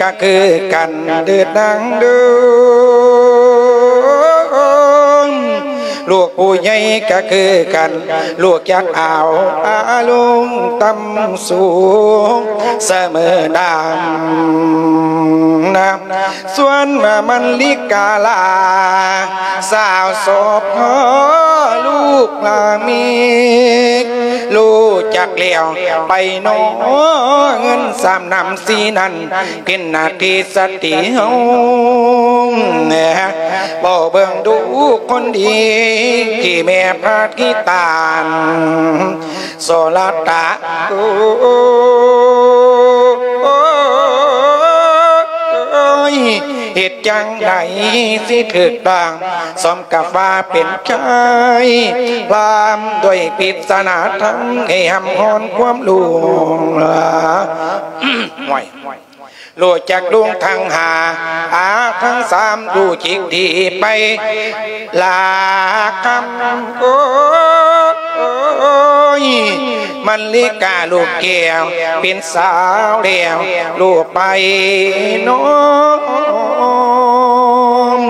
ກໍຄືກັນເດີນາງເດີ ລູກຜູ້ໃຫຍ່ກໍຄືກັນ ລູກຈັກເອົາອາລົມຕ່ຳສູງສະເໝີດຳນະ ສ່ວນມະລິກາລາ ສາວສອບພໍ່ລູກລາມີ ຮູ້ຈັກແລ້ວໄປນໍ ເງິນສາມນ້ຳສີນັ້ນ ເປັນໜ້າທີ່ສະຕີເຮົາ ເວົ້າເບິ່ງດູຄົນດີ ທີ່ແມ່ພາດຂີ້ຕານ ໂສລະຕະ ໂອ້ຍ ເຮັດຈັ່ງໃດຊິຖືກຕ້ອງ ສົມກັບວ່າເປັນໃຈ ພາມດ້ວຍປິດສະໜາທຳ ໃຫ້ຮ່ຳຮອນຄວາມຫຼວງ ຫ້ວຍ ຮູ້ຈັກລຸງທັງຫ້າ ອາທັງສາມ ຮູ້ຈິກດີໄປລາຄຳ ໂອ້ຍ ມະລິກາລູກແກ້ວ ເປັນສາວແລ້ວ ຮູ້ໄປນ້ອງ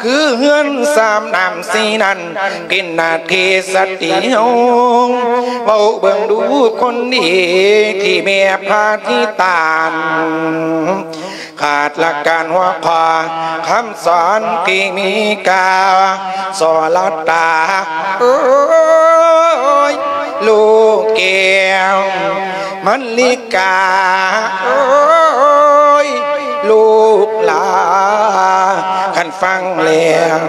ຄືເຮືອນສາມນ້ຳສີ່ນັ້ນ ເປັນໜ້າທີ່ສະຕີເຮົາ ເວົ້າເບິ່ງດູຄົນດີ ທີ່ແມ່ພາທິຕານ ຂາດຫຼັກການຫົວຂໍ້ ຄຳສອນທີ່ມີກາ ສອລະຕາ ໂອ້ຍ ລູກແກ້ວ ມັນລິກາ ໂອ້ຍ ລູກຫຼາ ຄັນຟັງແລ້ວ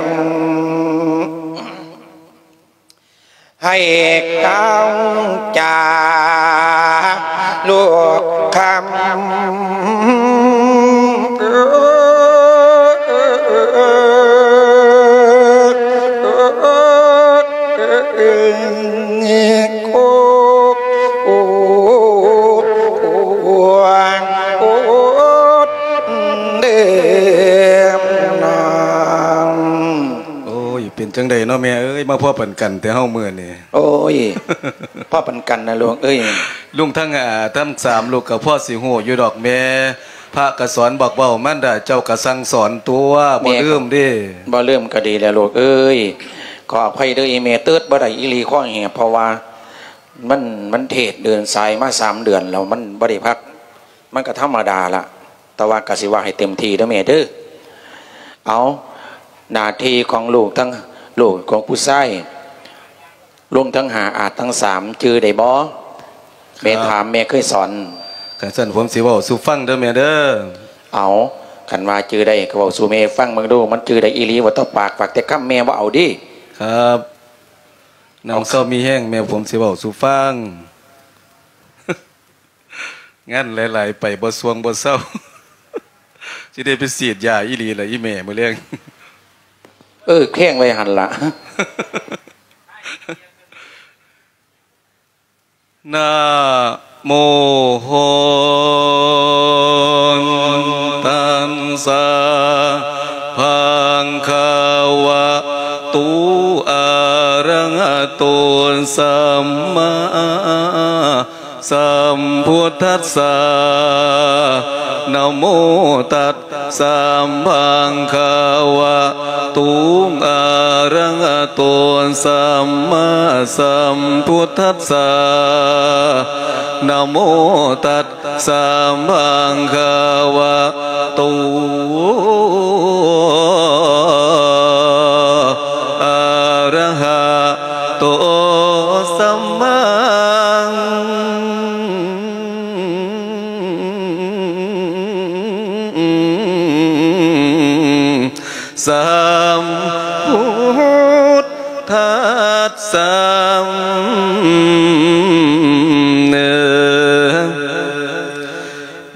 ໃຫ້ຕັ້ງໃຈລູກຄຳ ໂອ້ຍ ເປັນຈັ່ງໃດເນາະແມ່ເອີຍ ມາພໍ້ປານກັນແຕ່ເຮົາມື້ນີ້? ໂອ້ຍ ພໍ້ປານກັນນະລູກເອີຍ. ລຸງທັງ ອາ ທັງສາມລູກກໍພໍຊິຮູ້ຢູ່ດອກແມ່ ພະກໍສອນບອກເວົ້າ ມານດາເຈົ້າກໍສັ່ງສອນຕົວະ ແມ່ກໍບໍ່ລືມເດ້. ບໍ່ລືມກໍດີແລ້ວລູກເອີຍ. ຂໍອະໄພເດີອີ່ແມ່ ເຕີດບໍ່ໄດ້ອີ່ຫຼີ ຂໍແຮບ ເພາະວ່າ ມັນ ມັນເທດເດີນສາຍມາສາມເດືອນແລ້ວ ມັນບໍ່ໄດ້ພັກ ມັນກໍທຳມະດາລະ ແຕ່ວ່າກໍຊິເວົ້າໃຫ້ເຕັມທີ່ເດີແມ່ເດີ. ເອົາ ໜ້າທີ່ຂອງລູກທັງ ລູກຂອງຜູ້ຊາຍ ລວມທັງຫ້າອາດທັງສາມ ຈື່ໄດ້ບໍ່? ແມ່ຖາມ ແມ່ເຄີຍສອນ. ຄັນຊັ້ນຜົມຊິເວົ້າສູ່ຟັງເດີແມ່ເດີ. ເອົາ ຄັນວ່າຈື່ໄດ້ກໍເວົ້າສູ່ແມ່ຟັງເບິ່ງດູ ມັນຈື່ໄດ້ອີ່ຫຼີບໍ່? ຕໍ່ປາກ ປາກແຕ່ຄຳ ແມ່ບໍ່ເອົາເດ້. ຄັບ ນຳເຊົາມີແຮງ ແມ່ ຜົມຊິເວົ້າສູ່ຟັງ. ງານຫຼາຍໆ ໄປບໍ່ສ່ວງບໍ່ເຊົາ ຊິໄດ້ໄປສີດຢາອີ່ຫຼີລະອີ່ແມ່ມື້ແລງ. ເອີ ແຂງໄວ້ຫັ້ນລະ. ນະໂມ ໂຫນຕັດສະ ພະຄະວະໂຕ ອະຣະຫະໂຕ ສຳມາ ສຳພຸດທັດສະ ນະໂມຕັດສະ ພະຄະວະໂຕ ອະຣະຫະໂຕ ສຳມາສຳພຸດທັດສະ ນະໂມຕັດສະ ພະຄະວະໂຕ ອະຣະຫະໂຕ ສຳມາ ສຳພຸດທັດສະ ເນີ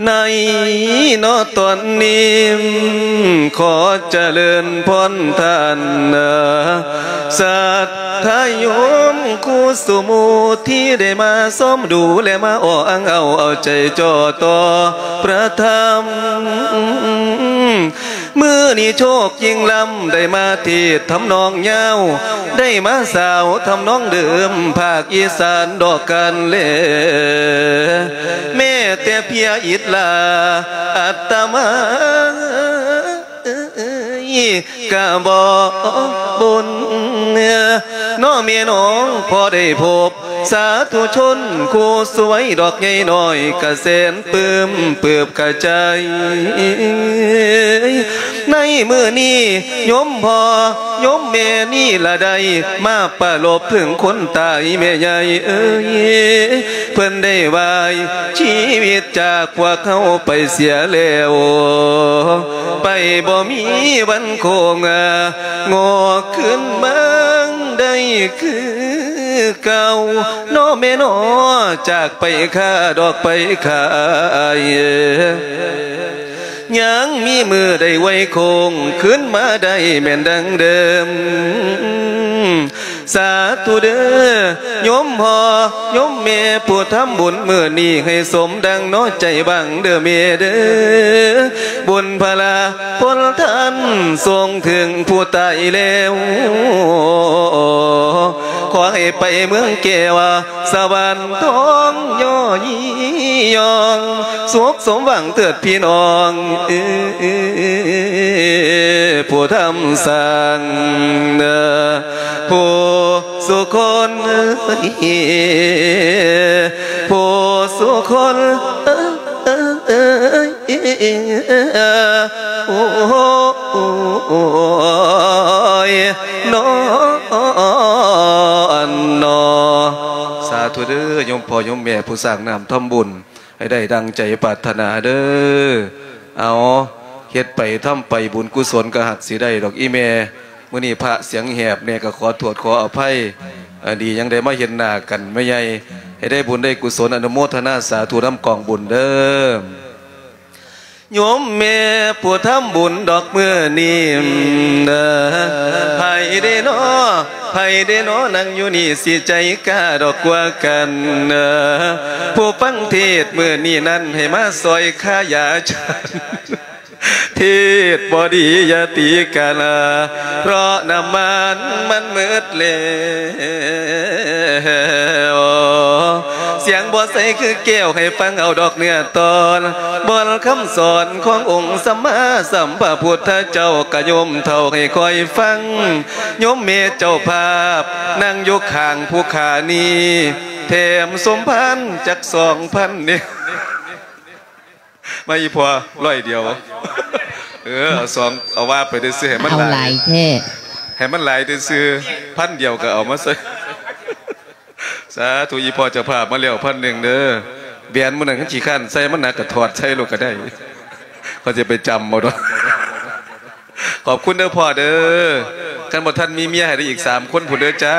ໃນເນາະຕອນນີ້ ຂໍຈະເລີນພອນທ່ານ ສັດທະໂຍມຄູ່ສູ່ໝູ່ ທີ່ໄດ້ມາຊອມດູ ແລະ ມາອໍອ້າງເອົາ ເອົາໃຈຈ່ອຕໍ່ພະທຳ. ມື້ນີ້ໂຊກຍິ່ງລ້ຳ ໄດ້ມາເທດທຳນອງຍາວ ໄດ້ມາສາວທຳນອງເດີມ ພາກອີສານດອກກັນແລ ແມ້ແຕ່ພຽອິດລາ ອັດຕະມາກະບໍ່ບຸນ ເນາະແມ່ນ້ອງ ພໍໄດ້ພົບ ສາທຸຊົນຄູ່ສວຍດອກໃຫຍ່ນ້ອຍກະແສນປຶ້ມປຶບກະໃຈ. ໃນມື້ນີ້ໂຍມພໍ່ໂຍມແມ່ນີ້ລະໄດ້ມາປະລົບເຖິງຄົນຕາຍແມ່ໃຫຍ່ເອີຍ ເພິ່ນໄດ້ວາຍຊີວິດຈາກພວກເຮົາໄປເສຍແລ້ວ ໄປບໍ່ມີວັນ ໂຄງງອກຄືນມາໄດ້ຄືເກົ່າ ເນາະແມ່ເນາະ ຈາກໄປຄ້າດອກໄປຂາຍ ຍັງມີມື້ໄດ້ໄຫວ້ໂຄ້ງຄືນມາໄດ້ແມ່ນດັ່ງເດີມ. ສາທຸເດີ ໂຍມພໍ່ໂຍມແມ່ຜູ້ທຳບຸນມື້ນີ້ ໃຫ້ສົມດັ່ງເນາະໃຈຫວັງເດີແມ່ເດີ ບຸນພະລາຜົນທານສົ່ງເຖິງຜູ້ຕາຍແລ້ວ ຂໍໃຫ້ໄປເມືອງແກ້ວ ສະຫວັນທອງຍໍຍີ່ຢອງ ສຸກສົມຫວັງເຖີດພີ່ນ້ອງ ເອີ ຜູ້ທຳສ້າງ ເອີ ຜູ້ສຸຄົນ ເອີ ຜູ້ສຸຄົນ ເອີ ໂອ້ຍ ນ້ອນນອ. ສາທຸເດີ ໂຍມພໍ່ໂຍມແມ່ຜູ້ສ້າງນ້ຳທຳບຸນ ໃຫ້ໄດ້ດັ່ງໃຈປາດຖະໜາເດີ. ເອົາ ເຮັດໄປທຳໄປ ບຸນກຸສົນກໍຫາກຊິໄດ້ດອກອີ່ແມ່. ມື້ນີ້ພະສຽງແຫບແດ່ ກໍຂໍໂທດຂໍອະໄພ. ເອີ ດີຫຍັງໄດ້ມາເຫັນໜ້າກັນແມ່ໃຫຍ່ ໃຫ້ໄດ້ບຸນໄດ້ກຸສົນ ອະນຸໂມທະນາສາທຸນຳກອງບຸນເດີ. ໂຍມແມ່ຜູ້ທຳບຸນດອກມື້ນີ້ ເອີ ໃຜເດນໍ ໃຜເດນໍນັ່ງຢູ່ນີ້ ຊິໃຈກ້າດອກກວ່າກັນ ເອີ ຜູ້ຟັງເທດມື້ນີ້ນັ້ນ ໃຫ້ມາຊ່ອຍຄ່າຢາຈານ ເທດບໍ່ດີຢ່າຕີກັນ ເພາະນ້ຳມັນມັນໝົດແລ້ວ. ສຽງບໍ່ໃສຄືແກ້ວ ໃຫ້ຟັງເອົາດອກເນື້ອຕອນ ບ່ອນຄຳສອນຂອງອົງສຳມາສຳພະພຸດທະເຈົ້າ ກະໂຍມເຖົ້າໃຫ້ຄອຍຟັງ. ໂຍມແມ່ເຈົ້າພາບນັ່ງຢູ່ຂ້າງຜູ້ຂ້ານີ້ ແຖມສົມພານຈັກສອງພັນນີ້ ມາອີ່ພໍ່ ຮ້ອຍດຽວ ເອີ ເອົາສອງ ເອົາວ່າໄປເດີ ໃຫ້ມັນ ເອົາຫຼາຍ ຫຼາຍແທ້ ໃຫ້ມັນຫຼາຍຊື່ໆ ພັນດຽວກໍເອົາມາໃສ່. ສາທຸ ອີ່ພໍ່ເຈົ້າພາບມາແລ້ວພັນໜຶ່ງເດີ. ແຫວນມື້ນັ້ນຄັນຂີ້ຄ້ານໃສ່ ມັນໜັກກໍຖອດໃສ່ໂລດກໍໄດ້ ຂ້ອຍຊິໄປຈຳເອົາດອກ. ຂອບຄຸນເດີພໍ່ເດີ. ຄັນບໍ່ທັນມີເມຍໃຫ້ໄດ້ອີກສາມຄົນພຸ້ນເດີຈ້າ.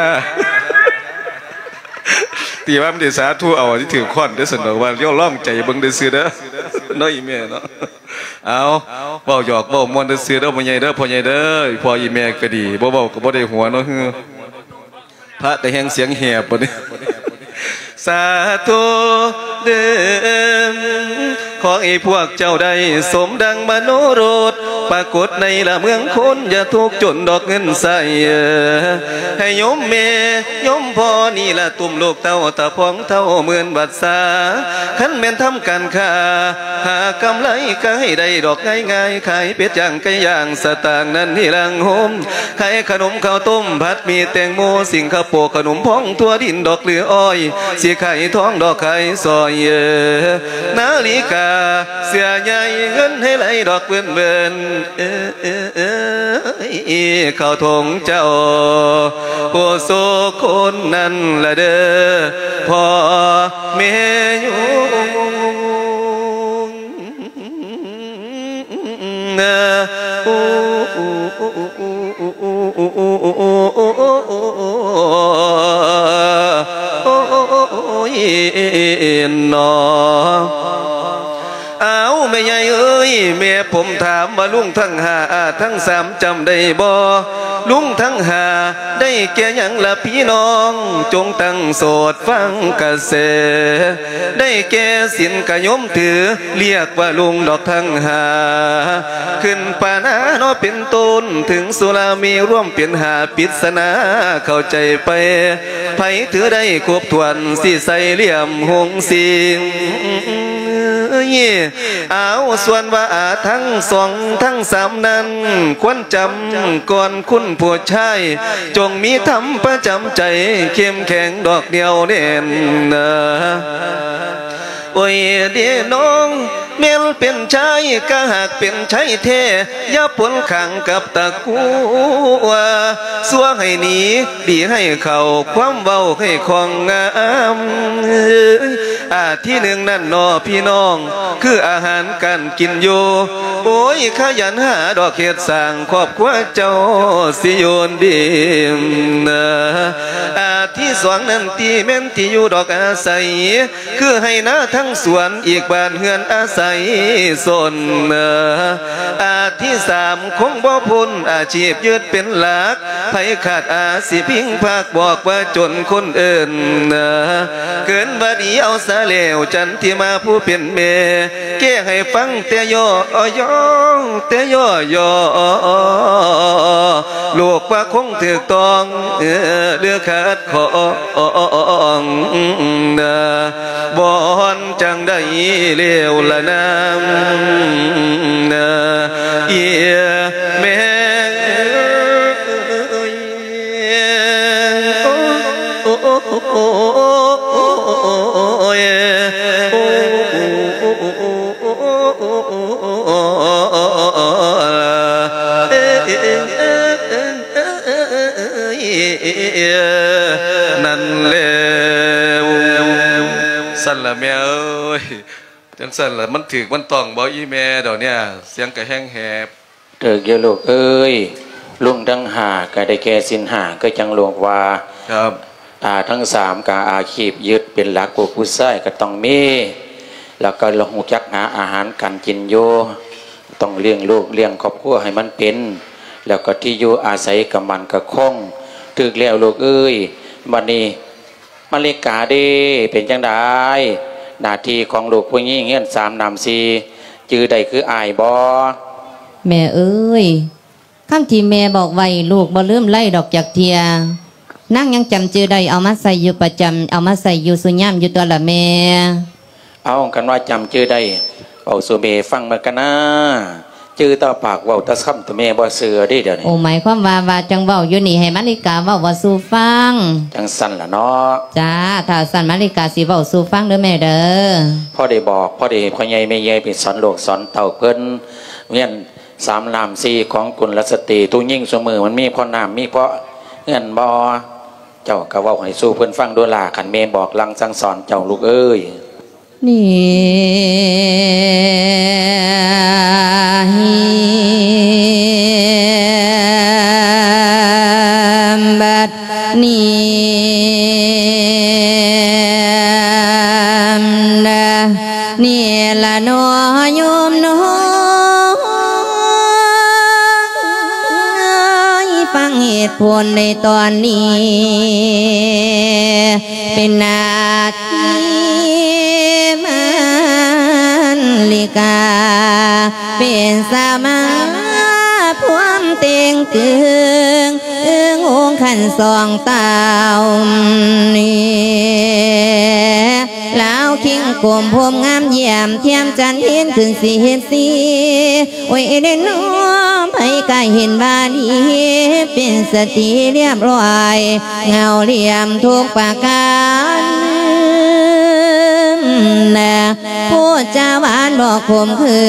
ຕີວ່າມັນໄດ້ສາທຸເອົາທີ່ຖືກຄ້ອນເດີ ຊັ້ນດອກວ່າ ລຽວລອງໃຈເບິ່ງເດີຊື່ເດີ ເນາະ ອີ່ແມ່ເນາະ. ເອົາ ເວົ້າຫຍອກເວົ້າມ່ວນຊື່ໆເດີ ພໍ່ໃຫຍ່ເດີ ພໍ່ໃຫຍ່ເດີ. ພໍ່ອີ່ແມ່ກໍດີ ບໍ່ເວົ້າກໍບໍ່ໄດ້ຫົວເນາະ. ພະກໍແຮ່ງສຽງແຫບບັດນີ້. ສາທຸເດີ ຂໍໃຫ້ພວກເຈົ້າໄດ້ສົມດັ່ງມະໂນລົດ ປາກົດໃນລະເມືອງຄົນ ຢ່າທຸກຈົນດອກເງິນໃຊ້. ໃຫ້ໂຍມແມ່ໂຍມພໍ່ນີ້ລະ ຕຸ້ມລູກເຕົ້າຕາພອງເທົ່າໝື່ນວັດສາ. ຄັນແມ່ນທຳການຄ້າ ຫາກຳໄລກໍໃຫ້ໄດ້ດອກງ່າຍໆ ຂາຍເປັດຍ່າງໄກ່ຍ່າງ ສະຕາງນັ້ນທີ່ຫຼັງໂຮມ ຂາຍຂະໜົມເຂົ້າຕົ້ມ ຜັດໝີ່ແຕງໂມ ສິງກະໂປ ຂະໜົມພອງທົ່ວດິນດອກ ຫຼືອ້ອຍ ຊິຂາຍທອງດອກຂາຍສ້ອຍ. ເອີ ນາລິກາເສື້ອໃຫຍ່ ເງິນໃຫ້ໄຫຼດອກເວີນໆ. ເອີ ເອີ ເອີ ເອີ ເຂົ້າຖົງເຈົ້າ ຜູ້ສຸຄົນນັ້ນລະເດີ ພໍ່ແມ່ໂຍມ. ໂອ້ຍ ເນາະ. ອ້າວ ແມ່ໃຫຍ່ເອີຍ ແມ່ຜົມຖາມວ່າ ລຸງທັງຫ້າ ອາທັງສາມ ຈຳໄດ້ບໍ່? ລຸງທັງຫ້າ ໄດ້ແກ່ຫຍັງລະພີ່ນ້ອງ? ຈົ່ງຕັ້ງໂສດຟັງກະແສ. ໄດ້ແກ່ສິນກະໂຍມຖື ລຽກວ່າລຸງດອກທັງຫ້າ. ຂຶ້ນປານາເນາະເປັນຕົ້ນ ເຖິງສຸລາມີລວມເປັນຫ້າ ປິດສະໜາເຂົ້າໃຈໄປ. ໃຜຖືໄດ້ຄົບຖ້ວນ ຊິໃສ່ຫຼ່ຽມຫົງສິງ. ອ້າວ ສ່ວນວ່າອາທັງສອງທັງສາມນັ້ນ ຄວນຈຳກ່ອນຄຸນຜູ້ຊາຍ ຈົ່ງມີທຳປະຈຳໃຈ ເຂັ້ມແຂງດອກໜຽວແໜ້ນ. ໂອ້ຍເດນ້ອງ ແມ່ນເປັນຊາຍກະຫາກເປັນໄຊແທ້ ຢ່າປົນຂັງກັບຕະ ກົວ ຊົ່ວໃຫ້ໜີ ດີໃຫ້ເຂົ້າ ຄວາມເວົ້າໃຫ້ຄ່ອງງາມ. ອາ ທີໜຶ່ງນັ້ນເນາະພີ່ນ້ອງ ຄືອາຫານການກິນຢູ່. ໂອ້ຍ ຂະຫຍັນຫາດອກເຮັດສ້າງ ຄອບຄົວເຈົ້າຊິຢູ່ດີ. ອາ ທີສອງນັ້ນຕິ ແມ່ນທີ່ຢູ່ດອກອາໄສ ຄືໄຮ່ນາທັງສວນ ອີກບ້ານເຮືອນອາໄສຊົນ. ອາ ທີສາມ ຄົງບໍ່ພົ້ນອາຊີບຍຶດເປັນຫຼັກ ໃຜຂາດອາຊິພິງພັກ ບອກວ່າຈົນຄົນເອີ້ນ. ເກີນວ່າດີເອົາສາແລ້ວ ຈັນທິມາຜູ້ເປັນແມ່ ແກ້ໃຫ້ຟັງແຕ່ຍໍ່ຍໍ ແຕ່ຍໍ່ຍໍ. ລູກວ່າຄົງຖືກຕ້ອງ ເອີ ຫຼືຂັດຂ້ອງ ນາ ບ່ອນຈັ່ງໃດແລ້ວລະນາ ນາ ເອີຍແມ່ເອີຍ. ນັ້ນແລ້ວ ຊັ້ນລະແມ່ເອີຍ ຈັ່ງຊັ້ນລະ ມັນຖືກມັນຕ້ອງບໍ່ອີ່ແມ່ດອກເນຍ ສຽງກະແຮງແຮບ. ຖືກຢູ່ລູກເອີຍ ລຸງທັງຫ້າກະໄດ້ແກ່ສິນຫ້າ ຄືຈັ່ງລູກວ່າ ຄັບ ຕາທັງສາມກະອາຊີບຍຶດເປັນຫຼັກ ລູກຜູ້ຊາຍກະຕ້ອງມີ ແລ້ວກະຮູ້ຈັກຫາອາຫານການກິນຢູ່ ຕ້ອງລ້ຽງລູກລ້ຽງຄອບຄົວໃຫ້ມັນເປັນ ແລ້ວກະທີ່ຢູ່ອາໄສກະໝັ້ນກະຄົງ. ຖືກແລ້ວລູກເອີຍ ບັດນີ້ ມາລິກາເດ້ ເປັນຈັ່ງໃດ ໜ້າທີ່ຂອງລູກຜູ້ຍິງເຮືອນສາມນ້ຳສີ່ ຈື່ໄດ້ຄືອ້າຍບໍ່? ແມ່ເອີຍ ຄຳທີ່ແມ່ບອກໄວ້ ລູກບໍ່ລືມໄລດອກຈັກເທື່ອ ນາງຍັງຈຳຈື່ໄດ້ ເອົາມາໃຊ້ຢູ່ປະຈຳ ເອົາມາໃຊ້ຢູ່ສູ່ຍາມຢູ່ຕົວະລະແມ່. ເອົາ ຄັນວ່າຈຳຈື່ໄດ້ ເວົ້າສູ່ແມ່ຟັງເບິ່ງກະນາ ຈື່ແຕ່ປາກເວົ້າແຕ່ຄຳ ແຕ່ແມ່ບໍ່ເຊື່ອເດ້ດຽວນີ້. ໂອ ໝາຍຄວາມວ່າ ວ່າຈັ່ງເວົ້າຢູ່ນີ້ ໃຫ້ມາລິກາເວົ້າ ເວົ້າສູ່ຟັງ. ຈັ່ງຊັ້ນລະເນາະ. ຈ້າ ຖ້າຊັ້ນມາລິກາຊິເວົ້າສູ່ຟັງເດີແມ່ເດີ. ພໍໄດ້ບອກ ພໍໄດ້ໃຫ້ພໍ່ໃຫຍ່ແມ່ໃຫຍ່ໄປສອນລູກສອນເຕົ້າເພິ່ນ ເຮືອນສາມນ້ຳສີ່ຂອງກຸນລະສະຕີ ທຸຍິງຊຸມື້ມັນມີພໍນ້ຳມີພໍເຮືອນບໍ່? ເຈົ້າກະເວົ້າໃຫ້ສູ່ເພິ່ນຟັງດູລະ ຄັນແມ່ບອກຫຼັງສັ່ງສອນເຈົ້າລູກເອີຍ. ນີ້ ບັດນີ້ ນີ້ລະເນາະໂຍມນ້ອງ ຟັງເຫດຜົນໃນຕອນນີ້ ເປັນໜ້າທີ່ມາລິກາ ເປັນສະມາພວມເຕັງຕຶງ ອຶງອົງຂັນສອງຕາວນີ້ ລາວຄິງກົມພົມງາມ ຢ້ຽມທຽມຈັນເຫັນຂຶ້ນສີເຫັນສີ ໂອຍເດ້ນ້ອ ໃຜກະເຫັນວ່າດີ ເປັນສະຕີລຽບຮ້ອຍ ເງົາລຽມທຸກປະການ ນະ ພູດຈາຫວານບໍ່ຂົມຂື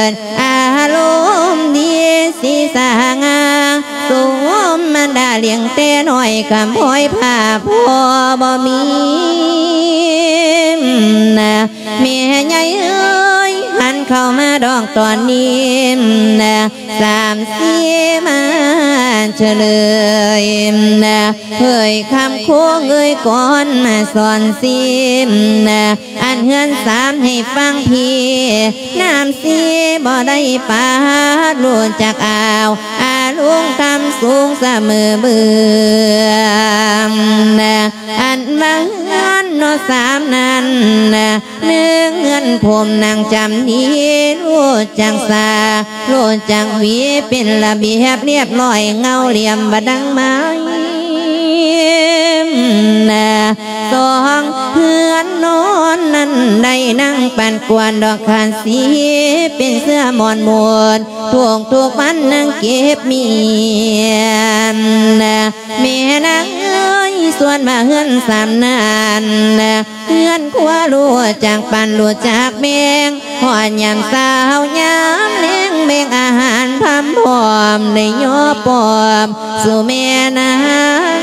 ນ ອາລົມດີສີສະຫະງ່າ ສົມມານດາລ້ຽງແຕ່ນ້ອຍ ກຳພ້ອຍພາພໍ່ບໍ່ມີ ນະ ແມ່ໃຫຍ່ເອີຍ ຫັນເຂົ້າມາດອກຕອນນີ້ ນະ ສາມສີ່ມາເຈີເລີຍ ນະ ເອີຍຄຳໂຄງເອີຍກອນມາສອນຊີ ນະ ອັນເຮືອນສາມໃຫ້ຟັງພີ່ ນ້ຳສີ່ບໍ່ໄດ້ປາດ ຮູ້ຈັກອາວ ອາລຸງຄຳສູງສະເໝີເບືອ ນະ ອັນວ່າເຮືອນເນາະສາມນັ້ນ ນະ ໜຶ່ງເຮືອນພົມນາງຈຳນີ ຮູ້ຈັກສາ ຮູ້ຈັກຫວີ ເປັນລະບຽບລຽບຮ້ອຍ ເງົາລຽມບໍ່ດັງໄມ້ ນະ ສອງເຮືອນນອນນັ້ນ ໄດ້ນັ່ງປັນກວນດອກຄານສີ ເປັນເສື້ອໝອນໝູນ ທຸກໆວັນນັ່ງເກັບມ້ຽນ ນະ ແມ່ນາງເອີຍ ສ່ວນວ່າເຮືອນສາມນັ້ນ ເຮືອນຄົວຮູ້ຈັກປັນຮູ້ຈັກແບ່ງ ຮອດຍາມເຊົ້າຍາມແລງ ແບ່ງອາຫານພຳພ້ອມ ໄດ້ຍໍປ້ອມສູ່ແມ່ນາງ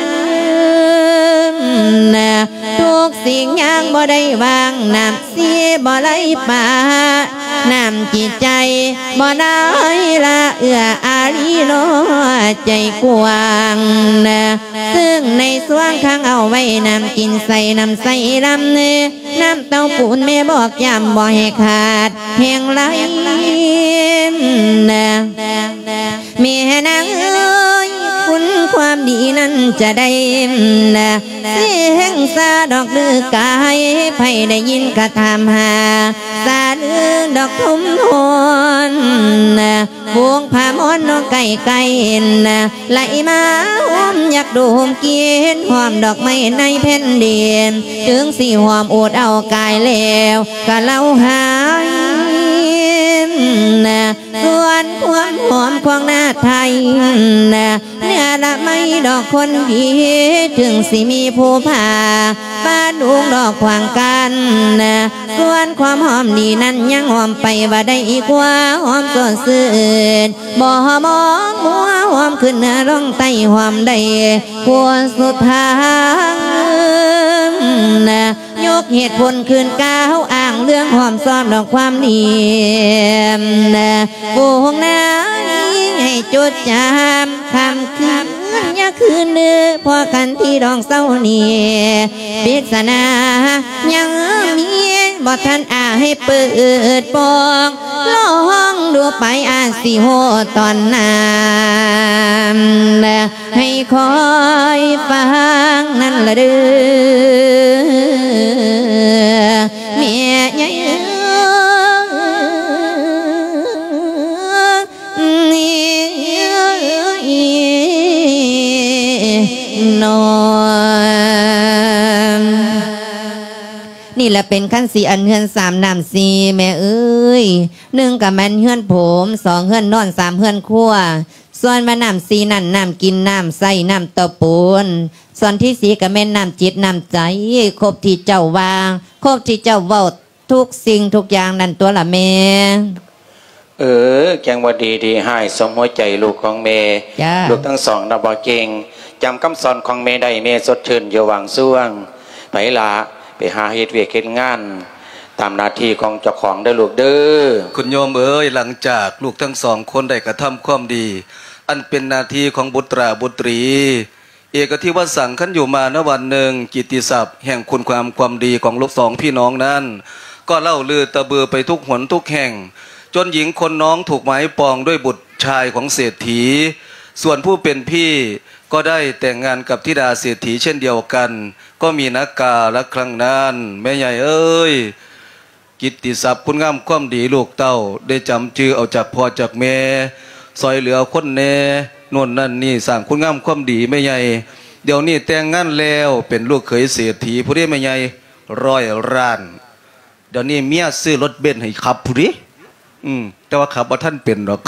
ທຸກສິ່ງຢ່າງບໍ່ໄດ້ຫວັງ ນ້ຳ ສີບໍ່ໄຫຼປາ ນ້ຳຈິດໃຈບໍ່ໄດ້ລະເອື້ອອາລີ ນ້ອຍໃຈກວ້າງ ນະ ເຊິ່ງໃນຊ່ວງຂັງເອົາໄວ້ ນ້ຳກິນໃສ ນ້ຳໃສລຳ ນ້ຳເຕົ້າປູນແມ່ບອກຢ້ຳບໍ່ໃຫ້ຂາດແຫ່ງໄຫຼ ນະ ແມ່ນາງເອີຍ ຄຸນ ຄວາມດີນັ້ນຈະໄດ້ ຊິແຮ່ງຊາດອກຫຼືກາຍ ໃຜໄດ້ຍິນກະຖາມຫາ ສາລືດອກທຸມຮອນ ຝູງພະມອນນ້ອງໄກ່ໄກ່ ໄຫຼມາຫອມຢາກດົມກິ່ນ ຫອມດອກໄມ້ໃນແຜ່ນດິນ ເຖິງຊິຫອມອົດເອົາກາຍແລ້ວ ກະເລົ່າຫາຍ ສ່ວນຄວາມຫອມຂອງໜ້າໄທ ເນື້ອລະໄມດອກຄົນດີ ເຖິງຊິມີຜູ້ພາ ປາດດຸງດອກຂວາງກັ້ນ ສ່ວນຄວາມຫອມດີນັ້ນ ຍັງຫອມໄປວ່າໄດ້ອີກວ່າ ຫອມສອດຊື່ນ ບໍ່ມອງມົວ ຫອມຂຶ້ນເໜືອລ່ອງໃຕ້ ຫອມໄດ້ທົ່ວສຸດທາງ ຍົກເຫດຜົນຄືນກ່າວອ້າງເລື່ອງ ຫອມຊອບດອກຄວາມດີ ປູກນາໃຫ້ຈົດຈຳ ຄ່ຳຄືນຢ່າຄືນເດີ ພໍກັນທີ່ດອງເຊົ້ານີ້ ປິດສະໜາຍັງມີ ບໍ່ທັນອາໃຫ້ເປີດປ່ອງ ລອງດູໄປອາດຊິຮູ້ຕອນນັ້ນ ໃຫ້ຄອຍຟັງນັ້ນລະເດີ ແມ່ໃຫຍ່ເອີຍ ນີ້ລະເປັນຄັນສີອັນເຮືອນສາມນ້ຳສີ່ ແມ່ເອີຍ ໜຶ່ງກະແມ່ນເຮືອນໂພມ ສອງເຮືອນນອນ ສາມເຮືອນຄົວ ສ່ວນວ່ານ້ຳສີ່ນັ້ນ ນ້ຳກິນ ນ້ຳໃຊ້ ນ້ຳເຕົ້າປູນ ສ່ວນທີສີ່ກະແມ່ນນ້ຳຈິດນ້ຳໃຈ ຄົບທີ່ເຈົ້າວ່າ ຄົບທີ່ເຈົ້າເວົ້າ ທຸກສິ່ງທຸກຢ່າງນັ້ນຕົວລະແມ່. ເອີ ຈັ່ງວ່າດີດີຮ້າຍສົມຫົວໃຈລູກຂອງແມ່. ລູກທັງສອງນະບໍ່ເກັ່ງ ຈຳຄຳສອນຂອງແມ່ໄດ້ ແມ່ສົດຊື່ນຢູ່ຫວ່າງຊ່ວງ. ໄປລະ ໄປຫາເຮັດວຽກເຮັດງານຕາມໜ້າທີ່ຂອງເຈົ້າຂອງເດີລູກເດີ. ຄຸນໂຍມເອີຍ ຫຼັງຈາກລູກທັງສອງຄົນໄດ້ກະທຳຄວາມດີ ອັນເປັນໜ້າທີ່ຂອງບຸດຕາບຸດຕີ ເອກະທິວະສັງ ຄັນຢູ່ມານະວັນໜຶ່ງ ກິດຕິສັບແຫ່ງຄຸນງາມຄວາມດີຂອງລູກສອງພີ່ນ້ອງນັ້ນ ກໍເລົ່າລືຕະບືໄປທຸກຫົນທຸກແຫ່ງ ຈົນຍິງຄົນນ້ອງຖືກໝາຍປອງດ້ວຍບຸດຊາຍຂອງເສດຖີ. ສ່ວນຜູ້ເປັນພີ່ກໍໄດ້ແຕ່ງງານກັບທິດາເສດຖີເຊັ່ນດຽວກັນ ກໍມີນະກາລະຄັ້ງນັ້ນ. ແມ່ໃຫຍ່ເອີຍ ກິດຕິສັບຄຸນງາມຄວາມດີລູກເຕົ້າໄດ້ຈຳຈື່ເອົາຈາກພໍ່ຈາກແມ່ ຊ່ອຍເຫຼືອຄົນແດ່ ໂນ່ນນັ້ນນີ້ ສ້າງຄຸນງາມຄວາມດີແມ່ໃຫຍ່. ດຽວນີ້ແຕ່ງງານແລ້ວ ເປັນລູກເຂີຍເສດຖີພຸ້ນເດ້ແມ່ໃຫຍ່ ຮ້ອຍລ້ານ. ດຽວນີ້ເມຍຊື້ລົດເບັນໃຫ້ຂັບພຸ້ນເດ້. ອືມ ແຕ່ວ່າຂັບບໍ່ທັນເປັນດອກ.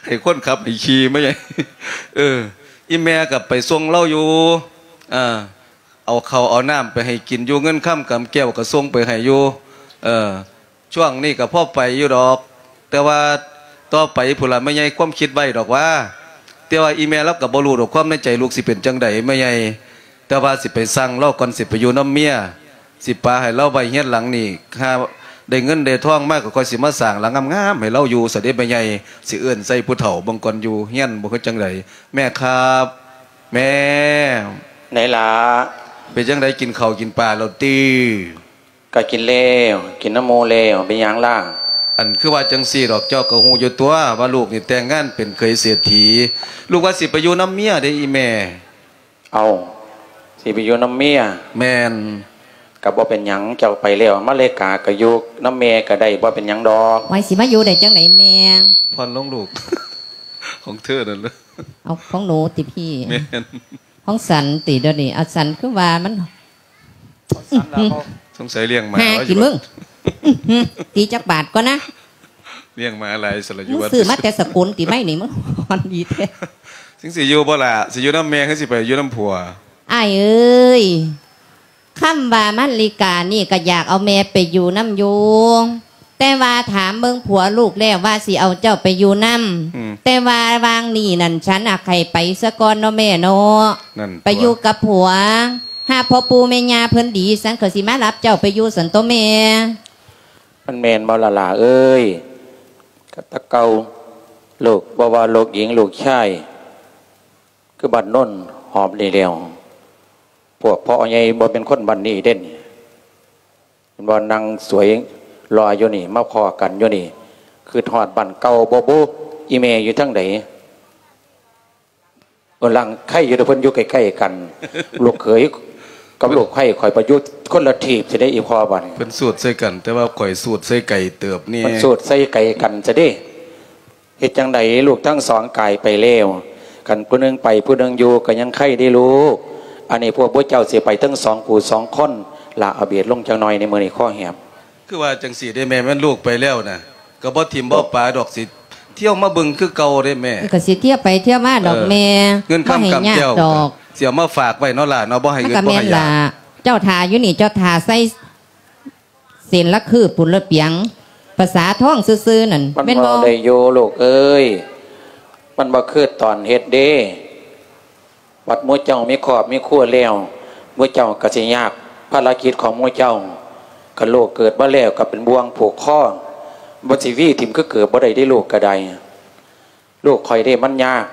ໃຫ້ຄົນຂັບໃຫ້ຂີ່ມາໃຫຍ່. ເອີ ອີ່ແມ່ກໍໄປສົ່ງລາວຢູ່ ເອີ ເອົາເຂົ້າເອົານ້ຳໄປໃຫ້ກິນຢູ່ ເງິນຄຳກຳແກ້ວກໍສົ່ງໄປໃຫ້ຢູ່. ເອີ ຊ່ວງນີ້ກໍພໍໄປຢູ່ດອກ ແຕ່ວ່າຕໍ່ໄປພຸ້ນລະແມ່ໃຫຍ່ ຄວາມຄິດໄວ້ດອກວ່າ ແຕ່ວ່າອີ່ແມ່ລາວກໍບໍ່ຮູ້ດອກ ຄວາມໃນໃຈລູກຊິເປັນຈັ່ງໃດແມ່ໃຫຍ່. ແຕ່ວ່າຊິໄປສັ່ງລາວກ່ອນ ຊິໄປຢູ່ນຳເມຍ ຊິປະໃຫ້ລາວໄວ້ເຮືອນຫຼັງນີ້ ຫາໄດ້ເງິນໄດ້ທອງມາກໍຄ່ອຍຊິມາສ້າງຫຼັງງາມໆໃຫ້ລາວຢູ່ຊະເດ້ແມ່ໃຫຍ່. ຊິເອີ້ນໃສ່ຜູ້ເຖົ້າເບິ່ງກ່ອນ ຢູ່ເຮືອນບໍ່ຄືຈັ່ງໃດ. ແມ່ຄັບ ແມ່ ໄດ້ລະ ເປັນຈັ່ງໃດ ກິນເຂົ້າກິນປາແລ້ວຕິ? ກະກິນແລ້ວ ກິນນຳໝູ່ແລ້ວ. ເປັນຫຍັງລະ? ອັນ ຄືວ່າຈັ່ງຊີ້ດອກ ເຈົ້າກໍຮູ້ຢູ່ຕົວວ່າລູກນີ້ແຕ່ງງານເປັນເຂີຍເສດຖີ ລູກວ່າຊິໄປຢູ່ນຳເມຍເດ້ອີ່ແມ່. ເອົ້າ ຊິໄປຢູ່ນຳເມຍ? ແມ່ນ. ກະບໍ່ເປັນຫຍັງ ເຈົ້າໄປແລ້ວ ມາເລກາກະຢູ່ນຳແມ່ກະໄດ້ ບໍ່ເປັນຫຍັງດອກ. ໄວ້ ຊິມາຢູ່ໄດ້ຈັ່ງໃດແມ່? ຜ່ອນລົງລູກ ຂອງເທີນັ້ນເລີຍ. ເອົາ ຂອງໜູຕິພີ່? ແມ່ນ. ຂອງສັນຕິດຽວນີ້? ອາ ສັນຄືວ່າມັນ ຂອງສັນລະ ເຂົາ ສົງໄສລ້ຽງໝາ ຫາກິນມຶງ. ຕີຈັກບາດກ່ອນນະ. ລ້ຽງມາຫຼາຍສະລະຢູ່ ມຶງຊື້ມາແຕ່ສະກົນຕິໄມ້ນີ້ ມັນຮ້ອນດີແທ້. ຈັ່ງຊິຢູ່ບໍ່ລະ? ຊິຢູ່ນຳແມ່ ຄືຊິໄປຢູ່ນຳຜົວ? ອ້າຍເອີຍ ຄຳວ່າມາລິການີ້ກະຢາກເອົາແມ່ໄປຢູ່ນຳຢູ່ ແຕ່ວ່າຖາມເບິ່ງຜົວລູກແລ້ວວ່າຊິເອົາເຈົ້າໄປຢູ່ນຳ. ອືມ ແຕ່ວ່າຫວ່າງນີ້ນັ້ນ ສັນອາກໃຫ້ໄປສາກ່ອນເນາະແມ່ເນາະ. ນັ້ນ ໄປຢູ່ກັບຜົວ ຫາພໍ່ປູ່ແມ່ຍ່າເພິ່ນດີ ສັນກໍຊິມາຮັບເຈົ້າໄປຢູ່ຊັ້ນໂຕແມ່. ມັນແມ່ນບໍ່ລະຫຼ້າເອີຍ? ກະແຕ່ເກົ່າ ລູກ ບໍ່ວ່າລູກຍິງລູກຊາຍ ຄືບ້ານໂນນຫອມນີ້ແລ້ວ ພວກພໍ່ໃຫຍ່ບໍ່ແມ່ນຄົນບ້ານນີ້ເດ້. ເຫັນບໍ່ ນັ່ງສວຍຫຼໍ່ຢູ່ນີ້ ມາພໍ້ກັນຢູ່ນີ້ ຄຶດຮອດບ້ານເກົ່າບໍ່ບຸ? ອີ່ແມ່ຢູ່ທາງໃດ? ເອີ ຫຼັງໄຄຢູ່ເດ້ ເພິ່ນຢູ່ໃກ້ໆກັນ ລູກເຂີຍກັບລູກໃພ້ຂ້ອຍໄປຢູ່ຄົນລະທີບຊິໄດ້ອີ່ພໍ່ບາດນີ້. ເພິ່ນສູດໃສ່ກັນ ແຕ່ວ່າຂ້ອຍສູດໃສ່ໄກເຕີບນີ້ ເພິ່ນສູດໃສ່ໄກກັນຊະເດ້. ເຮັດຈັ່ງໃດ ລູກທັງສອງກາຍໄປແລ້ວ ຄັນຜູ້ໜຶ່ງໄປຜູ້ໜຶ່ງຢູ່ກໍຍັງໄຄເດ້ລູກ. ອັນນີ້ພວກໝູ່ເຈົ້າຊິໄປທັງສອງຜູ້ສອງຄົນ ລາເອົາເບດລົງຈັກໜ່ອຍໃນມື້ນີ້ ຄໍແຮບ. ຄືວ່າຈັ່ງຊີ້ເດ້ແມ່ ແມ່ນລູກໄປແລ້ວນະ ກໍບໍ່ຖິ້ມບໍ່ປະດອກ ຊິທ່ຽວມາເບິ່ງຄືເກົ່າເດ້ແມ່. ກໍຊິທ່ຽວໄປທ່ຽວມາດອກແມ່. ເງິນຄຳກຳແກ້ວດອກ ຊິເອົາມາຝາກໄວ້ເນາະຫຼ້າເນາະ ບໍ່ໃຫ້ອຶດບໍ່ໃຫ້ຢາກ. ເຈົ້າຖ້າຢູ່ນີ້ ເຈົ້າຖ້າໃສ່ເສັ້ນລະຄືປຸນລະປຽງ ປະສາທ້ອງຊື່ໆນັ້ນ ມັນແມ່ນບໍ່? ເວົ້າໄດ້ຢູ່ລູກເອີຍ ມັນບໍ່ຄືຕອນເຮັດເດ້. ບັດໝູ່ເຈົ້າມີຄອບມີຄົວແລ້ວ ໝູ່ເຈົ້າກໍຊິຍາກ ພາລະກິດຂອງໝູ່ເຈົ້າ ຄັນລູກເກີດມາແລ້ວກໍເປັນບ່ວງຜູກຄໍ ມັນຊິຫວີຖິ້ມຄືເກີບບໍ່ໄດ້ເດ້ ລູກກໍໄດ້. ລູກຂ້ອຍເດ້ມັນຍາກ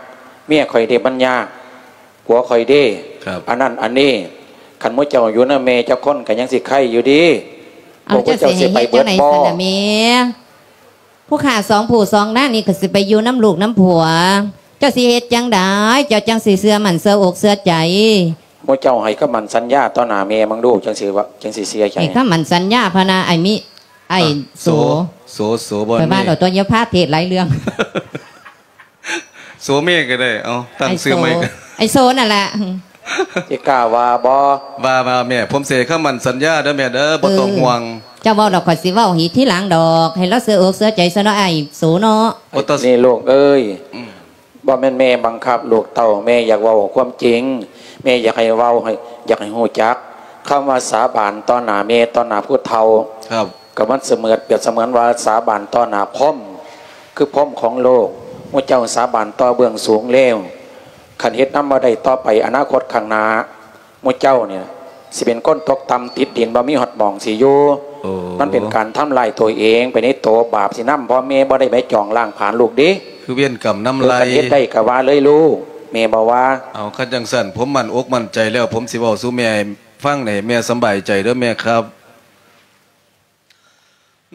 ເມຍຂ້ອຍເດ້ມັນຍາກ ຜົວຂ້ອຍເດ້ ອັນນັ້ນອັນນີ້. ຄັນໝູ່ເຈົ້າຢູ່ນຳແມ່ຈັກຄົນກໍຍັງຊິໄຄຢູ່ເດ້. ເອົາ ພວກເຈົ້າຊິໄປເບິດບໍ່? ຜູ້ຂ້າສອງຜູ້ສອງນາງນີ້ກໍຊິໄປຢູ່ນຳລູກນຳຜົວ ເຈົ້າຊິເຮັດຈັ່ງໃດ ເຈົ້າຈັ່ງຊິເຊື່ອໝັ້ນເຊື່ອອົກເຊື່ອໃຈ? ໝູ່ເຈົ້າໃຫ້ຄຳໝັ້ນສັນຍາຕໍ່ໜ້າແມ່ເບິ່ງດູ ຈັ່ງຊິວ່າ ຈັ່ງຊິເຊື່ອໃຈ. ໃຫ້ຄຳໝັ້ນສັນຍາພະນາ ອ້າຍມີ ອ້າຍໂສ ໂສ ໂສ ບໍ່ ຂ້ອຍວ່າແລ້ວຕົວະ ຢ່າພາເທດຫຼາຍເລື່ອງ. ໂສເມກໍໄດ້ ເອົາ ຕັ້ງຊື່ໃໝ່ ອ້າຍໂສນັ້ນລະ. ຊິກ້າວ່າບໍ່? ວ່າ ວ່າແມ່ ຜົມຊິໃຫ້ຄຳໝັ້ນສັນຍາເດີແມ່ເດີ ບໍ່ຕ້ອງຫ່ວງ. ເຈົ້າເວົ້າດອກ ຂ້ອຍຊິເວົ້າໃຫ້ທີຫຼັງດອກ ໃຫ້ລາວເຊື່ອອົກເຊື່ອໃຈຊະເນາະ ອ້າຍໂສເນາະ. ນີ້ລູກເອີຍ ບໍ່ແມ່ນແມ່ບັງຄັບລູກເຕົ້າ ແມ່ຢາກເວົ້າຄວາມຈິງ ແມ່ຢາກໃຫ້ເວົ້າ ໃຫ້ ຢາກໃຫ້ຮູ້ຈັກ ຄຳວ່າສາບານຕໍ່ໜ້າແມ່ ຕໍ່ໜ້າຜູ້ເຖົ້າ ກໍມັນສະເໝືອນ ປຽບສະເໝືອນວ່າສາບານຕໍ່ໜ້າພົມ ຄືພົມຂອງໂລກ. ໝູ່ເຈົ້າສາບານຕໍ່ເບື້ອງສູງແລ້ວ ຄັນເຮັດນຳບໍ່ໄດ້ຕໍ່ໄປ ອະນາຄົດຂ້າງໜ້າ ໝູ່ເຈົ້ານີ້ຊິເປັນຄົນຕົກຕ່ຳຕິດດິນ ບໍ່ມີຮອດໝ່ອງຊິຢູ່. ມັນເປັນການທຳລາຍຕົວເອງໄປໃນໂຕ ບາບຊິນຳພໍ່ແມ່ບໍ່ໄດ້ໄປຈອງລ້າງຜານລູກເດ້. ຄືເວນກຳນຳໄລ່ ຄັນເຮັດໄດ້ກໍວ່າເລີຍລູກ ແມ່ບໍ່ວ່າ. ເອົາ ຄັນຈັ່ງຊັ້ນ ຜົມໝັ້ນອົກໝັ້ນໃຈແລ້ວ ຜົມຊິເວົ້າສູ່ແມ່ຟັງ ໃຫ້ແມ່ສຳບາຍໃຈເດີແມ່ຄັບ.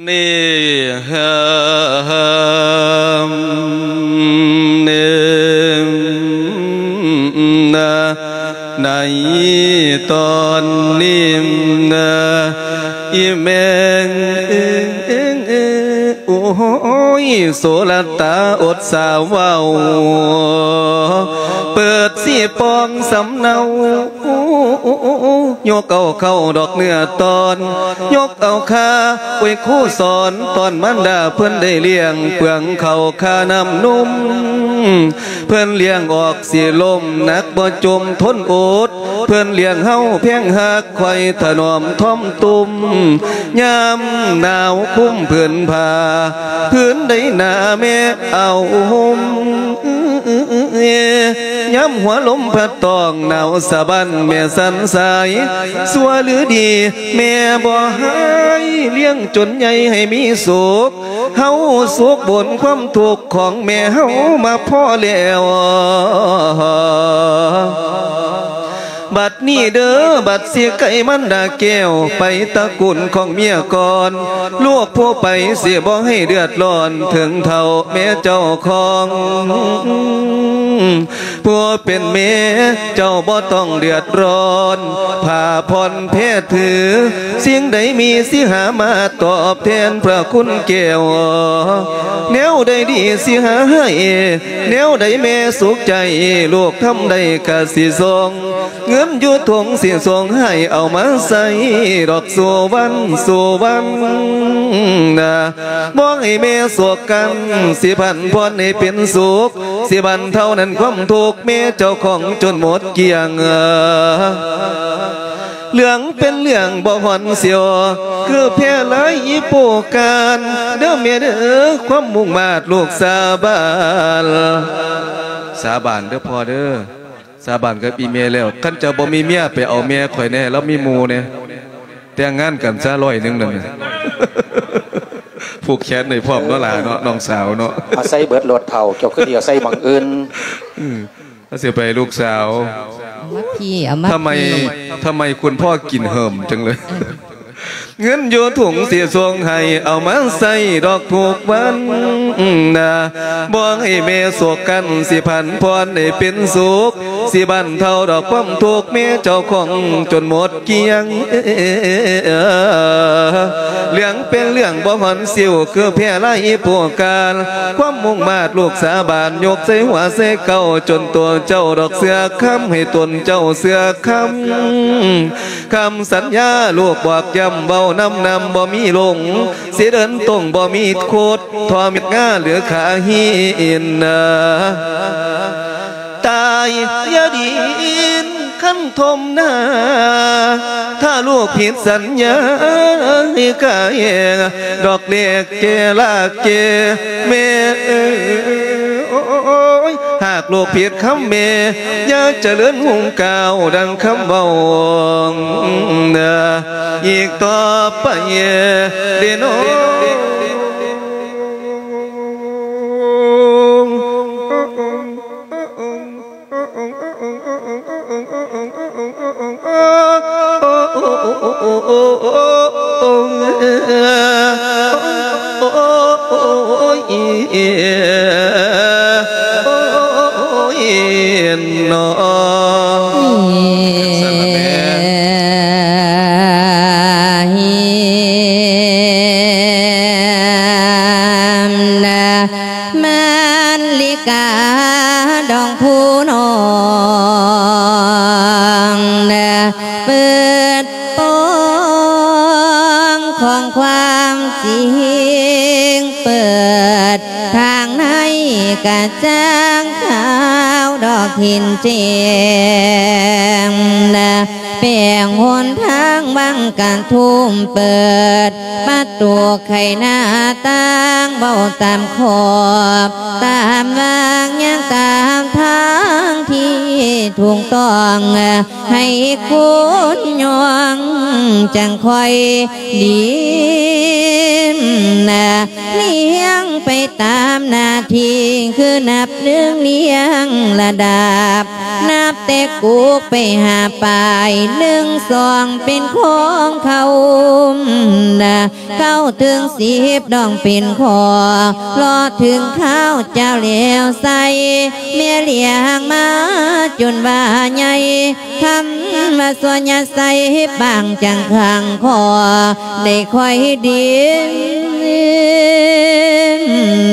ນີ້ ເອີ ເອີ ໃນຕອນນີ້ ອີ່ແມ່ ໂອ້ຍ ໂສລະຕາອົດສາເວົ້າ ເປີດສີປ່ອງສຳເນົາ ຍົກເອົາເຂົ້າດອກເນື້ອຕອນ ຍົກເອົາຄາ ໂອ້ຍ ຄູສອນຕອນມານດາເພິ່ນໄດ້ລ້ຽງ ເປືອງເຂົ້າຄານ້ຳນົມ ເພິ່ນລ້ຽງອອກສີລົມ ໜັກບໍ່ຈົມທົນອົດ ເພິ່ນລ້ຽງເຮົາແພງຮັກ ຄອຍຖະໜອມຖ່ອມຕຸ່ມ ຍາມໜາວຄຸມຜືນຜ້າ ຜືນໃດໜາແມ່ເອົາຫົ່ມ ຍາມຫົວລົມພັດຕ້ອງໜາວສະບັ້ນ ແມ່ສັນສາຍຊົ່ວຫຼືດີ ແມ່ບໍ່ຮ້າຍ ລ້ຽງຈົນໃຫຍ່ໃຫ້ມີສຸກ ເຮົາສຸກບຸນຄວາມທຸກຂອງແມ່ເຮົາມາພໍແລ້ວ. ບັດນີ້ເດີ ບັດຊິໄກມັນດາແກ້ວ ໄປຕະກຸນຂອງເມຍກ່ອນ ລູກຜູ້ໄປຊິບໍ່ໃຫ້ເດືອດຮ້ອນ ເຖິງເທົ່າແມ່ເຈົ້າຂອງ ຜູ້ເປັນແມ່ເຈົ້າບໍ່ຕ້ອງເດືອດຮ້ອນ ຜ້າຜ່ອນແພດຖື ສິ່ງໃດມີຊິຫາມາຕອບແທນພະຄຸນແກ້ວ ແນວໃດດີຊິຫາໃຫ້ ແນວໃດແມ່ສຸກໃຈ ລູກທຳໄດ້ກະຊິສົ່ງ ເງິນຢູ່ຖົງຊິສົ່ງໃຫ້ ເອົາມາໃຊ້ດອກສູ່ວັນສູ່ວັນນາ ບໍ່ໃຫ້ແມ່ໂສກກັນ ຊິພັນຜ່ອນໃຫ້ເປັນສຸກ ຊິບັນເທົານັ້ນຄວາມທຸກ ແມ່ເຈົ້າຂອງຈົນໝົດກ້ຽງ ເລື່ອງເປັນເລື່ອງບໍ່ຮ່ອນສຽວ ຄືແພລາຍອີໂປການ ເດີແມ່ເດີ ຄວາມມຸ່ງມາດລູກສາບານ ສາບານເດີພໍ່ເດີ ສາບານກັບອີ່ແມ່ແລ້ວ ຄັນເຈົ້າບໍ່ມີເມຍ ໄປເອົາແມ່ຂ້ອຍແດ່ ລາວມີໝູ່ແດ່ ແຕ່ງງານກັນຊະ ຮ້ອຍໜຶ່ງນັ້ນ ຜູກແຂນໃຫ້ພ້ອມເນາະຫຼ້າເນາະ ນ້ອງສາວເນາະ ອາໄສເບິດໂລດເຖົ້າ ເຈົ້າຄືຊິອາໄສໝ່ອງອື່ນ ອືມ ລາວຊິໄປລູກສາວ ເອົາມາພີ້ ເອົາມາ ທຳໄມ ພີ້ ທຳໄມຄຸນພໍ່ກິນເຫີມຈັ່ງເລີຍ ເອີ ເງິນຢູ່ຖົງຊິສົ່ງໃຫ້ ເອົາມາໃຊ້ດອກທຸກວັນນະ ບໍ່ໃຫ້ແມ່ໂສກກັນ ຊິຜັນຜ່ອນໃຫ້ເປັນສຸກ ຊິບັນເທົາດອກຄວາມທຸກ ແມ່ເຈົ້າຂອງຈົນໝົດ ກ່ຽງ ເຫຼືອງເປັນເລື່ອງບໍ່ຫອນຊິວ ຄືແພ້ລາຍຜູ້ການ ຄວາມມຸ່ງມາດລູກສາບານ ຍົກໃສ່ຫົວໃສ່ເກົ້າ ຈົນຕົວເຈົ້າດອກເຊື່ອຄຳ ໃຫ້ຕົນເຈົ້າເຊື່ອຄຳ ຄຳສັນຍາລູກບອກຢ້ຳ ເວົ້ານຳນຳບໍ່ມີຫຼົງ ຊິເດີນຕົງບໍ່ມີຄົດ ທໍ່ເມັດງາຫຼືຂາຫີນນາ ຕາຍຢ່າດິນຄັນຖົມນາ ຖ້າລູກຜິດສັນຍາໃຫ້ກາຍ ດອກເລັກແກ່ລາກແກ່ແມ່ເອີຍ ຫາກລູກຜິດຄຳແມ່ ຢ່າຈະເລີນຮຸ່ງກ້າວດັ່ງຄຳເວົ້ານາ ອີກຕໍ່ໄປເດໂນ. ມານລິກາດອງຜູ້ນ້ອງ ເປີດປ່ອງຂອງຄວາມຈິງ ເປີດທາງໃນກະຈ່າງຂາວດອກເຫັນແຈ້ງ ແປງຫົນທາງວັງກະທຸມ ເປີດປະຕູໄຂໜ້າຕ່າງ ເວົ້າຕາມຂອບຕາມວາງ ຍ່າງຕາມທາງທີ່ຖືກຕ້ອງ ໃຫ້ຄົນຍ່ອງຈັ່ງຄ່ອຍດີນ ລ້ຽງໄປຕາມໜ້າທີ່ ຄືນັບໜຶ່ງລ້ຽງລະດັບ ນັບແຕ່ກຸກໄປຫາປາຍ ໜຶ່ງສອງເປັນຂອງເຂົານະ ເກົ້າເຖິງສິບດອງເປັນຂໍ້ ເລາະເຖິງຄາວເຈົ້າແລ້ວໃສ່ ແມ່ລ້ຽງມາຈົນວ່າໃຫຍ່ ຄຳວ່າສ່ວນຍາໃສ່ປາງຈັງຂັງຄໍ ໄດ້ຄ່ອຍດີນ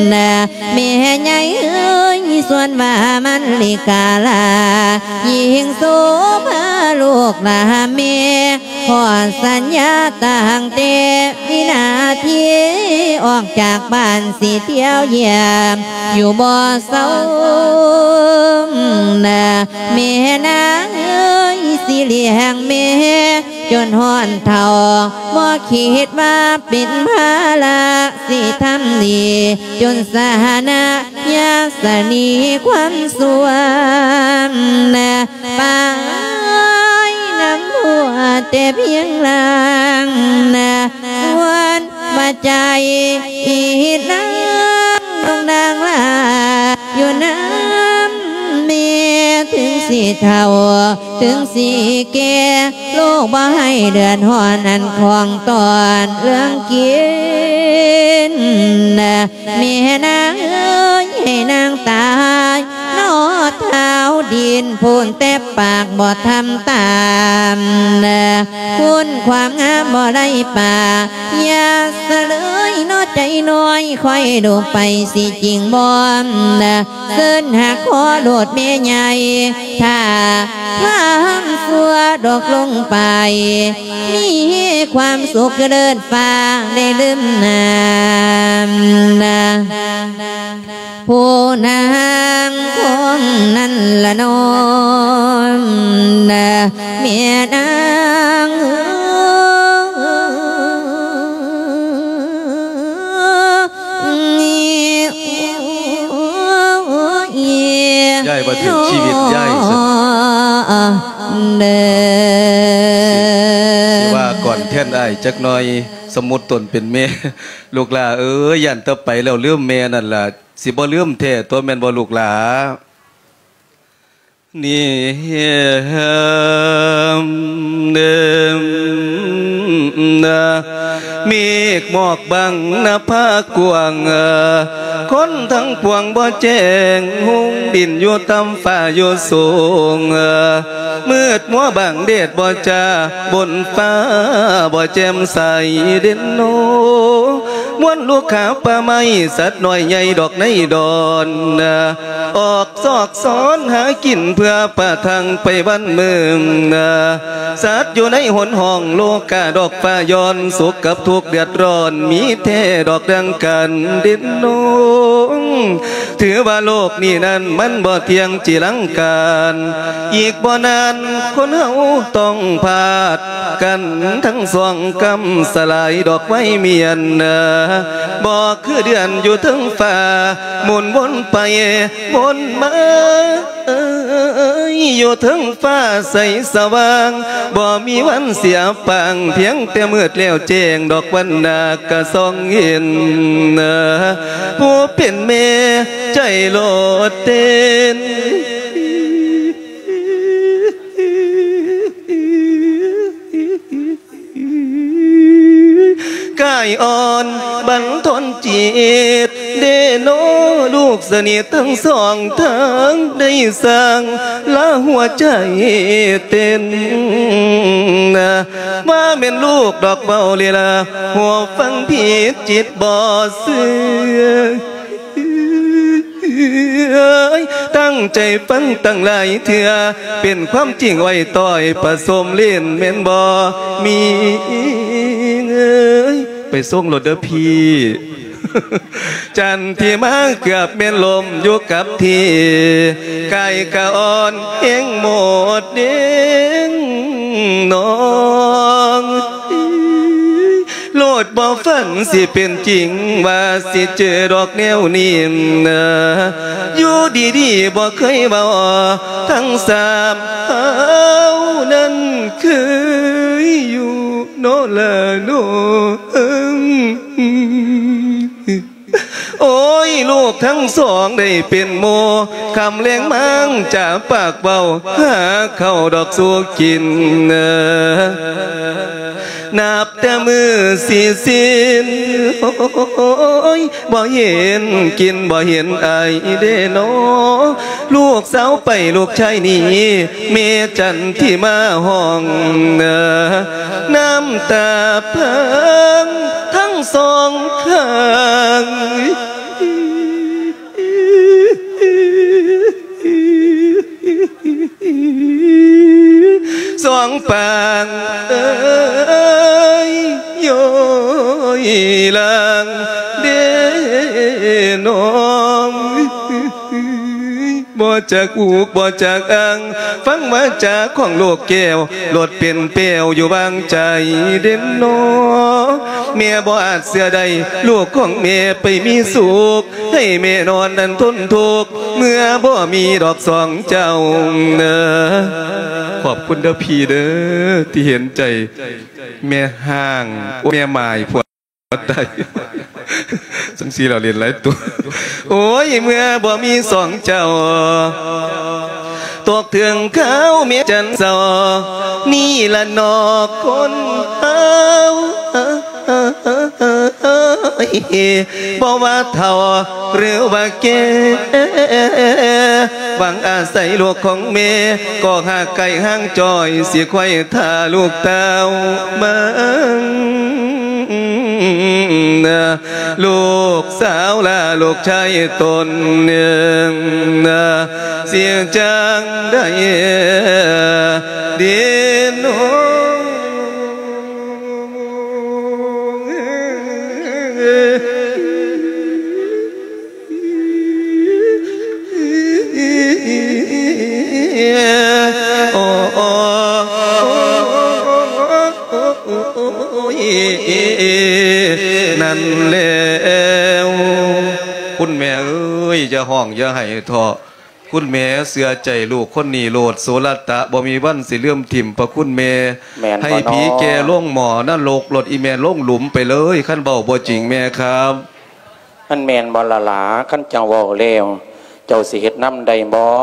ແມ່ໃຫຍ່ເອີຍ ສ່ວນວ່າມັນລິກາລາ ຍິ່ງໂສພາລູກຫຼານແມ່ ຂໍສັນຍາຕັ້ງແຕ່ວິນາທີ ອອກຈາກບ້ານຊິທ່ຽວຢ້ຽມ ຢູ່ບໍ່ເຊົານະ ແມ່ນາງເອີຍ ຊິລ້ຽງແມ່ຈົນຮອດເຖົ້າ ບໍ່ຄິດວ່າເປັນພາລະ ຊິທຳດີຈົນຊະນະ ຍາສະໜີຄວາມຊົ່ວນະ ປາຍນຳຫົວແຕ່ພຽງລ່າງນະ ສ່ວນວ່າໃຈອີ່ນາງດົງນາງລາ ຢູ່ນຳແມ່ເຖິງຊິເຖົ້າ ເຖິງຊິແກ່ ລູກບໍ່ໃຫ້ເດືອດຮ້ອນອັນຂອງຕ້ອນເລື່ອງກິນນະ ແມ່ນາງເອີຍ ໃຫ້ນາງຕາຍນອດເທົ້າດິນພຸ້ນ ແຕ່ປາກບໍ່ທຳຕາມນະ ຄຸນຄວາມງາມບໍ່ໄດ້ປາ ຢ່າສະເລີຍເນາະໃຈນ້ອຍ ຄອຍດູໄປຊິຈິງບໍ່ນະ ເຊີນຫາຂໍໂລດແມ່ໃຫຍ່ ຖ້າຄວາມຊົ່ວດອກລົງໄປ ມີຄວາມສຸກຄືເລີດຟ້າໄດ້ລືມນາມນະ ຜູ້ນາງຄົນນັ້ນລະນ້ອມນະ ແມ່ນາງເອີຍ ຍາຍວ່າຖືກຊີວິດຍາຍຊັ້ນ ເດີ ຊິ ຊິວ່າກ່ອນແທນອ້າຍຈັກໜ່ອຍ ສົມມຸດຕົນເປັນແມ່ ລູກຫຼ້າເອີຍ ຢ້ານແຕ່ໄປແລ້ວລືມແມ່ນັ້ນລະ ຊິບໍ່ລືມແທ້ຕົວະ ແມ່ນບໍ່ລູກຫຼ້າ? ນີ້ ເດີ ເມກໝອກບັງນະພາກວ້າງ, ຄົນທັງປວງບໍ່ແຈ້ງ, ຮຸ່ງດິນຢູ່ຕ່ຳຟ້າຢູ່ສູງ, ມືດມົວບາງແດດບໍ່ຈ້າ, ບົນຟ້າບໍ່ແຈ່ມໃສເດັ່ນໂນ. ມວນລູກຂາປ່າໄມ້, ສັດນ້ອຍໃຫຍ່ດອກໃນດອນ, ອອກຊອກຊອນຫາກິນເພື່ອປະທັງໄປວັນເມືອງ. ສັດຢູ່ໃນຫົນຫ້ອງໂລກາດອກຟ້າຍ້ອນ, ສຸກກັບທຸກເດືອດຮ້ອນມີແທ້ດອກດັ່ງກັນເດັ່ນໂນ. ຖືວ່າໂລກນີ້ນັ້ນມັນບໍ່ທ່ຽງຈີລັງການ, ອີກບໍ່ນານຄົນເຮົາຕ້ອງພາດ ກັນທັງສອງກຳສະຫຼາຍດອກໄມ້ມຽນ, ບໍ່ຄືເດືອນຢູ່ເທິງຟ້າ ໝູນວົນໄປວົນມາ ຢູ່ເທິງຟ້າໃສສະຫວ່າງ ບໍ່ມີວັນເສຍປາງ ພຽງແຕ່ມືດແລ້ວແຈ້ງ ດອກວັນໜ້າກະສ່ອງເຫັນ ຜູ້ເປັນແມ່ໃຈໂລດເຕັ້ນ. ກາຍອ່ອນບັນທົນຈິດ ເດໂນ ລູກສະໜິດທັງສອງທາງ ໄດ້ສັ່ງລາຫົວໃຈເຕັ້ນ ວ່າແມ່ນລູກດອກເວົ້າລີລາ ຫົວຟັງຜິດຈິດບໍ່ເຊື່ອ. ຕັ້ງໃຈຟັງຕັ້ງຫຼາຍເທື່ອ ເປັນຄວາມຈິງໄວ້ຕ້ອຍປະສົມຫຼິ້ນແມ່ນບໍ່ມີເອີຍ ໄປສົ່ງໂລດເດີພີ່. ຈັນທິມາເກືອບແມ່ນລົ້ມຢູ່ກັບທີ່ ກາຍກະອ່ອນແຮງໝົດເດ້ງນ້ອງ. ໂລດບໍ່ຝັນຊິເປັນຈິງ ວ່າຊິເຈີດອກແນວນີ້ນະ ຢູ່ດີໆບໍ່ເຄີຍເວົ້າ ທັງສາມເຮົານັ້ນເຄີຍຢູ່ເນາະລະເນາະ. ໂອ້ຍ ລູກທັງສອງໄດ້ເປັນໝູ່ ຄ່ຳແລງມາງຈາປາກເວົ້າ ຫາເຂົ້າດອກສູ່ກິນ ນັບແຕ່ມື້ຊິສິ້ນ ໂອ້ຍ ບໍ່ເຫັນກິນ ບໍ່ເຫັນໄອເດ້ເນາະ. ລູກສາວໄປ ລູກຊາຍໜີ ແມ່ຈັນທິມາຮ້ອງ ນ້ຳຕາພັງທັງສອງຂ້າງ ສອງປາງເອີຍ ໂຍຍຫຼັງເດ້ນ້ອງ. ບໍ່ຈັກອຸກບໍ່ຈັກອັ່ງ ຟັງວາຈາຂອງລູກແກ້ວ ໂລດເປັນແປ້ວຢູ່ວາງໃຈເດັ່ນໜໍ. ແມ່ບໍ່ອາດເຊື່ອໄດ້ ລູກຂອງແມ່ໄປມີສຸກ ໃຫ້ແມ່ນອນນັ້ນທົນທຸກ ເມື່ອບໍ່ມີດອກສອງເຈົ້າ. ຂອບຄຸນເດີພີ່ເດີ ທີ່ເຫັນໃຈແມ່ຮ້າງ ໂອ້ ແມ່ໝ້າຍພວກ ໄດ້ ຈັ່ງຊີ້ລະເຫຼັ້ນຫຼາຍຕົວ. ໂອ້ຍ ເມື່ອບໍ່ມີສອງເຈົ້າ ຕົກເຖິງຄາວແມ່ຈັນເສົ້າ ນີ້ລະເນາະຄົນເຮົາ ບໍ່ວ່າເຖົ້າຫຼືວ່າແກ່ ຫວັງອາໄສລູກຂອງແມ່ ກໍຫາກໄກຫ່າງຈ້ອຍ ຊິຄວາຍຖ້າລູກເຕົ້າມາ. ລູກສາວລາລູກຊາຍຕົນໜຶ່ງ ຊິຈັ່ງໃດດີເນາະ. ໂອ້ ນັ້ນແລ້ວ ຄຸນແມ່ເອີຍ ຢ່າຮ້ອງຢ່າໄຫ້ເທາະ ຄຸນແມ່ເຊື່ອໃຈລູກຄົນນີ້ໂລດ ໂສລະຕະ ບໍ່ມີວັນຊິລືມຖິ້ມພະຄຸນແມ່ ແມ່ນບໍ່ເນາະ? ໃຫ້ຜີແກ່ລົງໝໍ້ນະລົກໂລດ ອີແມ່ລົງຫຼຸມໄປເລີຍ ຄັນເວົ້າບໍ່ຈິງແມ່ຄັບ. ມັນແມ່ນບໍ່ລະຫຼາ? ຄັນເຈົ້າເວົ້າແລ້ວ ເຈົ້າຊິເຮັດນຳໄດ້ບໍ່?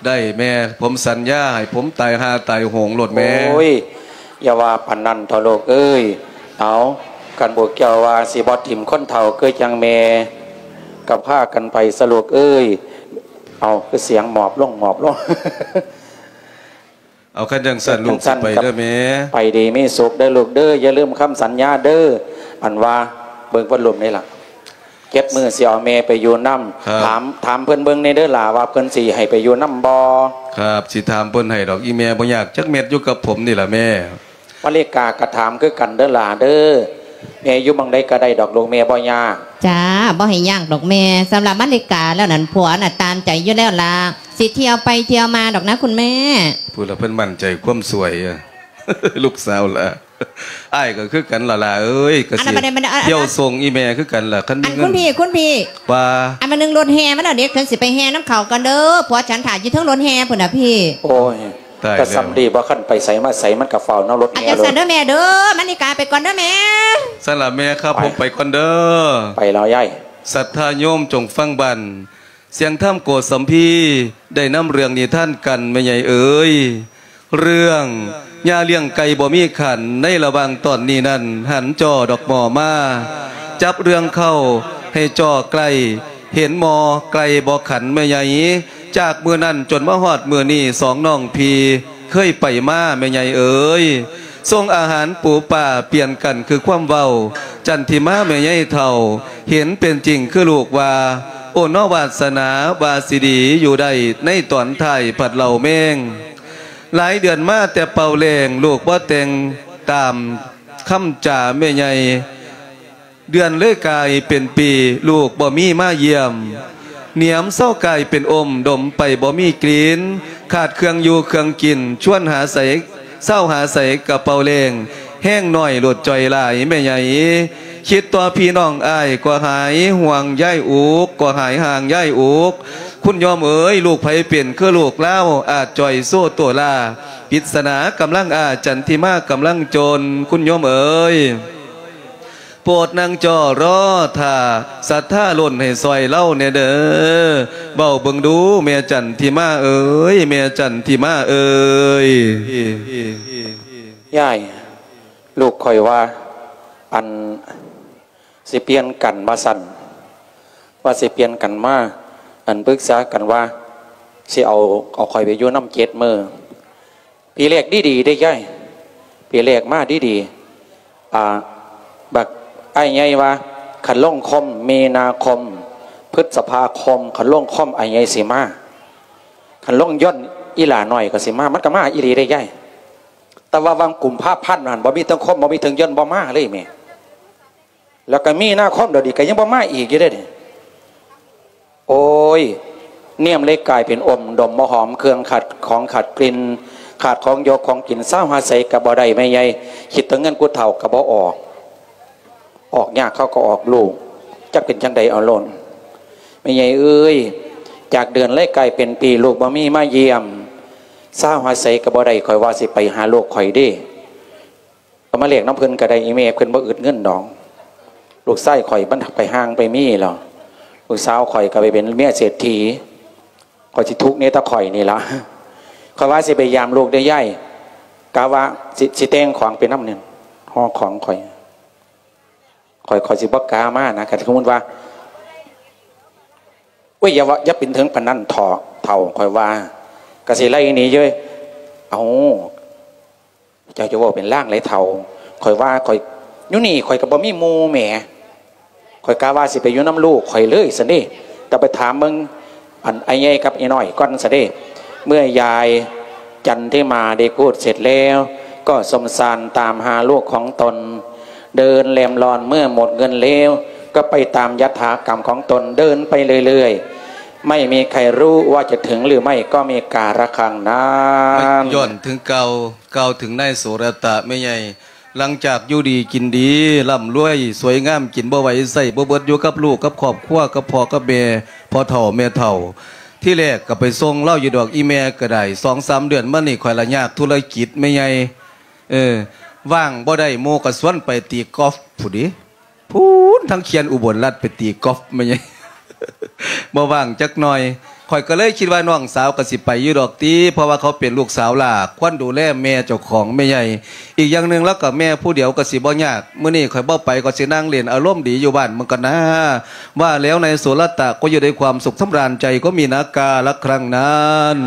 ໄດ້ແມ່ ຜົມສັນຍາ ໃຫ້ຜົມຕາຍຫ່າຕາຍໂຫງໂລດແມ່. ໂອ້ຍ ຢ່າວ່າປານນັ້ນເຖາະລູກເອີຍ. ເອົາ, ຄັນພວກເຈົ້າວ່າຊິບໍ່ຖິ້ມຄົນເຖົ້າຄືຈັ່ງແມ່, ກໍພາກັນໄປຊະລູກເອີຍ. ເອົາ, ຄືສຽງໝອບລົງໝອບລົງ. ເອົາ, ຄັນຈັ່ງຊັ້ນລູກ ໄປເດີແມ່. ໄປດີມີສຸກເດີລູກເດີ, ຢ່າລືມຄຳສັນຍາເດີ. ອັນວ່າເບິ່ງວັນລຸມນີ້ລະ, ເຈັດມື້ຊິເອົາແມ່ໄປຢູ່ນຳ. ຖາມ, ຖາມເພິ່ນເບິ່ງແດ່ເດີຫຼ້າ ວ່າເພິ່ນຊິໃຫ້ໄປຢູ່ນຳບໍ່? ຄັບ, ຊິຖາມເພິ່ນໃຫ້ດອກ. ອີ່ແມ່ບໍ່ຍາກຈັກເມັດ, ຢູ່ກັບຜົມນີ້ລະແມ່. ມາລິກາກໍຖາມຄືກັນເດີຫຼ້າເດີ. ແມ່ຢູ່ໝ່ອງໃດກໍໄດ້ດອກລູກ, ແມ່ບໍ່ຍາກ. ຈ້າ, ບໍ່ໃຫ້ຍາກດອກແມ່. ສຳລັບມາລິກາແລ້ວນັ້ນ, ຜົວນະຕາມໃຈຢູ່ແລ້ວລະ, ຊິທ່ຽວໄປທ່ຽວມາດອກນະຄຸນແມ່. ຜູ້ລະເພິ່ນໝັ້ນໃຈຄວາມສວຍ ລູກສາວລະ. ອ້າຍກໍຄືກັນລະຫຼ້າເອີຍ, ກໍຊິທ່ຽວສົ່ງອີ່ແມ່ຄືກັນລະ ຄັນມີເງິນ. ອັນຄຸນພີ່, ຄຸນພີ່, ວ່າ ອັນມາໜຶ່ງລົດແຫ່ມາແລ້ວເດ້, ເພິ່ນຊິໄປແຫ່ນຳເຂົາກ່ອນເດີ. ຜົວສັນຖ້າຢູ່ເທິງລົດແຫ່ພຸ້ນນະພີ່. ໂອ້ຍ, ໂອ້ຍ, ກໍສ່ຳດີ, ບໍ່ຄັນໄປໃສມາໃສ ມັນກໍເຝົ້ານຳລົດແຫ່. ຈັ່ງຊັ້ນເດີແມ່ເດີ, ມາລິກາໄປກ່ອນເດີແມ່. ຊັ້ນລະແມ່, ຄັບ ໄປ, ຜົມໄປກ່ອນເດີ. ໄປແລ້ວຍາຍ. ສັດທາໂຍມຈົ່ງຟັງບັ້ນ, ສຽງທຳໂກສຳພີ ໄດ້ນຳເລື່ອງນິທານກັນແມ່ໃຫຍ່ເອີຍ. ເລື່ອງຍ່າລ້ຽງໄກ່ບໍ່ມີຂັນ, ໃນລະຫວ່າງຕອນນີ້ນັ້ນ ຫັນຈໍ່ດອກໝໍ້ມາ ຈັບເລື່ອງເຄົ້າໃຫ້ຈໍ່ໄກ່, ເຫັນໝໍ້ໄກ່ບໍ່ຂັນແມ່ໃຫຍ່. ຈາກມື້ນັ້ນຈົນມາຮອດມື້ນີ້ ສອງນ້ອງພີ່ເຄີຍໄປມາແມ່ໃຫຍ່ເອີຍ. ສົ່ງອາຫານປູປາປ່ຽນກັນຄືຄວາມເວົ້າ. ຈັນທິມາແມ່ໃຫຍ່ເຖົ້າ ເຫັນເປັນຈິງຄືລູກວ່າ, ໂອເນາະ ວາດສະໜາວ່າຊິດີຢູ່ໄດ້, ໃນຕອນທ້າຍພັດເລົ່າແມງ. ຫຼາຍເດືອນມາແຕ່ເປົ່າແລ້ງ, ລູກບໍ່ແຕ່ງຕາມຄຳຈາແມ່ໃຫຍ່. ເດືອນເລີຍກາຍເປັນປີ, ລູກບໍ່ມີມາຢ້ຽມ. ໜຽມເຊົາກາຍເປັນອົມ, ດົມໄປບໍ່ມີກິ່ນ. ຂາດເຄື່ອງຢູ່ເຄື່ອງກິນ, ຊວນຫາໃສ ເຊົາຫາໃສກະເປົ່າແລ້ງ, ແຮງໜ້ອຍໂລດຈ່ອຍຫຼາຍແມ່ໃຫຍ່. ຄິດຕໍ່ພີ່ນ້ອງອ້າຍກໍຫາຍຫ່ວງຍາຍອຸກ, ກໍຫາຍຫ່າງຍາຍອຸກ. ຄຸນໂຍມເອີຍ, ລູກໃຜເປັນຄືລູກລາວ, ອາດຈ່ອຍໂຊໂຕລາ. ປິດສະໜາກຳລັງອາ, ຈັນທິມາກຳລັງຈົນ, ຄຸນໂຍມເອີຍ. ໂປດນັ່ງຈໍ່ລໍຖ້າ, ສັດທາລົ້ນໃຫ້ຊ່ອຍລາວແດ່ເດີ. ເວົ້າເບິ່ງດູ ແມ່ຈັນທິມາເອີຍ, ແມ່ຈັນທິມາເອີຍ. ຍາຍ, ລູກຂ້ອຍວ່າ ອັນ ຊິປ່ຽນກັນວ່າຊັ້ນ, ວ່າຊິປ່ຽນກັນມາ ອັນ ປຶກສາກັນວ່າ ຊິເອົາ, ເອົາຂ້ອຍໄປຢູ່ນຳເຈັດມື້. ປີແລກດີໆເດ້ຍາຍ, ປີແລກມາດີໆ. ອ່າ, ບັກອ້າຍໃຫຍ່ວ່າ ຄັນລົງຄົມ ມີນາຄົມ ພຶດສະພາຄົມ, ຄັນລົງຄົມ ອ້າຍໃຫຍ່ຊິມາ, ຄັນລົງຢົນ ອີ່ຫຼ້ານ້ອຍກໍຊິມາ. ມັນກໍມາອີ່ຫຼີເດ້ຍາຍ, ແຕ່ວ່າຫວ່າງກຸມພາພັນນັ້ນ ບໍ່ມີເທິງຄົມ ບໍ່ມີເທິງຢົນ ບໍ່ມາເລີຍແມ່. ແລ້ວກໍມີນາຄົມດຽວນີ້ກໍຍັງບໍ່ມາອີກຢູ່ເດ້ນີ້. ໂອ້ຍ, ນຽມເລີຍກາຍເປັນອົມດົມບໍ່ຫອມ, ເຄື່ອງຂາດຂອງຂາດກິ່ນ, ຂາດຂອງຢູ່ຂອງກິນ, ຊາວຫາໃສກໍບໍ່ໄດ້ແມ່ໃຫຍ່. ຄິດເຖິງເງິນຜູ້ເຖົ້າກໍບໍ່ອອກ, ອອກຍາກເຂົາກໍອອກລູກ, ຈັກເປັນຈັ່ງໃດເອົາໂລດ. ແມ່ໃຫຍ່ເອີຍ, ຈາກເດືອນເລີຍກາຍເປັນປີ, ລູກບໍ່ມີມາຢ້ຽມ, ຊາວຫາໃສກໍບໍ່ໄດ້, ຂ້ອຍວ່າຊິໄປຫາລູກຂ້ອຍເດ້. ກໍມາແລກນຳເພິ່ນກໍໄດ້, ອີແມ່ເພິ່ນບໍ່ອຶດເງິນດອກ. ລູກຊາຍຂ້ອຍມັນໄປຮ່າງໄປມີແລ້ວ, ລູກສາວຂ້ອຍກໍໄປເປັນເມຍເສດຖີ, ຂ້ອຍຊິທຸກນີ້ແຕ່ຂ້ອຍນີ້ລະ. ຂ້ອຍວ່າຊິໄປຢາມລູກເດ້ຍາຍ, ກະວ່າຊິ, ຊິແຕ່ງຂອງໄປນຳນີ້, ຫໍ່ຂອງຂ້ອຍ, ຂ້ອຍ, ຂ້ອຍຊິບໍ່ກ້າມານະ. ຄັນສົມມຸດວ່າ, ໂອ້ຍ, ຢ່າວ່າ, ຢ່າເປັນເຖິງປານນັ້ນເຖາະ, ເຖົ້າ, ຂ້ອຍວ່າ, ກະຊິໄລ່ໜີເລີຍ. ເອົາ, ເຈົ້າຈະເວົ້າເປັນລາງໃດເຖົ້າ? ຂ້ອຍວ່າຂ້ອຍຢູ່ນີ້ ຂ້ອຍກໍບໍ່ມີໝູ່ແໝ. ຂ້ອຍກະວ່າຊິໄປຢູ່ນຳລູກຂ້ອຍເລີຍຊັ້ນເດ. ກໍໄປຖາມເບິ່ງ ອັນ ອ້າຍໃຫຍ່ກັບອີ່ນ້ອຍກ່ອນຊັ້ນເດ. ເມື່ອຍາຍຈັນທິມາໄດ້ພູດເສັດແລ້ວ ກໍສົມສານຕາມຫາລູກຂອງຕົນ. ເດີນແລມລອນເມື່ອໝົດເງິນແລ້ວ ກໍໄປຕາມຍະຖາກຳຂອງຕົນ ເດີນໄປເລື້ອຍໆ. ໄມ່ມີໃຄຮູ້ວ່າຈະເຖິງຫຼືໄມ່ ກໍມີກາລະຄັ້ງນັ້ນ. ຍ້ອນເຖິງກ່າວ, ກ່າວເຖິງນາຍໂສລະຕະແມ່ໃຫຍ່ ຫຼັງຈາກຢູ່ດີກິນດີ ລ່ຳລວຍ ສວຍງາມ ກິນບໍ່ໄຫວ ໃຊ້ບໍ່ເບິດ ຢູ່ກັບລູກກັບຄອບຄົວ ກັບພໍ່ກັບແມ່ ພໍ່ເຖົ້າແມ່ເຖົ້າ. ທີແລກກໍໄປສົ່ງລາວຢູ່ດອກ ອີ່ແມ່ກໍໄດ້. ສອງສາມເດືອນມານີ້ ຂ້ອຍລະຍາກທຸລະກິດແມ່ໃຫຍ່. ເອີ, ວ່າງບໍ່ໄດ້ ໝູ່ກໍຊວນໄປຕີກອຟພຸ້ນເດ. ພຸ້ນ ທາງເຂື່ອນອຸບົນລັດໄປຕີກອຟແມ່ໃຫຍ່ ບໍ່ວ່າງຈັກໜ່ອຍ. ຂ້ອຍກໍເລີຍຄິດວ່ານ້ອງສາວກໍຊິໄປຢູ່ດອກຕິ ເພາະວ່າເຂົາເປັນລູກສາວຫຼ້າ ຄວນດູແລແມ່ເຈົ້າຂອງແມ່ໃຫຍ່. ອີກຢ່າງໜຶ່ງລາວກໍແມ່ຜູ້ດຽວກໍຊິບໍ່ຍາກ. ມື້ນີ້ຂ້ອຍບໍ່ໄປກໍຊິນັ່ງຫຼິ້ນອາລົມດີຢູ່ບ້ານເບິ່ງກ່ອນນາ. ว่าแล้วนายโสรตะก็อยู่ด้วยความสุขสำราญใจก็มีนาการละครั้งนั้น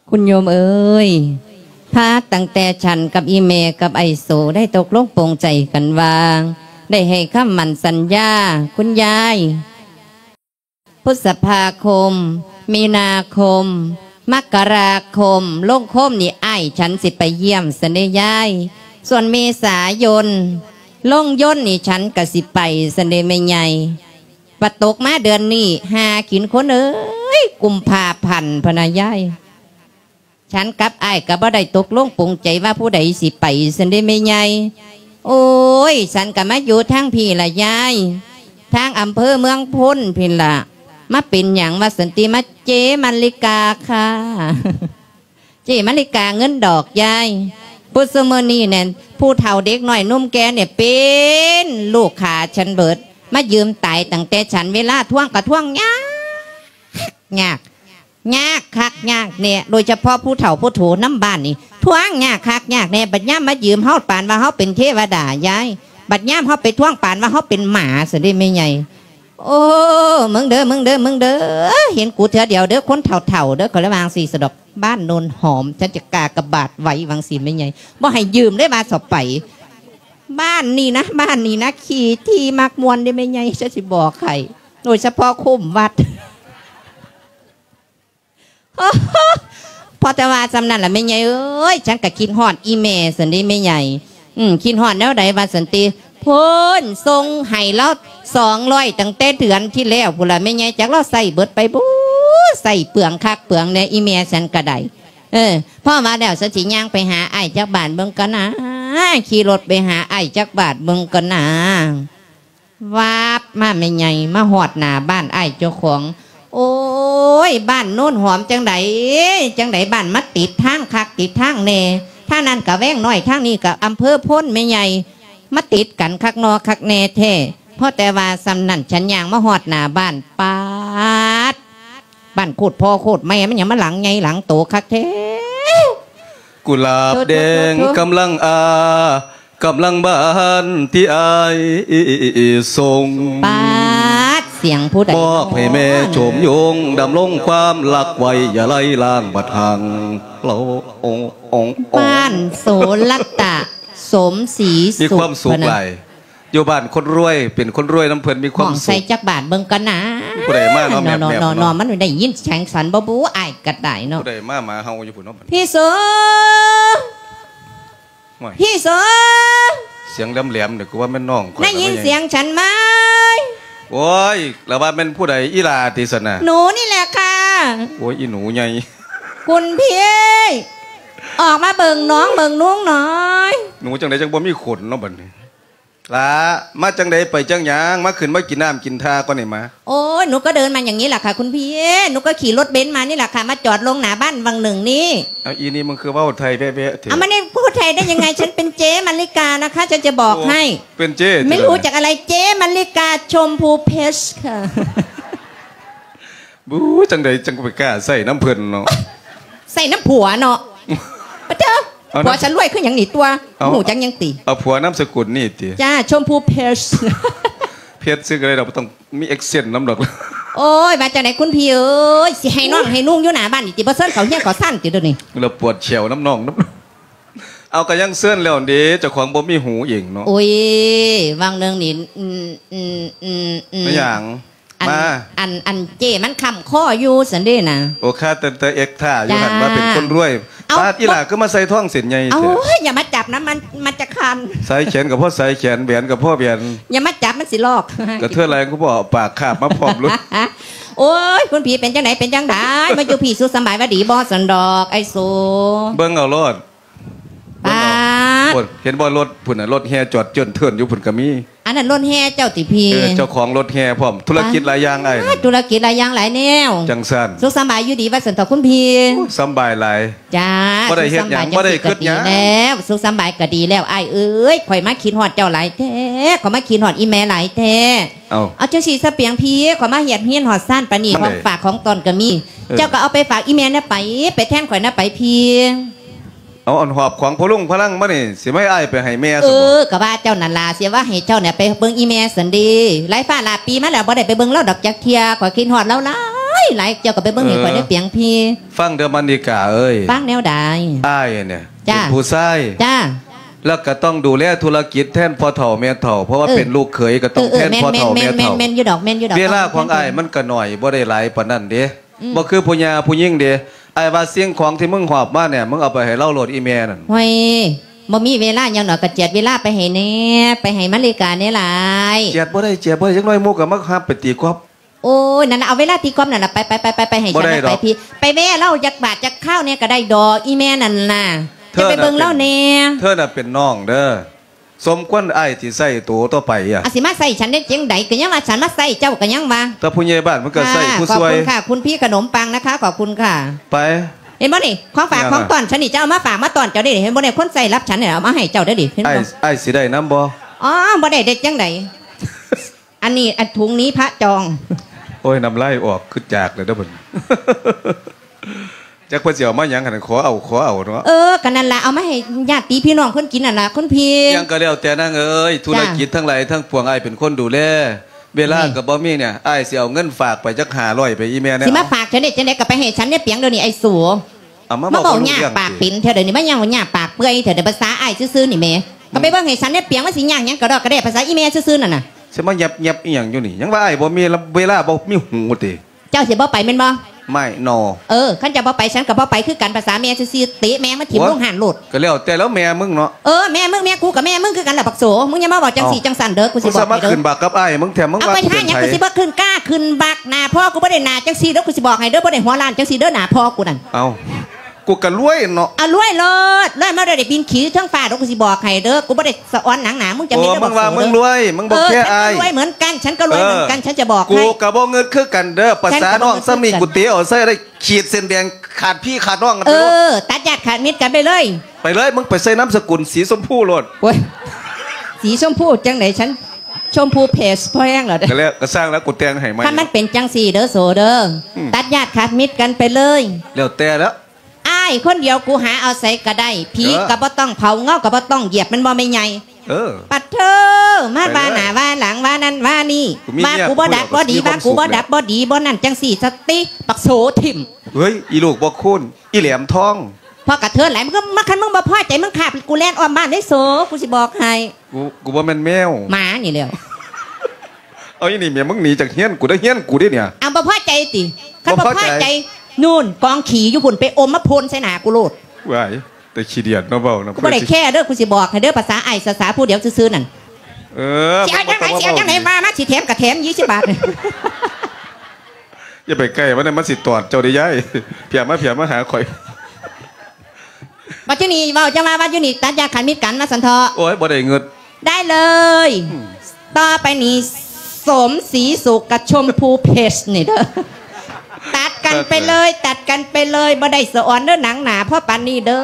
ຄຸນໂຍມເອີຍ, ພາຕັ້ງແຕ່ສັນກັບອີ່ແມ່ກັບໄອ້ໂສໄດ້ຕົກລົງປົງໃຈກັນວ່າ ໄດ້ໃຫ້ຄຳໝັ້ນສັນຍາ ຄຸນຍາຍ ພຶດສະພາຄົມ, ມີນາຄົມ, ມັກກະລາຄົມ, ລົງຄົມນີ້ອ້າຍສັນຊິໄປຢ້ຽມຊັ້ນເດ້ຍາຍ. ສ່ວນເມສາຍົນ, ລົງຍົນນີ້ສັນກະຊິໄປຊັ້ນເດ້ແມ່ໃຫຍ່. ວ່າຕົກມາເດືອນນີ້ ຫາກິນຄົນເອີຍ ກຸມພາພັນ ພະນະຍາຍ. ສັນກັບອ້າຍກໍບໍ່ໄດ້ຕົກລົງປົງໃຈວ່າຜູ້ໃດຊິໄປຊັ້ນເດ້ແມ່ໃຫຍ່. ໂອ້ຍ ສັນກໍມາຢູ່ທາງພີ້ລະຍາຍ, ທາງອຳເພີເມືອງພົນພີ້ລະ. ມາເປັນຫຍັງວ່າຊັ້ນຕິ ມາເຈມາລິກາຄ່າ ເຈມາລິກາເງິນດອກຍາຍ. ຜູ້ຊຸມື້ນີ້ແນ່ນ ຜູ້ເຖົ້າເດັກນ້ອຍໜຸ່ມແກ່ນີ້ເປັນລູກຄ້າສັນເບີດ ມາຢືມຕາຍຕັ້ງແຕ່ສັນ ເວລາທວງກໍທວງຍາກ ຍາກ ຍາກຄັກຍາກແນ່ ໂດຍສະເພາະຜູ້ເຖົ້າຜູ້ໂຖນຳບ້ານນີ້ ທວງຍາກຄັກຍາກແນ່. ບັດຍາມມາຢືມເຮົາປານວ່າເຮົາເປັນເທວະດາຍາຍ, ບັດຍາມເຮົາໄປທວງປານວ່າເຮົາເປັນໝາຊັ້ນເດ້ແມ່ໃຫຍ່. ໂອ້ ມຶງເດີ ມຶງເດີ ມຶງເດີ ເຫັນກູເທື່ອດຽວເດີ ຄົນເຖົ້າໆເດີ ຂ້ອຍລະວ່າຈັ່ງຊີ້ສະດອກ. ບ້ານໂນນຫອມ ສັນຈະກາກະບາດໄວ້ ວ່າຈັ່ງຊີ້ແມ່ໃຫຍ່ ບໍ່ໃຫ້ຢືມເລີຍວ່າຊອບໄປ. ບ້ານນີ້ນະ ບ້ານນີ້ນະ ຂີ້ຖີ່ມັກມ່ວນເດ້ແມ່ໃຫຍ່ ຈະຊິບອກໃຫ້ ໂດຍສະເພາະຄຸ້ມວັດ. ພໍແຕ່ວ່າສ່ຳນັ້ນລະແມ່ໃຫຍ່ເອີຍ, ສັນກະຄິດຮອດອີ່ແມ່ຊັ້ນເດ້ແມ່ໃຫຍ່. ອືມ ຄິດຮອດແນວໃດວ່າຊັ້ນຕິ ພຸ້ນ ສົ່ງໃຫ້ລາວສອງຮ້ອຍຕັ້ງແຕ່ເດືອນທີ່ແລ້ວພຸ້ນລະແມ່ໃຫຍ່, ຈັກລາວໃຊ້ເບິດໄປບໍ່ ໃຊ້ເປືອງຄັກເປືອງແນ່ ອີ່ແມ່ສັນກະໄດ້. ເອີ ພໍວ່າແລ້ວສັນຊິຍ່າງໄປຫາອ້າຍຈັກບາດເບິ່ງກ່ອນນາ, ຂີ່ລົດໄປຫາອ້າຍຈັກບາດເບິ່ງກ່ອນນາ. ວາບມາແມ່ໃຫຍ່ ມາຮອດໜ້າບ້ານອ້າຍເຈົ້າຂອງ. ໂອ້ຍ ບ້ານໂນນຫອມຈັ່ງໃດ ຈັ່ງໃດ ບ້ານມາຕິດທາງຄັກຕິດທາງແນ່, ທາງນັ້ນກະແວງນ້ອຍ ທາງນີ້ກະອຳເພີໂພນແມ່ໃຫຍ່ ມາຕິດກັນຄັກນໍຄັກແນ່ແທ້. ພໍແຕ່ວ່າສ່ຳນັ້ນ ສັນຍ່າງມາຮອດໜ້າບ້ານ ປາດ ບ້ານໂຄດພໍ່ໂຄດແມ່ມັນຫຍັງມາຫຼັງໃຫຍ່ຫຼັງໂຕຄັກແທ້. กุหลาบแดงกำลังอา กำลังบานที่อ้ายส่ง ปาด เสียงผู้ใด มอบให้แม่โฉมยง ดำรงความรักไว้ อย่าไร้ลางบัดห่างเรา บ้านโสรตะ สมศรีสุข มีความสุขหลาย อยู่บ้านคนรวย เป็นคนรวยนำเพิ่น มีความสุข ใส่จักบาทเบิ่งก่อนนะ ผู้ใดมาเนาะ แมบๆ เนาะ มันได้ยินเสียงสันบ่บู้ อ้ายก็ได้เนาะ ผู้ใดมา หมาเห่าอยู่พุ้นเนาะ พี่โส โอ้ย พี่โส เสียงแหลมๆ นี่ กูว่าแม่นน้องข้อย ได้ยินเสียงฉันไหม โอ้ย แล้วว่าแม่นผู้ใด อีหล่าติซั่นน่ะ หนูนี่แหละค่ะ โอ้ย อีหนูใหญ่ คุณพี่ ออกมาเบิ่งน้องเบิ่งนุ้งหน่อย หนูจั่งใดจั่งบ่มีขนเนาะบัดนี้ หล่า มาจั่งใดไปจั่งหยัง มาขึ้นมากินน้ำกินท่าก่อนนี่มา โอ้ย หนูก็เดินมาอย่างนี้แหละค่ะคุณพี่ หนูก็ขี่รถเบนซ์มานี่แหละค่ะ มาจอดลงหน้าบ้านวังหนึ่งนี่ เอาอีนี่มึงคือเว้าไทยแบ๊ะๆ เถอะ เอามานี่พูดไทยได้ยังไง ฉันเป็นเจ๊มะลิกานะคะ ฉันจะบอกให้ เป็นเจ๊ ไม่รู้จักอะไร เจ๊มะลิกาชมพูเพชรค่ะ บู๊ จั่งใดจั่งไปกล้าใส่นำเพิ่นเนาะ ใส่นำผัวเนาะ ปะเจ้อ เอานะ ผัวฉันรวยคือหยังนี่ตั๊ว เอา ฮู้จักหยังติ เอาผัวนามสกุลนี่ติ จ้า ชมพูเพชร เพชรซื่อก็ได้ดอก บ่ต้องมีแอ็กเซนต์นำดอก โอ้ย ว่าจั่งใดคุณพี่เอ้ย สิให้น้องให้นุ่งอยู่หน้าบ้านนี่ติ บ่เชิญเขาเฮียนเขาซ่านติเดี๋ยวนี้ แล้วปวดแข้วนำน้องนำ เอาก็ยังเชิญแล้วเด้ เจ้าของบ่มีหูเองเนาะ โอ้ย วังหนึ่งนี่ อืม อืม อืม อืม ไม่หยัง อัน มา อัน อันเจ้มันค้ำคออยู่ซั่นเด้นะ โอ้ ข้าแต่ แต่เอ็กท่าอยู่หั่น จ้า ว่าเป็นคนรวย เอ้า ปาด อีหล่าคือมาใส่ท้องเส้นใหญ่ เอ้า แท้ อย่ามาจับนะ มัน มันจะคัน สายแขนก็พอสายแขน แหวนก็พอแหวน อย่ามาจับ มันสิลอก กระเทือนอะไรก็บ่เอาปากคาบมาพร้อมเลย โอ้ย คุณพี่เป็นจั่งใด เป็นจั่งใด มาอยู่พี่สุขสำบายว่าดีบ่ซั่นดอก ไอ้โส เบิ่งเอาโลด ปาด เบิ่งเอา โอ้ย เห็นบ่รถพุ้นน่ะ รถแห่จอดเจิ่นเทิ่นอยู่พุ้นก็มี ນັ້ນລົດແຫ່ເຈົ້າຕິພີ່? ເອີ ເຈົ້າຂອງລົດແຫ່ພ້ອມ ທຸລະກິດຫຼາຍຢ່າງອ້າຍ ທຸລະກິດຫຼາຍຢ່າງຫຼາຍແນວ. ຈັ່ງຊັ້ນ ສຸກສຳບາຍຢູ່ດີວ່າຊັ້ນເຖາະຄຸນພີ່? ໂອ້ຍ ສຳບາຍຫຼາຍ. ຈ້າ ບໍ່ໄດ້ເຮັດຫຍັງ ບໍ່ໄດ້ຄຶດຫຍັງແລ້ວ. ສຸກສຳບາຍກໍດີແລ້ວອ້າຍເອີຍ ຂ້ອຍມາຄິດຮອດເຈົ້າຫຼາຍແທ້ ຂ້ອຍມາຄິດຮອດອີ່ແມ່ຫຼາຍແທ້. ເອົາ ເອົາຈັ່ງຊີ້ຊະປຽງພີ່ ຂ້ອຍມາຮຽກຮຽນຮອດຊານປານນີ້ ຂອງຝາກຂອງຕ້ອນກໍມີ. ເອີ ເຈົ້າກໍເອົາໄປຝາກອີ່ແມ່ແດ່ໄປ ໄປແທນຂ້ອຍນະໄປພີ່. ເອົາອັນຫອບຂອງພໍ່ລຸງພະລັງມານີ້ ຊິມາໃຫ້ອ້າຍໄປໃຫ້ແມ່ຊັ້ນບໍ? ເອີ ກໍວ່າເຈົ້ານັ້ນລະ ຊິວ່າໃຫ້ເຈົ້ານີ້ໄປເບິ່ງອີ່ແມ່ຊັ້ນເດ. ຫຼາຍຟ້າຫຼາຍປີມາແລ້ວບໍ່ໄດ້ໄປເບິ່ງລາວດອກຈັກເທື່ອ ຂ້ອຍຄິດຮອດລາວຫຼາຍໆ. ເຈົ້າກໍໄປເບິ່ງໃຫ້ຂ້ອຍເດີປຽງພີ່. ຟັງເດີມານິກາເອີຍ. ຟັງແນວໃດ? ອ້າຍນີ້ເປັນຜູ້ຊາຍ ຈ້າ ແລ້ວກໍຕ້ອງດູແລທຸລະກິດແທນພໍ່ເຖົ້າແມ່ເຖົ້າ ເພາະວ່າເປັນລູກເຂີຍກໍຕ້ອງແທນພໍ່ເຖົ້າແມ່ເຖົ້າ. ແມ່ນໆໆໆ ຢູ່ດອກ ແມ່ນຢູ່ດອກ. ເວລາຂອງອ້າຍມັນກໍໜ້ອຍ ບໍ່ໄດ້ຫຼາຍປານນັ້ນເດ້. ອືມ ບໍ່ຄືຜູ້ຍ່າຜູ້ຍິງເດ້. ອ້າຍວ່າສິ່ງຂອງທີ່ມຶງຫອບມານີ້ ມຶງເອົາໄປໃຫ້ລາວໂລດ ອີ່ແມ່ນັ້ນ. ໂອ້ຍ ບໍ່ມີເວລາຫຍັງດອກ ກະຈຽດເວລາໄປໃຫ້ແດ່ ໄປໃຫ້ມາລິກາແດ່ຫຼາຍ. ຈຽດບໍ່ໄດ້ ຈຽດບໍ່ໄດ້ ຈັກໜ້ອຍໝູ່ກໍມາຮັບໄປຕີກອບ. ໂອ້ຍ ນັ້ນລະ ເອົາເວລາຕີກອບນັ້ນລະ ໄປ ໄປ ໄປ ໄປໃຫ້ ບໍ່ໄດ້ດອກ ໄປພີ່ ໄປແວ່ລາວຈັກບາດຈັກຄາວແດ່ກໍໄດ້ດອກ ອີ່ແມ່ນັ້ນນະ. ເຈົ້າໄປເບິ່ງລາວແດ່. ເທີນະເປັນນ້ອງເດີ ສົມຄວນອ້າຍຊິໃຊ້ໂຕຕໍ່ໄປອະ. ອາ ຊິມາໃຊ້ສັນໄດ້ຈັ່ງໃດ? ກໍຍັງວ່າສັນມາໃຊ້ເຈົ້າ ກໍຍັງວ່າ ແຕ່ຜູ້ໃຫຍ່ບ້ານມັນກໍໃຊ້ຜູ້ຊ່ວຍ. ຂອບຄຸນຄ່ະ ຄຸນພີ່ຂະໜົມປັງນະຄະ ຂອບຄຸນຄ່ະ. ໄປ ເຫັນບໍ່ນີ້ ຂອງຝາກຂອງຕ້ອນ ສັນນີ້ຈະເອົາມາຝາກມາຕ້ອນເຈົ້າເດ້ ເຫັນບໍ່ນີ້ ຄົນໃຊ້ລັບສັນນີ້ ເອົາມາໃຫ້ເຈົ້າເດ້ນີ້ ເຫັນບໍ່? ອ້າຍຊິໄດ້ນຳບໍ່? ອໍ ບໍ່ໄດ້ ໄດ້ຈັ່ງໃດ? ອັນນີ້ ອັນ ທຸງນີ້ພະຈອງ. ໂອ້ຍ ນ້ຳລາຍອອກຄືຈາກເລີຍເດີເພິ່ນ. ຈັກເພິ່ນຊິເອົາມາຫຍັງຫັ້ນ ຂໍເອົາ ຂໍເອົາເນາະ. ເອີ ກໍນັ້ນລະ ເອົາມາໃຫ້ຍາດຕິພີ່ນ້ອງເພິ່ນກິນຫັ້ນລະ ຄຸນພີ່. ຫຍັງກໍແລ້ວແຕ່ນາງເອີຍ ທຸລະກິດທັງຫຼາຍທັງປວງ ອ້າຍເປັນຄົນດູແລ ເວລາກໍບໍ່ມີ. ນີ້ ອ້າຍຊິເອົາເງິນຝາກໄປຈັກຫ້າຮ້ອຍ ໄປອີ່ແມ່ແດ່. ຊິມາຝາກຈັ່ງໃດ ຈັ່ງໃດກໍໄປໃຫ້ສັນຍາຍປຽງດຽວນີ້ ໄອ້ໂສ. ມາເວົ້າຍາກປາກເປັນແທ້ດຽວນີ້ ມາຫຍັງວ່າຍາກປາກເປື່ອຍແທ້ດຽວ ພາສາອ້າຍຊື່ໆນີ້ແໝ. ກໍໄປເບິ່ງໃຫ້ສັນຍາຍປຽງ ມັນຊິຍາກຫຍັງກະດອກກະແດ່ ພາສາອີ່ແມ່ຊື່ໆນັ້ນນະ. ຊິມາແຍບໆອີ່ຫຍັງຢູ່ນີ້ ຍັງວ່າອ້າຍບໍ່ມີເວລາ ບໍ່ມີຫູຕິ. ເຈົ້າຊິບໍ່ໄປແມ່ນບໍ່? ໄມ່ ນໍ. ເອີ ຄັນເຈົ້າບໍ່ໄປ ສັນກໍບໍ່ໄປຄືກັນ ພາສາແມ່ຊື່ໆ ເຕະແມ່ງມາຖິ້ມລົງຫັ້ນໂລດ. ກໍແລ້ວແຕ່ແລ້ວແມ່ມຶງເນາະ. ເອີ ແມ່ມຶງແມ່ກູກໍແມ່ມຶງຄືກັນລະບັກໂສ. ມຶງຢ່າມາເວົ້າຈັ່ງຊີ້ຈັ່ງຊັ້ນເດີ ກູຊິບອກໃຫ້ເດີ. ກູສາມາດຂຶ້ນບັກກັບອ້າຍມຶງແທ້ ມຶງວ່າຊິເປັນໃຜ? ກູຊິບໍ່ຂຶ້ນກ້າຂຶ້ນບັກໜ້າພໍ່ກູບໍ່ໄດ້ໜ້າຈັ່ງຊີ້ເດີ ກູຊິບອກໃຫ້ເດີ ບໍ່ໄດ້ຫົວລ້ານຈັ່ງຊີ້ເດີ ໜ້າພໍ່ກູນັ້ນ. ເອົ້າ ກູກໍລວຍເນາະ. ເອົາລວຍໂລດ ລວຍມາໄດ້ບິນຂີ່ເທິງຟ້າເດີ ກູຊິບອກໃຫ້ເດີ ກູບໍ່ໄດ້ສະອອນໜັງໜ້າມຶງຈັ່ງຊີ້ເດີ ບັກໂສເດີ. ມຶງວ່າມຶງລວຍ ມຶງບໍ່ແຄອ້າຍ. ເອີ ລວຍເໝືອນກັນ ສັນກໍລວຍເໝືອນກັນ ສັນຈະບອກໃຫ້. ກູກໍບໍ່ເງິດຄືກັນເດີ ພາສານ້ອງສ່ຳນີ້ ກູເຕະເອົາໃສ່ໄດ້ ຂີດເສັ້ນແບ່ງຂາດພີ່ຂາດນ້ອງກັນໄປໂລດ. ເອີ ຕັດຍາດຂາດມິດກັນໄປເລີຍ ໄປເລີຍ ມຶງໄປໃສ່ນາມສະກຸນສີຊົມພູໂລດ. ໂອ້ຍ ສີຊົມພູຈັ່ງໃດ ສັນຊົມພູເພສພໍແຮງແລ້ວເດີ. ກໍແລ້ວ ກໍຊ່າງແລ້ວ ກູແຕ່ງໃຫ້ໃໝ່. ຄັນມັນເປັນຈັ່ງຊີ້ເດີໂສເດີ ຕັດຍາດຂາດມິດກັນໄປເລີຍ ແລ້ວແຕ່ແລ້ວ. ອ້າຍຄົນດຽວ ກູຫາເອົາໃສກໍໄດ້ ຜີກໍບໍ່ຕ້ອງເຜົາ ເງົາກໍບໍ່ຕ້ອງຢຽບ ແມ່ນບໍ່ແມ່ໃຫຍ່? ເອີ ປະເທີ ມາວ່າໜ້າວ່າຫຼັງ ວ່ານັ້ນວ່ານີ້ ວ່າກູບໍ່ດັບບໍ່ດີ ວ່າກູບໍ່ດັບບໍ່ດີ ບໍ່ນັ້ນຈັ່ງຊີ້ ສະຕິ ບັກໂສຖິ້ມ. ເຮີ້ຍ ອີລູກບໍ່ຄູນ ອີແຫຼມທອງ ພໍກະເທີນຫຼາຍ ມຶງມາ ຄັນມຶງບໍ່ພໍໃຈ ມຶງຂ້າກູແລ່ນອ້ອມບ້ານເລີຍໂສ ກູຊິບອກໃຫ້. ກູ ກູບໍ່ແມ່ນແມວ ໝານີ້ແຫຼ້ວ. ເອົາ ອີນີ້ແມ່ ມຶງໜີຈາກເຮືອນກູເດີ ເຮືອນກູເດ້ນີ້. ເອົາ ບໍ່ພໍໃຈຕິ? ຄັນບໍ່ພໍໃຈ ນູ້ນ ກອງຂີ້ຢູ່ພຸ້ນ ໄປອົມມາໂພນໃສ່ໜ້າກູໂລດ. ວ້າຍ ແຕ່ຂີ້ດຽດເນາະ ເວົ້ານຳ. ກູບໍ່ໄດ້ແຄເດີ ກູຊິບອກໃຫ້ເດີ ພາສາອ້າຍສາໆ ຜູ້ດຽວຊື່ໆນັ້ນ. ເອີ ຊິເອົາຈັ່ງໃດ ຊິເອົາຈັ່ງໃດ ວ່າມາ ຊິແຖມກໍແຖມ ຊາວບາດ. ຢ່າໄປໃກ້ມັນເດີ ມັນຊິຕອດເຈົ້າເດ້ຍາຍ. ພຽມາ ພຽມາຫາຂ້ອຍ. ບັດຢູ່ນີ້ເວົ້າຈັ່ງວ່າ ບັດຢູ່ນີ້ຕັດຍາດຂາດມິດກັນວ່າຊັ້ນເຖາະ. ໂອ້ຍ ບໍ່ໄດ້ເງິດ. ໄດ້ເລີຍ ອືມ ຕໍ່ໄປນີ້ ສົມສີສຸກກັບຊົມພູເພສນີ້ເດີ ຕັດກັນໄປເລີຍ ຕັດກັນໄປເລີຍ ບໍ່ໄດ້ສະອອນເດີ ໜັງໜ້າພໍປານນີ້ເດີ.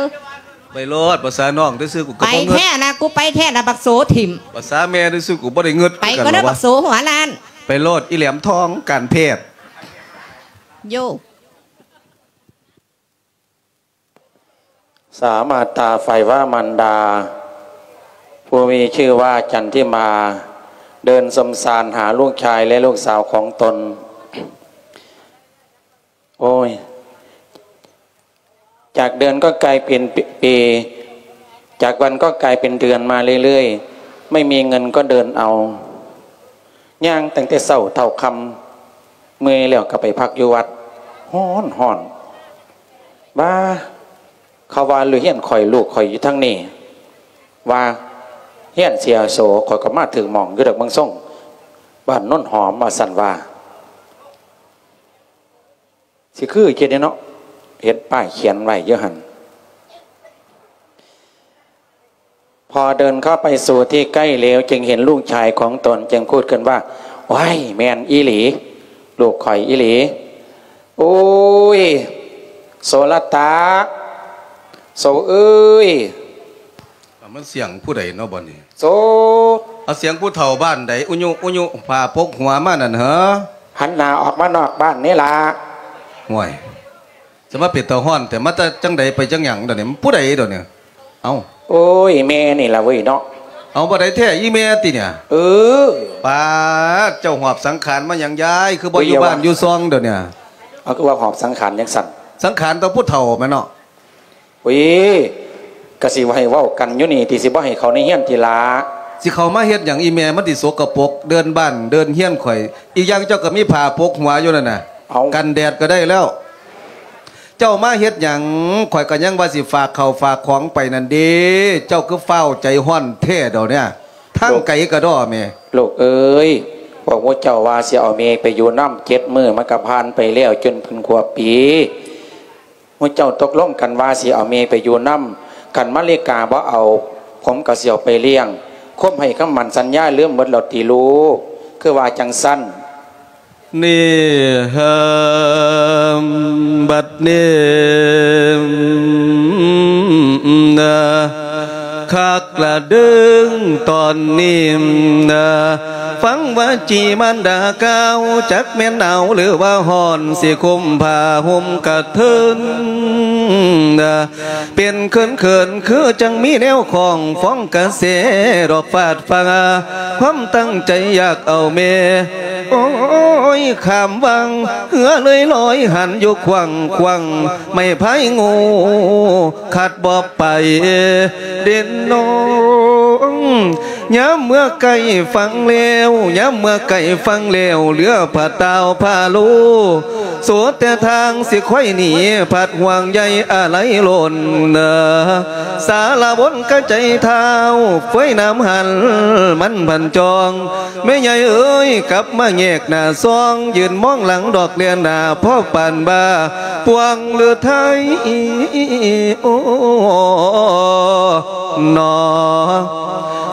ໄປໂລດ ພາສານ້ອງຊື່ໆ ກູກໍບໍ່ເງິດ. ໄປແທ້ລະ ກູໄປແທ້ລະ ບັກໂສຖິ້ມ. ພາສາແມ່ຊື່ໆ ກູບໍ່ໄດ້ເງິດ. ໄປກໍເດີ ບັກໂສຫົວລ້ານ. ໄປໂລດ ອີແຫຼມທອງ ການແພດ. ໂຢ ສາມາດຕາໄຟວ່າມານດາ ຜູ້ມີຊື່ວ່າຈັນທິມາ ເດີນສົມສານຫາລູກຊາຍ ແລະ ລູກສາວຂອງຕົນ. ໂອ້ຍ ຈາກເດືອນກໍກາຍເປັນປີ ຈາກວັນກໍກາຍເປັນເດືອນມາເລື້ອຍໆ ໄມ່ມີເງິນກໍເດີນເອົາ ຍ່າງຕັ້ງແຕ່ເຊົ້າເທົ່າຄ່ຳ ເມື່ອຍແລ້ວກໍໄປພັກຢູ່ວັດ ຮ້ອນໆ. ບາ ເຂົາວ່າລູກເຮຍນຂ້ອຍ ລູກຂ້ອຍຢູ່ທາງນີ້ ວ່າເຮຍນເສຍໂສ ຂ້ອຍກໍມາຖືກໝ່ອງຢູ່ດອກ ເບິ່ງຊົງ ບ້ານໂນນຫອມ ວ່າຊັ້ນວ່າ. ຊິຄືເຈັດເນາະ ເຫັນປ້າຍຂຽນໄວ້ຢູ່ຫັ້ນ. พอเดินเข้าไปสู่ที่ใกล้แล้ว จึงเห็นลูกชายของตน จึงพูดขึ้นว่า ว้าย แม่นอีหลี ลูกข้อยอีหลี โอ้ย โสรตะ โสเอ้ย มันเสียงผู้ใดเนาะบัดนี้ โส เอาเสียงผู้เฒ่าบ้านใด อุยุ อุยุ ผ้าปกหัวมานั่นเหรอ หันหน้าออกมานอกบ้านนี่ล่ะ ห่วย สมาเป็นตาฮ้อน แต่มาแต่จังใดไปจังหยังเดี๋ยวนี้ มันผู้ใดเดี๋ยวนี้ เอ้า โอ้ย แม่นี่ล่ะเว้ยเนาะ เอาบ่ได้แท้ อีแม่ติเนี่ย เออ ปาด เจ้าหอบสังขารมาหยังยาย คือบ่อยู่บ้านอยู่ซองเดี๋ยวนี้ เอา คือว่าหอบสังขารจังซั่น สังขารต่อผู้เฒ่าแม่นเนาะ โอ้ย กะสิให้เว้ากันอยู่นี่ติ สิบ่ให้เข้าในเฮือนติล่ะ สิเข้ามาเฮ็ดหยัง อีแม่มันสิสกปรก เดินบ้านเดินเฮือนข่อย อีกอย่างเจ้าก็มีผ้าปกหัวอยู่นั่นน่ะ เอา กันแดดก็ได้แล้ว เจ้ามาเฮ็ดหยัง ข่อยก็ยังว่าสิฝากข้าวฝากของไปนั่นเด้ เจ้าคือฟ้าวใจฮ้อนแท้เดี๋ยวนี้ ทางไกลกะด้อแม่ ลูกเอ้ย พวกหมู่เจ้าว่าสิเอาแม่ไปอยู่นำเจ็ดมื้อ มันก็ผ่านไปแล้วจนเป็นครบปี หมู่เจ้าตกลงกันว่าสิเอาแม่ไปอยู่นำ คันมาริกาบ่เอา ผมก็สิเอาไปเลี้ยง ความให้คำมั่นสัญญาลืมหมดแล้วติลูก คือว่าจั่งซั้น นี่ เฮิม บัดนี้ นะ คักละเด้อตอนนี้ นะ ฟังวาจีมารดากล่าว จักแม่นหนาวหรือว่าฮ้อน สิคุมผ้าห่มกะเทิน นะ เป็นเขินๆ คือจั่งมีแนวของ ฟ้องกระแสดอกฟาดฟ้า ความตั้งใจอยากเอาแม่ โอ้ย ข้ามวัง เฮือเลยลอยหันอยู่ขวางๆ ไม้พายงู ขัดบ่ไปเด่นน้อง ยามเมื่อใกล้ฟังแล้ว ยามเมื่อใกล้ฟังแล้ว เหลือผ้าตาวผ้าโล โสแต่ทางสิค่อยหนี ผัดห่วงใยอาลัยล้น สารบนกะใจเท้า เฟ้ยน้ำหัน มันพันจอง แม่ใหญ่เอ๋ย กลับมาแยกหน้าซอง ยืนมองหลังดอกเลียนหน้า พ่อปานบ่า ปวงฤทัย โอ้ หนอ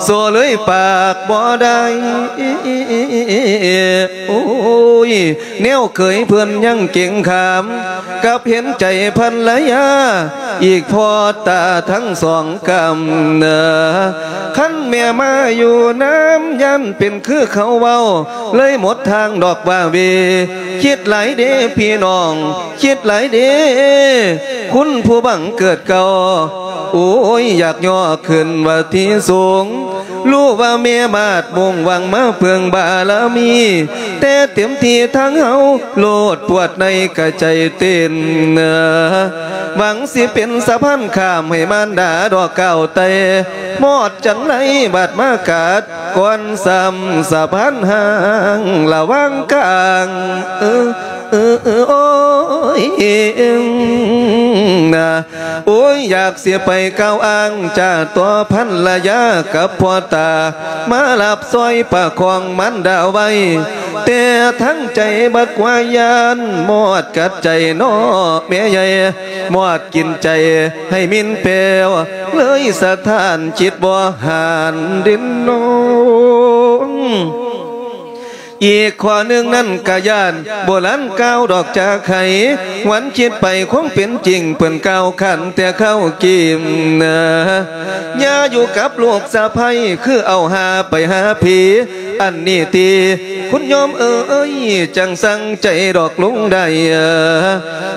โสเลยปากบ่ได้ โอ้ย แนวเขยเพิ่นยังเก่งขาม กับเห็นใจภรรยา อีกพอตาทั้งสองกำเนอ คันแม่มาอยู่นำ ย่านเป็นคือเขาเว้า เลยหมดทางดอกว่าเว คิดหลายเด้พี่น้อง คิดหลายเด้ คุณผู้บังเกิดเก่า โอ้ย อยากย่อขึ้นว่าที่สูง รู้ว่าแม่มาดมุ่งหวังมาเพิ่งบารมี แต่เต็มที่ทางเฮา โลดปวดในกะใจเต้น หวังสิเป็นสะพานข้ามให้มารดาดอกก้าวไต่ มอดจังไรบาดมากาด ก่อนซ้ำสะพานห่างระหว่างกลาง เออ เออ เออ โอ้ย นะ โอ้ย อยากเสียไปก้าวอ้าง จากตัวภรรยากับพ่อตา มารับซอยประคองมารดาไว้ แต่ทั้งใจบักว่าย่าน มอดกัดใจน้อแม่ใหญ่ มอดกินใจให้มินแปว เลยสะท้านจิตบ่หานเด่นน้อง อีกข้อหนึ่งนั้นกะย่าน โบราณกล่าวดอกจากไห้ หวนคิดไปความเป็นจริง เปิ้นกล่าวขันแต่เข้ากิมนะ อย่าอยู่กับลูกสะใภ้ คือเอาหาไปหาผี อันนี้ติ คุณโยมเอ๋ย จังสั่งใจดอกลุงได้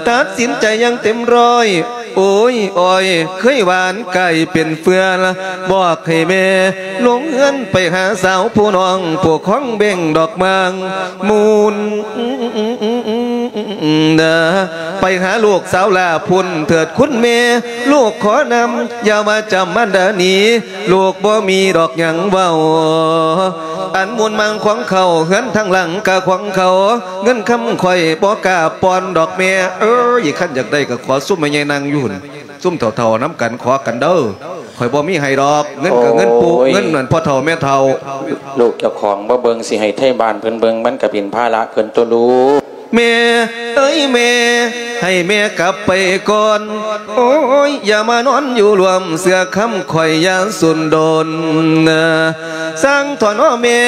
ตัดสินใจอย่างเต็มร้อย โอ้ย อ้อย เคยหวานกลายเป็นเฟือ บอกให้แม่ลงเฮือนไปหาสาวผู้น้อง ผู้ของเบ่งดอกมางมูล เด้อ ไปหาลูกสาวหล้าพุ้นเถิดคุณแม่ ลูกขอนำ อย่าว่าจำมันเด้อหนี ลูกบ่มีดอกหยังเว้า อันมูลมังของเขา เฮือนทางหลังกะของเขา เงินคำข่อยบ่กล้าปอนดอกแม่ เอ้ย คันอยากได้กะขอซุมแม่ใหญ่นั่งอยู่หั่น ซุมเฒ่าๆนำกันขอกันเด้อ ข่อยบ่มีให้ดอก เงินกะเงินปู่ โอ้ย เงินนั่นพ่อเฒ่าแม่เฒ่า ลูกเจ้าของบ่เบิ่ง สิให้ไทบ้านเพิ่นเบิ่ง มันกะเป็นภาระเพิ่นตั๊วลูก ແມ່ເອີຍແມ່ ໃຫ້ແມ່ກັບໄປກ່ອນ ໂອ້ຍ ຢ່າມານອນຢູ່ຮ່ວມເຊື່ອຄຳຂ້ອຍຢ່າຊຸນດົນ ຊ່າງເຖາະເນາະແມ່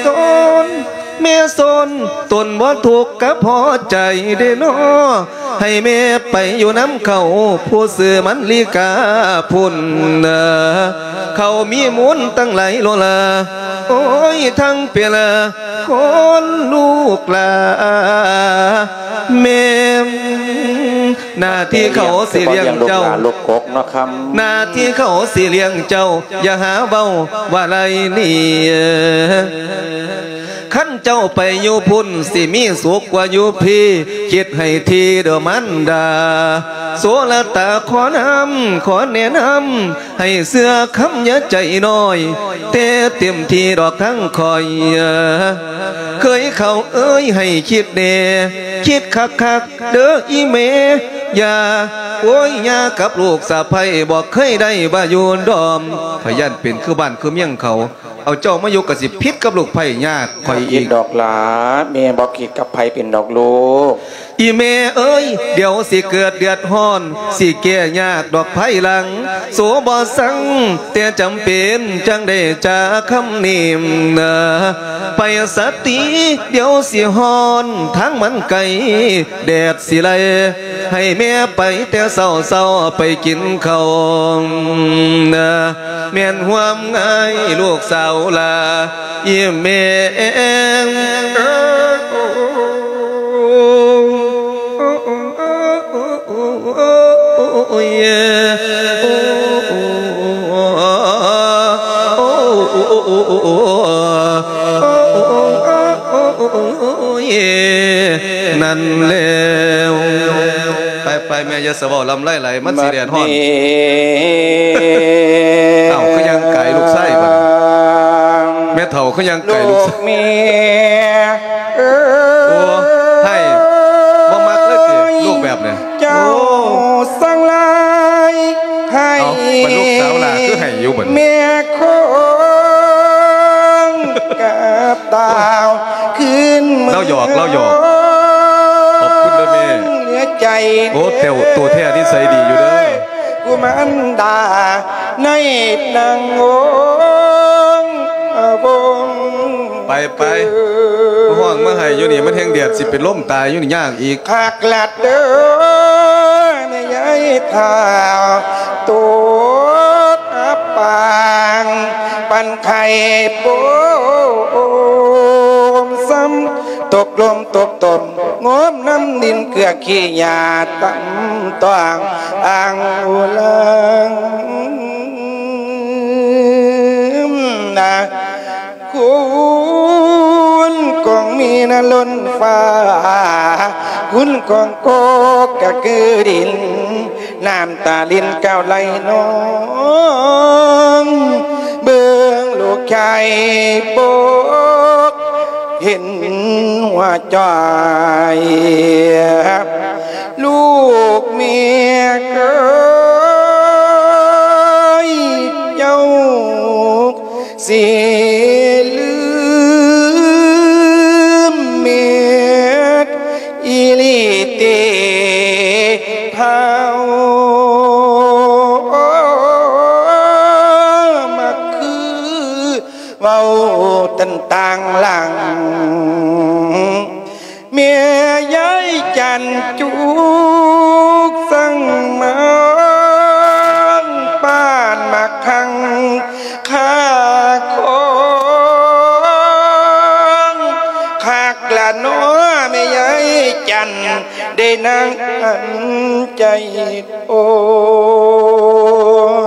ຊົນ ແມ່ຊົນ ຕົນບໍ່ທຸກກັບຫົວໃຈເດ້ເນາະ ໃຫ້ແມ່ໄປຢູ່ນຳເຂົາ ຜູ້ຊື່ມັນລີກາພຸ້ນ ເຂົາມີມູນຕັ້ງຫຼາຍໂລລາ ໂອ້ຍ ທັງເປລາ ຄົນລູກຫຼາແມ່ນ ໜ້າທີ່ເຂົາຊິລ້ຽງເຈົ້າ ລູກກກເນາະຄຳ ໜ້າທີ່ເຂົາຊິລ້ຽງເຈົ້າ ຢ່າຫາເວົ້າວ່າໄລນີ້ ຄັນເຈົ້າໄປຢູ່ພຸ້ນ ຊິມີສຸກກວ່າຢູ່ພີ້ ຄິດໃຫ້ຖີ່ເດີມານດາ ໂສລະຕາຂໍນຳ ຂໍແນະນຳ ໃຫ້ເຊື່ອຄຳຢ່າໃຈນ້ອຍ ແຕ່ເຕັມທີ່ດອກທາງຂ້ອຍ ເຄີຍເຂົາເອີຍໃຫ້ຄິດແດ່ ຄິດຄັກໆເດີອີແມ່ ຢ່າ ໂອ້ຍ ຍ່າກັບລູກສະໃພ້ບໍ່ເຄີຍໄດ້ວ່າຢູ່ດອມ ຂ້ອຍຢ້ານເປັນຄືບ້ານຄືເມືອງເຂົາ ເອົາເຈົ້າມາຢູ່ກໍຊິຜິດກັບລູກໃພ້ຍາດຂ້ອຍອີກ ດອກຫຼາ ແມ່ບໍ່ຜິດກັບໃຜເປັນດອກລູກ ອີແມ່ເອີຍ ດຽວຊິເກີດເດືອດຮ້ອນ ຊິແກ້ຍາກດອກພາຍຫຼັງ ໂສບໍ່ສັງ ແຕ່ຈຳເປັນຈັ່ງໄດ້ຈາຄຳນີ້ນະ ໄປສະຕິ ດຽວຊິຮ້ອນ ທາງມັນໄກ ແດດຊິໄລ່ ໃຫ້ແມ່ໄປແຕ່ເຊົ້າໆ ໄປກິນເຂົ້ານະ ແມ່ນຮ່ວມງາຍລູກສາວຫຼ້າ ອີແມ່ເອີຍ ນັ້ນແລ້ວ ໄປໆ ແມ່ຢ່າສະເວົ້າລຳໄລຫຼາຍ ມັນຊິແດດຮ້ອນ ເອົ້າ ຄືຍ່າງກາຍລູກຊາຍບັດ ແມ່ເຖົ້າຄືຍ່າງກາຍລູກຊາຍ ແມ່ເອີຍ ໂອ້ ໃຫ້ ບໍ່ມັກເລີຍຕິ ລູກແບບນີ້ ເຈົ້າ ໂອ້ ສັງຫຼາຍ ໃຫ້ ເອົ້າ ບັດລູກສາວຫຼ້າຄືໃຫ້ຢູ່ບັດ ແມ່ຄົງກັບຕາວ ຄືນເມືອງ ລາວຫຍອກ ລາວຫຍອກ ຂອບຄຸນເດີແມ່ ເຫຼືອໃຈ ໂອ້ ແຕ້ວ ໂຕແທ້ນິໄສດີຢູ່ເດີ ກຸມານດາ ໃນນາງອົງອະວົງ ໄປ ໄປ ມາຮ້ອງມາໄຫ້ຢູ່ນີ້ ມັນແຮ່ງແດດ ຊິເປັນລົມຕາຍຢູ່ນີ້ ຍາກອີກ ຄັກລະເດີ ແມ່ຍາຍທ້າວ ໂຕດອັບປາງ ປັນໄຂ່ປົມຊຳ ຕົກລົມຕົກຕົມ ງົມນ້ຳດິນເກືອຂີ້ຫຍ້າ ຕຳຕ້ອງອ້າງອຸລັງນະ ຄຸນກອງມີນະລົ້ນຟ້າ ຄຸນກອງກົກກະຄືດິນ ນ້ຳຕາລິນກ້າວໄຫຼນອງ ເບິ່ງລູກຊາຍປົກເຫັນຫົວໃຈ ລູກເມຍເອີຍ ເຈົ້າ ຊິລືມແມ່ນອີ່ຫຼີຕິ ທ້າວມັກຄືເວົ້າຕັນຕ່າງຫຼັງ ແມ່ຍາຍຈັນຈຸກສັງມານ ປານໝາກຄັງຄາຂອງ ຄັກລະເນາະແມ່ຍາຍຈັນ ໄດ້ນາງອັນໃຈອ່ອ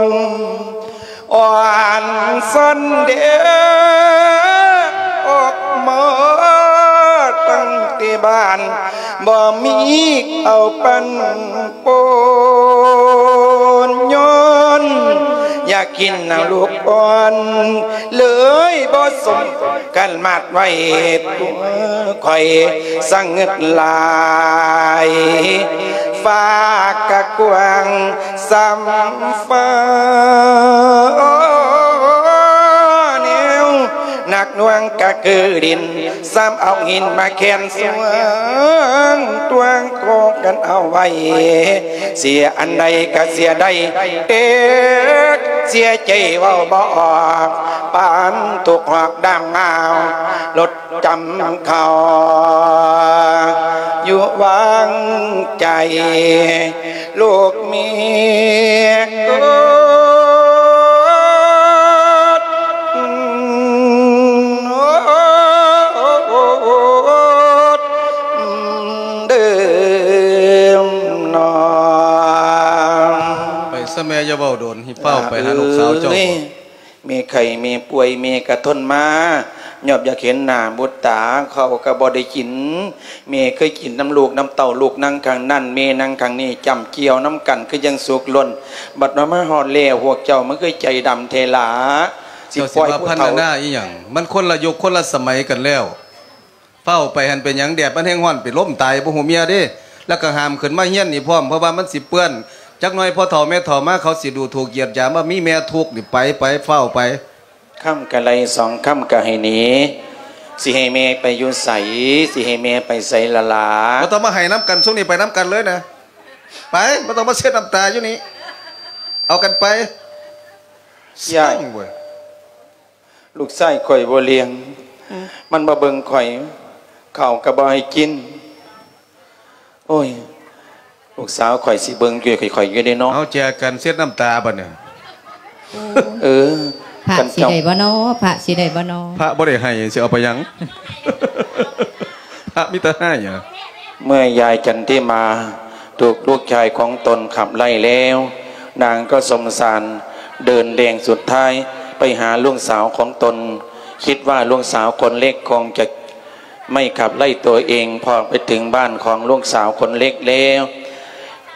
ນ ອ່ອນຊອນເດ ອອກມາຕັ້ງແຕ່ບ້ານ ບໍ່ມີເອົາປັນປົນ ຍ້ອນຢາກກິນນຳລູກອ່ອນ ເລີຍບໍ່ສົມກັນມາດໄວ້ ຕົວຂ້ອຍສະຫງຶດຫຼາຍ ຟ້າກະກວ້າງ ສ່ຳຟ້າແນວໜັກ ດວງກະຄືດິນ ຊ້ຳເອົາຫີນມາແຂນສວງ ດວງກໍກັນເອົາໄວ້ ເສຍອັນໃດກະເສຍໄດ້ ເອີ ເສຍໃຈເວົ້າບໍ່ອອກ ປານທຸກຮອກດາມງາວ ລົດຈຳເຂົ້າ ຢູ່ວາງໃຈ ລູກເມຍ ເດີມນອນ. ໄປຊະແມ່ ຢ່າເວົ້າດົນ ໃຫ້ຟ້າວໄປຫາລູກສາວເຈົ້າ. ແມ່ໄຂ້ແມ່ປ່ວຍ ແມ່ກະທົນມາ ຍອບຢາກເຫັນໜ້າບຸດຕາ ເຂົ້າກະບໍ່ໄດ້ກິນ ແມ່ເຄີຍກິນນຳລູກນຳເຕົ້າ ລູກນັ່ງຂ້າງນັ້ນ ແມ່ນັ່ງຂ້າງນີ້ ຈ້ຳກ່ຽວນຳກັນຄືຈັ່ງສຸກລົ້ນ ບັດວ່າມາຮອດແລ້ວ ພວກເຈົ້າມັນຄືໃຈດຳແທ້ຫຼາ ຊິປ່ອຍຜູ້ເຖົ້າ ເຈົ້າຊິວ່າພັນນານາອີ່ຫຍັງ ມັນຄົນລະຍຸກຄົນລະສະໄໝກັນແລ້ວ. ຟ້າວໄປຫັ້ນເປັນຫຍັງ ແດດມັນແຮງຮ້ອນ ໄປລົ້ມຕາຍບໍ່ຮູ້ເມຍເດ້ ແລ້ວກໍຫ້າມຂຶ້ນມາເຮືອນນີ້ພ້ອມ ເພາະວ່າມັນຊິເປື້ອນ ຈັກໜ່ອຍພໍ່ເຖົ້າແມ່ເຖົ້າມາ ເຂົາຊິດູຖູກຢຽດຢາມວ່າມີແມ່ທຸກນີ້ ໄປ ໄປ ຟ້າວໄປ. ຄຳກະໄລ່ ສອງຄຳກະໃຫ້ໜີ ຊິໃຫ້ແມ່ໄປຢູ່ໃສ ຊິໃຫ້ແມ່ໄປໃສລະຫຼ້າ. ບໍ່ຕ້ອງມາໄຫ້ນຳກັນ ຊຸມນີ້ໄປນຳກັນເລີຍນະ ໄປ ບໍ່ຕ້ອງມາເຊັດນ້ຳຕາຢູ່ນີ້ ເອົາກັນໄປ. ຍາຍ ຊ່າງເວີຍ. ລູກຊາຍຂ້ອຍບໍ່ລ້ຽງ ອືມ ມັນບໍ່ເບິ່ງຂ້ອຍ ເຂົ້າກໍບໍ່ໃຫ້ກິນ ໂອ້ຍ ລູກສາວຂ້ອຍຊິເບິ່ງຢູ່ ຂ້ອຍຢູ່ເດ້ເນາະ. ເອົາ ແຈກັນເຊັດນ້ຳຕາບັດນີ້. ໂອ້ຍ ເອີ ພະຊິໄດ້ບໍ່ນໍ ພະຊິໄດ້ບໍ່ນໍ ພະບໍ່ໄດ້ໃຫ້ ຊິເອົາໄປຫຍັງ ພະມີແຕ່ໃຫ້. ເມື່ອຍາຍຈັນທິມາ ຖືກລູກຊາຍຂອງຕົນຂັບໄລ່ແລ້ວ ນາງກໍສົງສານ ເດີນແດງສຸດທ້າຍໄປຫາລູກສາວຂອງຕົນ ຄິດວ່າລູກສາວຄົນເລັກຄົງຈະໄມ່ຂັບໄລ່ຕົວເອງ. ພໍໄປເຖິງບ້ານຂອງລູກສາວຄົນເລັກແລ້ວ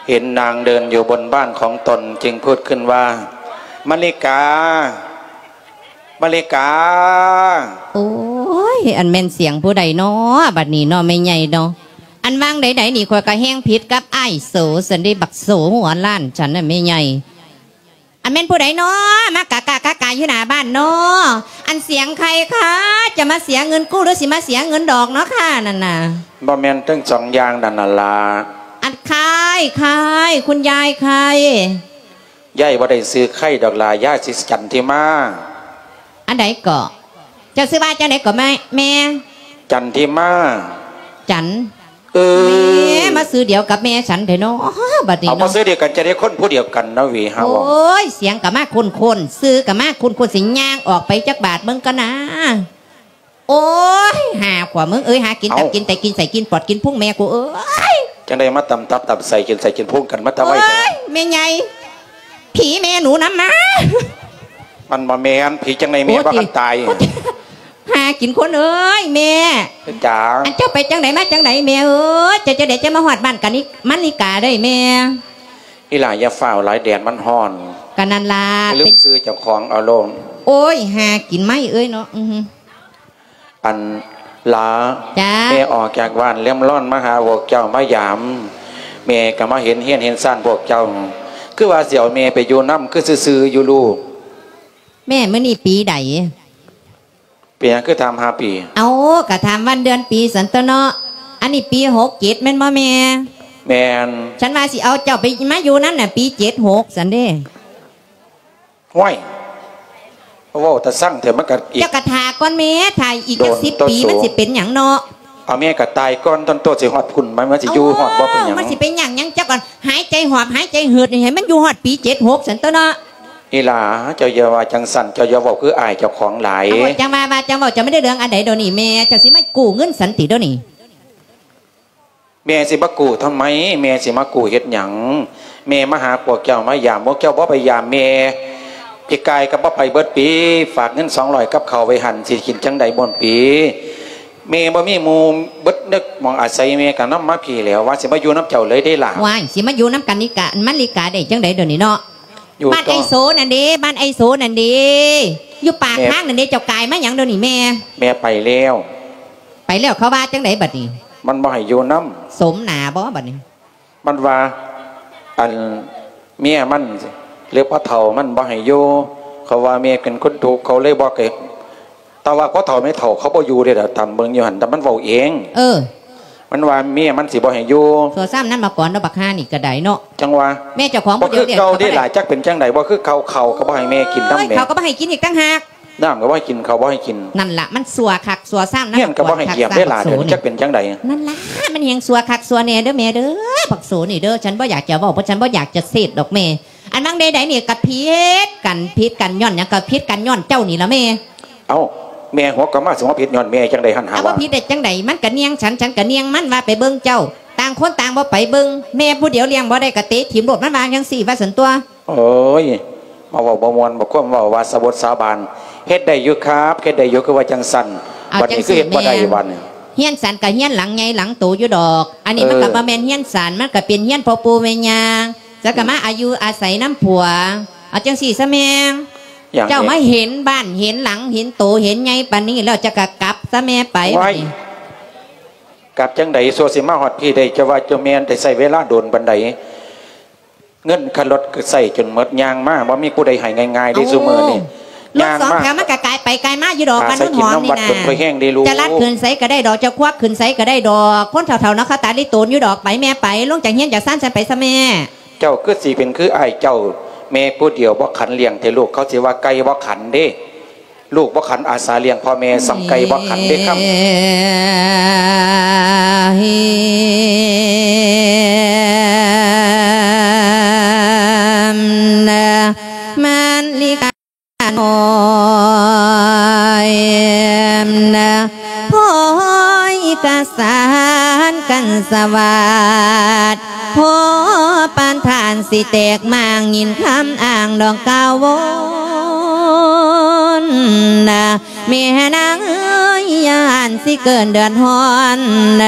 ເຫັນນາງເດີນຢູ່ບົນບ້ານຂອງຕົນ ຈຶ່ງພູດຂຶ້ນວ່າ ມະລິກາ ມະລິກາ. ໂອ້ຍ ອັນແມ່ນສຽງຜູ້ໃດນໍ ບັດນີ້ນໍ ແມ່ໃຫຍ່ນໍ. ອັນວ່າງໃດໆນີ້ ຂ້ອຍກະແຮ່ງຜິດກັບອ້າຍໂສຊັ້ນເດ ບັກໂສຫົວລ້ານຊັ້ນນະ ແມ່ໃຫຍ່. ອັນແມ່ນຜູ້ໃດນໍ ມາກະກະກະກະຢູ່ໜ້າບ້ານນໍ. ອັນສຽງໃຜຄະ ຈະມາເສຍເງິນກູ້ ຫຼື ຊິມາເສຍເງິນດອກນໍຄະ ນັ້ນນະ. ບໍ່ແມ່ນທັງສອງຢ່າງນັ້ນນະລະ. ອັນຄາຍ ຄາຍ ຄຸນຍາຍຄາຍ. ຍາຍບໍ່ໄດ້ຊື່ໄຄດອກຫຼ້າ ຍາຍຊື່ຈັນທິມາ. ອັນໃດເກາະ? ເຈົ້າຊື່ວ່າຈັ່ງໃດເກາະແມ່? ຈັນທິມາ. ຈັນ? ເອີ ແມ່ ມາຊື່ດຽວກັບແມ່ສັນແທ້ເນາະ ບັດນີ້ເນາະ. ເອົາ ມາຊື່ດຽວກັນ ຈະໄດ້ຄົນຜູ້ດຽວກັນເນາະ ຫວີ ຫາເວົ້າ. ໂອ້ຍ ສຽງກະມາຄຸ້ນໆ ຊື່ກະມາຄຸ້ນໆ ຊິຍ່າງອອກໄປຈັກບາດເບິ່ງກ່ອນນາ. ໂອ້ຍ ຫາຂວາມຶງເອີຍ ຫາກິນຕັບກິນໄຕ ກິນໄສ້ກິນປອດກິນພຸງແມ່ກູເອີຍ. ຈັ່ງໃດມາຕຳຕັບຕຳໄສ້ ກິນໄສ້ກິນພຸງກັນມາແຕ່ໄວແທ້? ໂອ້ຍ ແມ່ໃຫຍ່ ຜີແມ່ໜູນຳມາ. ມັນບໍ່ແມ່ນ ຜີຈັ່ງໃດແມ່ ໂອ້ ບໍ່ທັນຕາຍ. ຫາກິນຄົນເອີຍແມ່. ເປັນຫຍັງ? ອັນເຈົ້າໄປຈັ່ງໃດມາຈັ່ງໃດແມ່ເອີຍ? ເຈົ້າຈັ່ງໃດຈັ່ງມາຮອດບ້ານກັນນີ້ ມັນນິກາເດ້ແມ່? ອີຫຼ້າຢ່າຟ້າວຫຼາຍ ແດດມັນຮ້ອນ. ກະນັ້ນລະ ລືມຊື່ເຈົ້າຂອງເອົາໂລດ. ໂອ້ຍ ຫາກິນໄມ້ເອີຍເນາະ. ອື ອັນລາ ຈ້າ ແມ່ອອກຈາກບ້ານແຫຼມລອນມາຫາພວກເຈົ້າມາຢາມ ແມ່ກະມາເຫັນເຮືອນເຫັນຊານພວກເຈົ້າ ຄືວ່າຊິເອົາແມ່ໄປຢູ່ນຳ ຄືຊື່ໆຢູ່ລູກ. ແມ່ ມື້ນີ້ປີໃດ? ເປັນຫຍັງຄືຖາມຫາປີ? ເອົ້າ ກະຖາມວັນເດືອນປີຊັ້ນຕົວະເນາະ. ອັນນີ້ປີຫົກເຈັດແມ່ນບໍ່ແມ່? ແມ່ນ. ສັນວ່າຊິເອົາເຈົ້າໄປມາຢູ່ນຳນະ ປີເຈັດຫົກຊັ້ນເດ້. ຫ້ວຍ ເວົ້າຕາຊັງແທ້ ມັນກະອີກ ເຈົ້າກະຖ້າກ່ອນແມ່ ຖ້າອີກຈັກສິບປີ ມັນຊິເປັນຫຍັງເນາະ? ເອົາແມ່ກະຕາຍກ່ອນຕົນໂຕ ຊິຮອດພຸ້ນ ມັນ ມັນຊິຢູ່ຮອດບໍ່ເປັນຫຍັງ? ມັນຊິເປັນຫຍັງຫຍັງ ເຈົ້າກໍຫາຍໃຈຫອບຫາຍໃຈເຫີດໃຫ້ມັນຢູ່ຮອດປີເຈັດຫົກຊັ້ນຕົວະເນາະ. ອີຫຼ້າ ເຈົ້າຢ່າວ່າຈັ່ງຊັ້ນ ເຈົ້າຢ່າເວົ້າຄືອາຍເຈົ້າຂອງຫຼາຍ. ເອົາ ຈັ່ງວ່າ ວ່າຈັ່ງເວົ້າ ເຈົ້າແມ່ນເລື່ອງອັນໃດດຽວນີ້ແມ່? ເຈົ້າຊິມາກູ້ເງິນສັນຕິດຽວນີ້? ແມ່ຊິມາກູ້ທຳໄມ? ແມ່ຊິມາກູ້ເຮັດຫຍັງ? ແມ່ມາຫາພວກເຈົ້າ ມາຢາມພວກເຈົ້າ ບໍ່ໄປຢາມແມ່. ປີກາຍກໍບໍ່ໄປເບິດປີ ຝາກເງິນສອງຮ້ອຍກັບເຂົາໄວ້ຫັ້ນ ຊິກິນຈັ່ງໃດໝົດປີ? ແມ່ບໍ່ມີໝູ່ເບິດເນີກ ໝ່ອງອາໄສ ແມ່ກໍນຳມາພີ້ແລ້ວ ວ່າຊິມາຢູ່ນຳເຈົ້າເລີຍເດ້ລະ. ວ້າຍ ຊິມາຢູ່ນຳກັນນີ້ກະ ມັນນີ້ກະໄດ້ຈັ່ງໃດດຽວນີ້ເນາະ? ຢູ່ ບ້ານໄອ້ໂສນັ້ນເດ້ ບ້ານໄອ້ໂສນັ້ນເດ້ ຢູ່ປາກທາງນັ້ນເດ້. ເຈົ້າກາຍມາຫຍັງດຽວນີ້ແມ່? ແມ່ໄປແລ້ວ. ໄປແລ້ວເຂົາວ່າຈັ່ງໃດບັດນີ້? ມັນບໍ່ໃຫ້ຢູ່ນຳ. ສົມໜ້າບໍ່ບັດນີ້? ມັນວ່າ ອັນ ເມຍມັນ ຫຼື ພໍ່ເຖົ້າມັນບໍ່ໃຫ້ຢູ່ ເຂົາວ່າແມ່ເປັນຄົນທຸກ ເຂົາເລີຍບໍ່ໃຫ້ ແຕ່ວ່າພໍ່ເຖົ້າແມ່ເຖົ້າເຂົາບໍ່ຢູ່ເດ້ລະ ຕາມເບິ່ງຢູ່ຫັ້ນ ແຕ່ມັນເວົ້າເອງ. ເອີ ມັນວ່າເມຍມັນຊິບໍ່ໃຫ້ຢູ່. ຊົ່ວຊ້ຳນຳມາກ່ອນເນາະ ບັກຫ່ານີ້ກະໄດ້ເນາະ. ຈັ່ງວ່າ ແມ່ເຈົ້າຂອງຜູ້ດຽວ ບໍ່ຄືເກົ່າເດ້ຫຼາຍ ຈັກເປັນຈັ່ງໃດ ບໍ່ຄືເກົ່າ ເຂົ້າກໍບໍ່ໃຫ້ແມ່ກິນນຳ ເອີຍ ແມ່ ເຂົ້າກໍບໍ່ໃຫ້ກິນອີກຕ່າງຫາກ. ນ້ຳກໍບໍ່ໃຫ້ກິນ ເຂົ້າບໍ່ໃຫ້ກິນ. ນັ້ນລະ ມັນຊົ່ວຄັກຊົ່ວຊ້ຳນະ ເຮືອນກໍບໍ່ໃຫ້ຢຽບເດ້ຫຼາຍ ຈັກເປັນຈັ່ງໃດ. ນັ້ນລະ ມັນແຮງຊົ່ວຄັກຊົ່ວແນ່ເດີແມ່ເດີ ບັກໂສນີ້ເດີ. ສັນບໍ່ຢາກຈະເວົ້າ ເພາະສັນບໍ່ຢາກຈະເສດດອກແມ່. ອັນວ່າງໃດໆນີ້ກໍຜິດກັນ ຜິດກັນຍ້ອນຫຍັງ? ກໍຜິດກັນຍ້ອນເຈົ້ານີ້ລະແມ່. ເອົ້າ ແມ່ຫົວກະມາ ຊິມາຜິດຍ້ອນແມ່ຈັ່ງໃດຫັ້ນຫາ ເອົາ ວ່າ ບໍ່ຜິດໄດ້ຈັ່ງໃດ? ມັນກະໜ່ຽງສັນ ສັນກະໜ່ຽງມັນ ວ່າໄປເບິ່ງເຈົ້າ. ຕ່າງຄົນຕ່າງບໍ່ໄປເບິ່ງ ແມ່ຜູ້ດຽວລ້ຽງບໍ່ໄດ້ກະເຕະຖິ້ມໂລດ ມັນວ່າຈັ່ງຊີ້ ວ່າຊັ້ນຕົວະ. ໂອ້ຍ ມາເວົ້າບໍ່ມ່ວນ ບໍ່ຄວາມເວົ້າວ່າສາບົດສາບານ ເຮັດໄດ້ຢູ່ຄັບ ເຮັດໄດ້ຢູ່ ຄືວ່າຈັ່ງຊັ້ນ. ເອົາ ບັດນີ້ຄືເຮັດບໍ່ໄດ້ ຈັ່ງຊີ້ແມ່ ບັດນີ້. ຮຽນສັນກະຮຽນຫຼັງໃຫຍ່ຫຼັງໂຕຢູ່ດອກ. ອັນນີ້ມັນກະ ເອີ ບໍ່ແມ່ນຮຽນສັນ ມັນກະເປັນຮຽນພໍ່ປູ່ແມ່ຍ່າ ແລ້ວກະມາອາຍຸອາໄສນຳຜົວ. ເອົາຈັ່ງຊີ້ຊະແມ່ ຫຍັງ ເຈົ້າມາເຫັນບ້ານເຫັນຫຼັງເຫັນໂຕເຫັນໃຫຍ່ປານນີ້ແລ້ວ ເຈົ້າກະກັບຊະແມ່ໄປ. ວ້າຍ ບັດນີ້ ກັບຈັ່ງໃດ ຊົ່ວຊິມາຮອດພີ້ໄດ້ ເຈົ້າວ່າເຈົ້າແມ່ນໄດ້ໃຊ້ເວລາດົນປານໃດ? ເງິນຄ່າລົດກໍໃຊ້ຈົນໝົດ ຍ່າງມາ ບໍ່ມີຜູ້ໃດໃຫ້ງ່າຍໆເດ້. ເອົ້າ ຊຸມື້ນີ້ ລົດສອງແຖວມັນກະກາຍໄປກາຍມາຢູ່ດອກ ບ້ານໂນນຫອມນີ້ນະ. ຈະລັດຂຶ້ນໃສກະໄດ້ດອກ ຈະຄວັກຂຶ້ນໃສກະໄດ້ດອກ. ຄົນເຖົ້າໆເນາະ ເຂົາຕາລິໂຕນຢູ່ດອກ. ໄປແມ່ໄປ ລົງຈາກຮຽນຈາກຊານຊັ້ນໄປຊະແມ່. ເຈົ້າຄືຊິເປັນຄືອ້າຍເຈົ້າ ແມ່ຜູ້ດຽວບໍ່ຂັນລ້ຽງແທ້ ລູກເຂົາຊິວ່າໄກ່ບໍ່ຂັນເດ້. ລູກບໍ່ຂັນອາສາລ້ຽງພໍ່ແມ່ ສ່ຳໄກ່ບໍ່ຂັນເດ້ຄຳ. ມັນລິການ້ອຍ ພອຍກະສານກັນສະຫວັດ ພໍປານທ່ານຊິແຕກມ້າງ ຍິນຄຳອ້າງດອກກ່າວວົນ. ແມ່ນາງເອີຍ ຢ້ານຊິເກີດເດືອດຮ້ອນ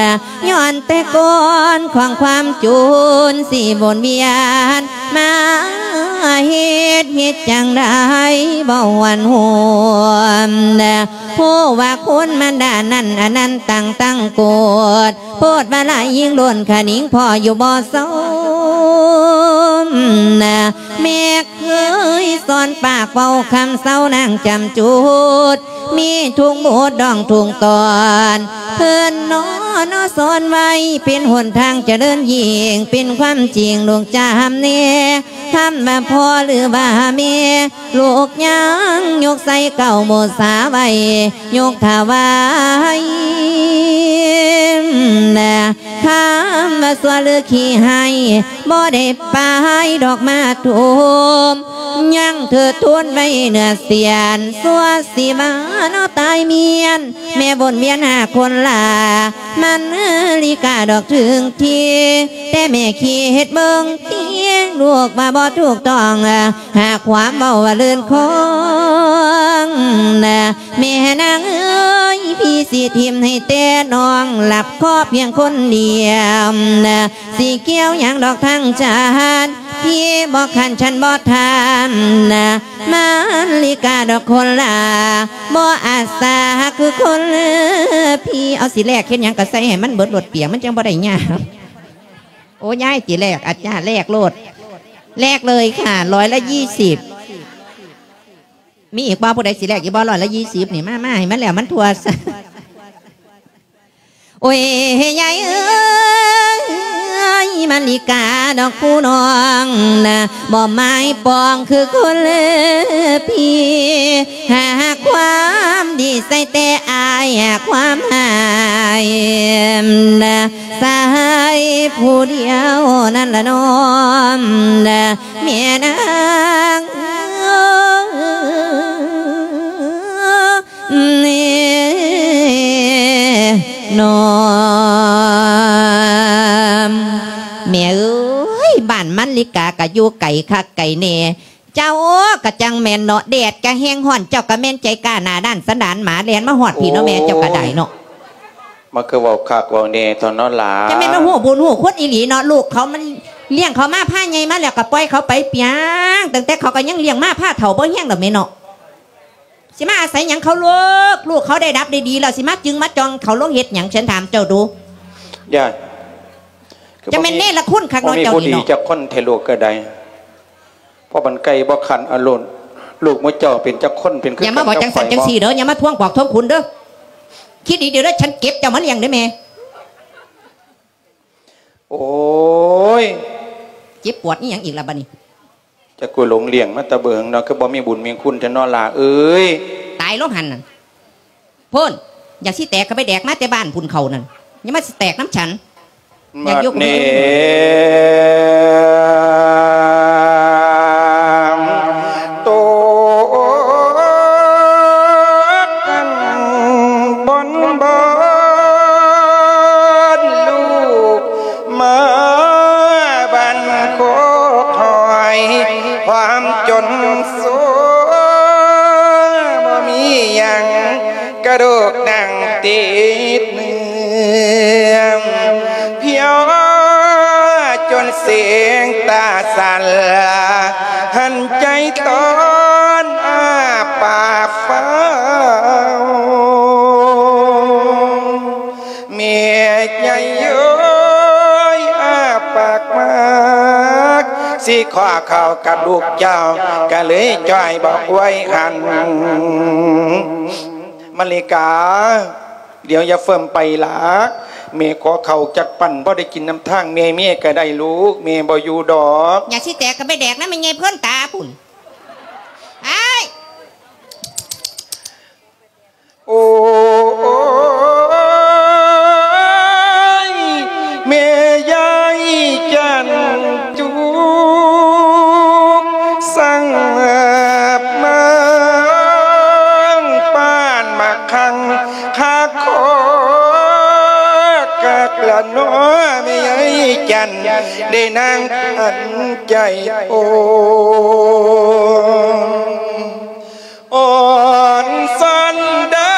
ຍ້ອນແຕ່ກ້ອນຂອງຄວາມຈູນ ຊິວົນວຽນມາເຮັດ ເຮັດຈັ່ງໃດບໍ່ຫວນຫົວ. ຮູ້ວ່າຄຸນມານດານັ້ນ ອັນນັ້ນຕັ້ງຕັ້ງໂກດ ໂພດວ່າລາຍຍິງໂລນຂະໜິງພໍ່ຢູ່ບໍ່ສົມ. ແມ່ເຄີຍສອນປາກເວົ້າຄຳເຊົານາງຈຳຈູດ ມີທຸກໝູດດອງທຸກຕອນ ເພິ່ນເນາະ ເນາະສອນໄວ້ ເປັນຫົນທາງຈະເລີນຍິ່ງ ເປັນຄວາມຈິງລູກຈຳແນ ຄຳວ່າພໍ່ຫຼືວ່າແມ່ ລູກຍັງຍົກໃສ່ເກົ້າບູຊາໄວ້ ຍົກຖວາຍ. ຄຳວ່າຊົ່ວຫຼືຂີ້ຮ້າຍ ບໍ່ໄດ້ປາຍດອກມາທຸ່ມ ຍັງເທີດທູນໄວ້ເໜືອສຽນ ຊົ່ວຊິວ່າເນາະຕາຍມຽນ ແມ່ວົນວຽນຫາຄົນລາ ມັນລິກາດອກເຖິງທີ ແຕ່ແມ່ຄິດເບິ່ງຕິ ລູກວ່າບໍ່ຖືກຕ້ອງ ຫາກຄວາມເວົ້າວ່າເລື່ອນຄອງ. ແມ່ນາງເອີຍ ພີ່ຊິຖິ້ມໃຫ້ແຕ່ນ້ອງ ລັບເຄາະພຽງຄົນດຽວ ຊິກ່ຽວຫຍັງດອກທັງຊາດ ພີ່ບໍ່ຂັນ ສັນບໍ່ຖາມ ມາລິກາດອກຄົນລາ ບໍ່ອາສາຄືຄົນພີ່. ເອົາ ຊິແລກເຮັດຫຍັງກະໃສ່ໃຫ້ມັນເບິດໂລດ ປຽກມັນຈັ່ງບໍ່ໄດ້ຍາກ. ໂອ້ ຍາຍ ຊິແລກ ອາຈານ ແລກໂລດ ແລກເລີຍຄ່ະ ຮ້ອຍລະຍີ່ສິບ. ມີອີກບໍ່ ຜູ້ໃດຊິແລກອີກບໍ່ ຮ້ອຍລະຍີ່ສິບນີ້ ມາ ມາໃຫ້ມັນແລ້ວມັນທົ່ວ. ໂອ້ຍ ຍາຍເອີຍ ມາລິກາດອກຜູ້ນ້ອງນະ ບໍ່ໝາຍປອງຄືຄົນເລີພີ່ ຫາຄວາມດີໃສ່ແຕ່ອ້າຍ ຫາຄວາມຮ້າຍນະ ສາຍຜູ້ດຽວນັ້ນລະນ້ອງນະ ແມ່ນາງເອີຍ ເນາະ ແມ່ເອີຍ ບ້ານມັນລິກາກະຢູ່ໄກຄັກໄກແນ່ ເຈົ້າກະຈັ່ງແມ່ນເນາະ ແດດກະແຮງຮ້ອນ ເຈົ້າກະແມ່ນໃຈກ້າໜ້າດ້ານສັນດານໝາ ແລ່ນມາຮອດພີ້ເນາະແມ່ ເຈົ້າກະໄດ້ເນາະ. ມັນຄືເວົ້າຄັກເວົ້າແນ່ເທົ່ານັ້ນລະ ຈັ່ງແມ່ນມາຮູ້ບຸນຮູ້ຄຸນອີ່ຫຼີເນາະ ລູກເຂົາມັນລ້ຽງເຂົາມາພາໃຫຍ່ມາແລ້ວກະປ່ອຍເຂົາໄປປຽງ ຕັ້ງແຕ່ເຂົາກະຍັງລ້ຽງມາພາເຖົ້າບໍ່ຮຽງດອກແມ່ເນາະ. ຊິມາອາໄສຫຍັງເຂົາລູກ ລູກເຂົາໄດ້ດັບໄດ້ດີແລ້ວ ຊິມາຈຶ່ງມາຈ່ອງເຂົາລົງເຮັດຫຍັງ ເຊີນຖາມເຈົ້າດູ. ຢ່າ ຈັ່ງແມ່ນເນລະຄຸນຄັກເນາະ ເຈົ້ານີ້ເນາະ ບໍ່ມີຜູ້ດີຈັກຄົນແທ້ລູກກະໄດ້ ເພາະມັນໄກ່ບໍ່ຂັນອາລຸນ ລູກໝູ່ເຈົ້າເປັນຈັກຄົນ ເປັນຄື ຢ່າມາເວົ້າຈັງຊັ້ນຈັງຊີ້ເດີ ຢ່າມາທວງບອກທວງຄຸນເດີ ຄິດດີໆເດີ ເດີ ສັນເກັບເຈົ້າມາລ້ຽງເດີແມ່. ໂອ້ຍ ເຈັບປວດອີ່ຫຍັງອີກລະບາດນີ້? ຈັກກູຫຼົງລ້ຽງມາແຕ່ເບິ່ງເນາະ ຄືບໍ່ມີບຸນມີຄຸນແທ້ເນາະຫຼ້າເອີຍ. ຕາຍລົງຫັ້ນນະ ພຸ້ນ ຢາກຊິແຕກກໍໄປແດກມາແຕ່ບ້ານພຸ້ນເຂົ້ານັ້ນ ຢ່າມາຊິແຕກນຳສັນ. ຢາກຢູ່ ບັດນີ້ ໂຕອັນບົນບອນ ລູກມາບັນໂຄກຫອຍ ຄວາມຈົນໂຊ ບໍ່ມີຫຍັງ ກະດູກໜັງຕິດເໜືອງ ພຽວຈົນເສງຕາສັ່ນ ຫັນໃຈຕອນອ້າປາກຟ້າວ ແມ່ໃຫຍ່ເອີຍ ອ້າປາກມາກ ຊິຂໍເຂົ້າກັບລູກເຈົ້າ ກະເລີຍຈ່ອຍບອກໄວ້ຫັ້ນ. ມະລິກາ ດຽວຢ່າເຟີ້ມໄປຫຼ້າ ແມ່ຂໍເຂົ້າຈັກປັ້ນ ພໍໄດ້ກິນນຳທາງແມ່ເມກະໄດ້ລູກ ແມ່ບໍ່ຢູ່ດອກ. ຢາກຊິແຕກກໍໄປແດກນຳແມ່ໃຫຍ່ເພິ່ນຕາພຸ້ນ ອ້າຍ. ໂອ້ຍ ແມ່ຍາຍຈັນຈຸກ ສັງມາງປານໝາກຄັງ ຄາຄໍກະກະໜໍ ແມ່ຍາຍຈັນ ໄດ້ນັ່ງອັນໃຈໂອ ອ່ອນຊອນເດີ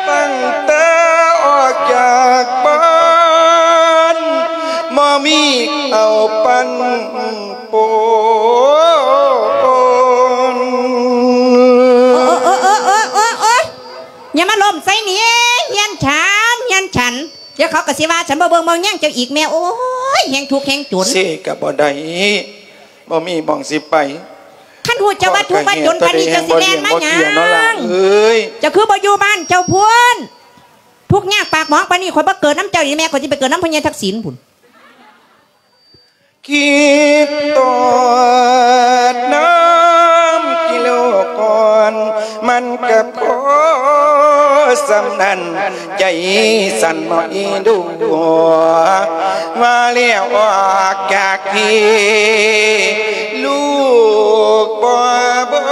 ຕັ້ງແຕ່ອອກຈາກບ້ານ ບໍ່ມີເອົາປັນປົນ. ໂອ້ຍ ໂອ້ຍ ໂອ້ຍ ໂອ້ຍ ໂອ້ຍ ຢ່າມາລົ້ມໃສ່ນີ້ ເຮືອນຂອງເຮົາ ເຮືອນຂອງເຮົາ. ດຽວເຂົາກໍຊິວ່າ ສັນບໍ່ເບິ່ງບໍ່ແຍງເຈົ້າອີກແມ່. ໂອ້ຍ ແຮງທຸກແຮງຈົນ ເຊກໍບໍ່ໄດ້ ບໍ່ມີໝ່ອງຊິໄປ. ຄັນຮູ້ເຈົ້າວ່າທຸກວ່າຈົນປານນີ້ ເຈົ້າຊິແລ່ນມາຫຍັງ? ເຈົ້າຄືບໍ່ຢູ່ບ້ານເຈົ້າພຸ້ນ? ທຸກຍາກປາກໝອງປານນີ້ ຂ້ອຍບໍ່ເກີດນຳເຈົ້າອີກແມ່ ຂ້ອຍຊິໄປເກີດນຳພໍ່ໃຫຍ່ທັກສິນພຸ້ນ. ຄິດໂຕດນ້ຳກິໂລກ່ອນ ມັນກໍພໍສ່ຳນັ້ນ ໃຈສັ່ນບໍ່ອີ່ດູ ວ່າແລ້ວອອກຈາກພີ້ ລູກບໍ່ເບິ່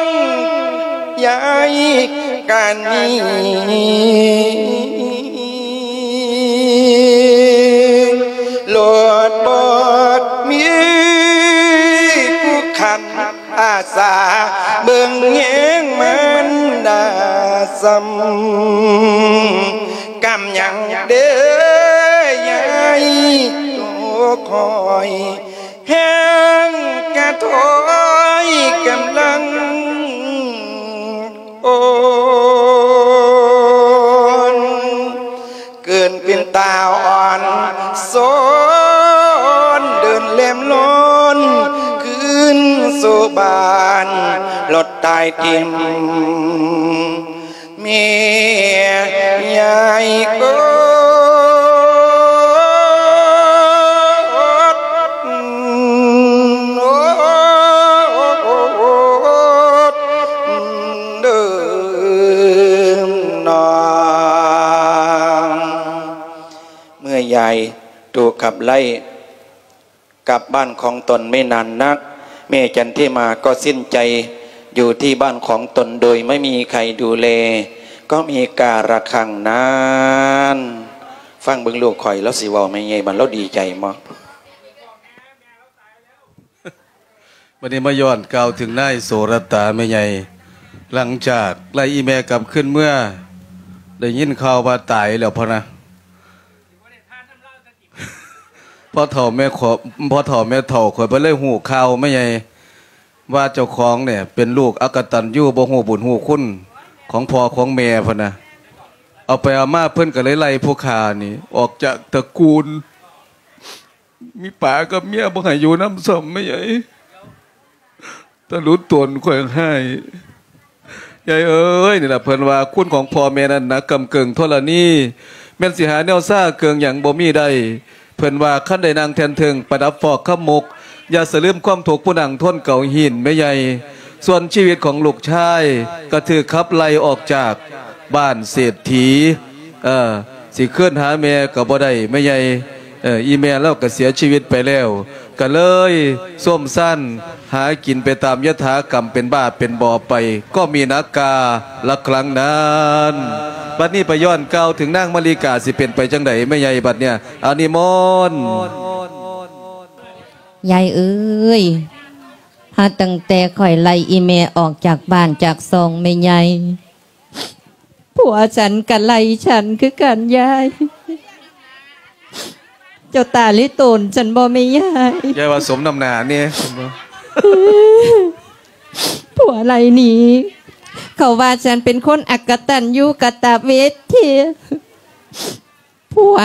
ງ ຍາຍກະໜີ ໂລດບໍ່ມີຜູ້ຂັນອາສາ ເບິ່ງແຍງມານດາຊ້ຳ ກຳຍັງເດີຍາຍໂຕຄອຍ ແຮງກະຖອຍກຳລັງອ່ອນ ເກີນເປັນຕາອ່ອນຊອນ ເດີນແລ່ນລອນຄືນສູ່ບ້ານ ລົດຕາຍຖິ້ມ ແມ່ຍາຍເອີຍ ເດີນອງ ເມື່ອຍາຍໂຕຂັບໄລ່ ກັບບ້ານຂອງຕົນໄມ່ນານນັກ ແມ່ຈັນທິມາກໍສິ້ນໃຈຢູ່ທີ່ບ້ານຂອງຕົນໂດຍໄມ່ມີໃຄດູແລ ກໍມີກາລະຄັ້ງນັ້ນ. ຟັງເບິ່ງລູກຂ້ອຍ ລາວຊິເວົ້າແມ່ໃຫຍ່ ບັດລາວດີໃຈບໍ່? ບັດນີ້ມາຍ້ອນກ່າວເຖິງນາຍໂສລະຕາແມ່ໃຫຍ່ ຫຼັງຈາກໄລ່ອີ່ແມ່ກັບຄືນເມືອ ໄດ້ຍິນຂ່າວວ່າຕາຍແລ້ວພະນະ. ພໍ່ເຖົ້າແມ່ຂໍ ພໍ່ເຖົ້າແມ່ເຖົ້າຂ້ອຍບໍ່ໄດ້ຮູ້ຂ່າວແມ່ໃຫຍ່ ວ່າເຈົ້າຂອງນີ້ເປັນລູກອະກະຕັນຍູ ບໍ່ຮູ້ບຸນຮູ້ຄຸນຂອງພໍ່ຂອງແມ່ພຸ້ນນະ. ເອົາໄປເອົາມາເພິ່ນກໍເລີຍໄລ່ຜູ້ຂ້ານີ້ອອກຈາກຕະກູນ ມີປາກັບເມຍບໍ່ໃຫ້ຢູ່ນຳຊ້ຳແມ່ໃຫຍ່. ຕະຫຼຸດຕົນຂ້ອຍຮ້າຍ. ຍາຍເອີຍ, ນີ້ລະເພິ່ນວ່າ ຄຸນຂອງພໍ່ແມ່ນັ້ນໜັກກ້ຳເກິ່ງທໍລະນີ, ແມ່ນຊິຫາແນວຊາເຄື່ອງຫຍັງບໍ່ມີໄດ້. ເພິ່ນວ່າ ຄັນໄດ້ນັ່ງແທ່ນເທິງປະດັບຟອກຄຳມົກ, ຢ່າສະລືມຄວາມທຸກຜູ້ນັ່ງທົນເກົາຫີນແມ່ໃຫຍ່. ສ່ວນຊີວິດຂອງລູກຊາຍ ກໍຖືກຂັບໄລ່ອອກຈາກບ້ານເສດຖີ. ເອີ ຊິຄືນຫາແມ່ກໍບໍ່ໄດ້ແມ່ໃຫຍ່. ເອີ ອີແມ່ລາວກໍເສຍຊີວິດໄປແລ້ວ, ກໍເລີຍໂຊມຊານຫາກິນໄປຕາມຍະຖາກຳ ເປັນບ້າເປັນບໍ່ໄປ, ກໍມີໜັກກວ່າລັກຫຼັງນັ້ນ. ບັດນີ້ໄປຍ້ອນກ່າວເຖິງນາງມະລິກາ ຊິເປັນໄປຈັ່ງໃດແມ່ໃຫຍ່ບັດເນີ້ຍ? ອາ ນິມົນ. ຍາຍເອີຍ, ຫາຕັ້ງແຕ່ຂ້ອຍໄລ່ອີແມ່ອອກຈາກບ້ານຈາກຊ່ອງແມ່ໃຫຍ່, ຜົວສັນກະໄລ່ສັນຄືກັນຍາຍ. ເຈົ້າຕາລິໂຕນສັນບໍ່ແມ່ຍາຍ? ຍາຍວ່າສົມນ້ຳໜ້າແດ່. ຜົວໄລ່ໜີ, ເຂົາວ່າສັນເປັນຄົນອະກະຕັນຍູກະຕະເວທີ. ຜົວ,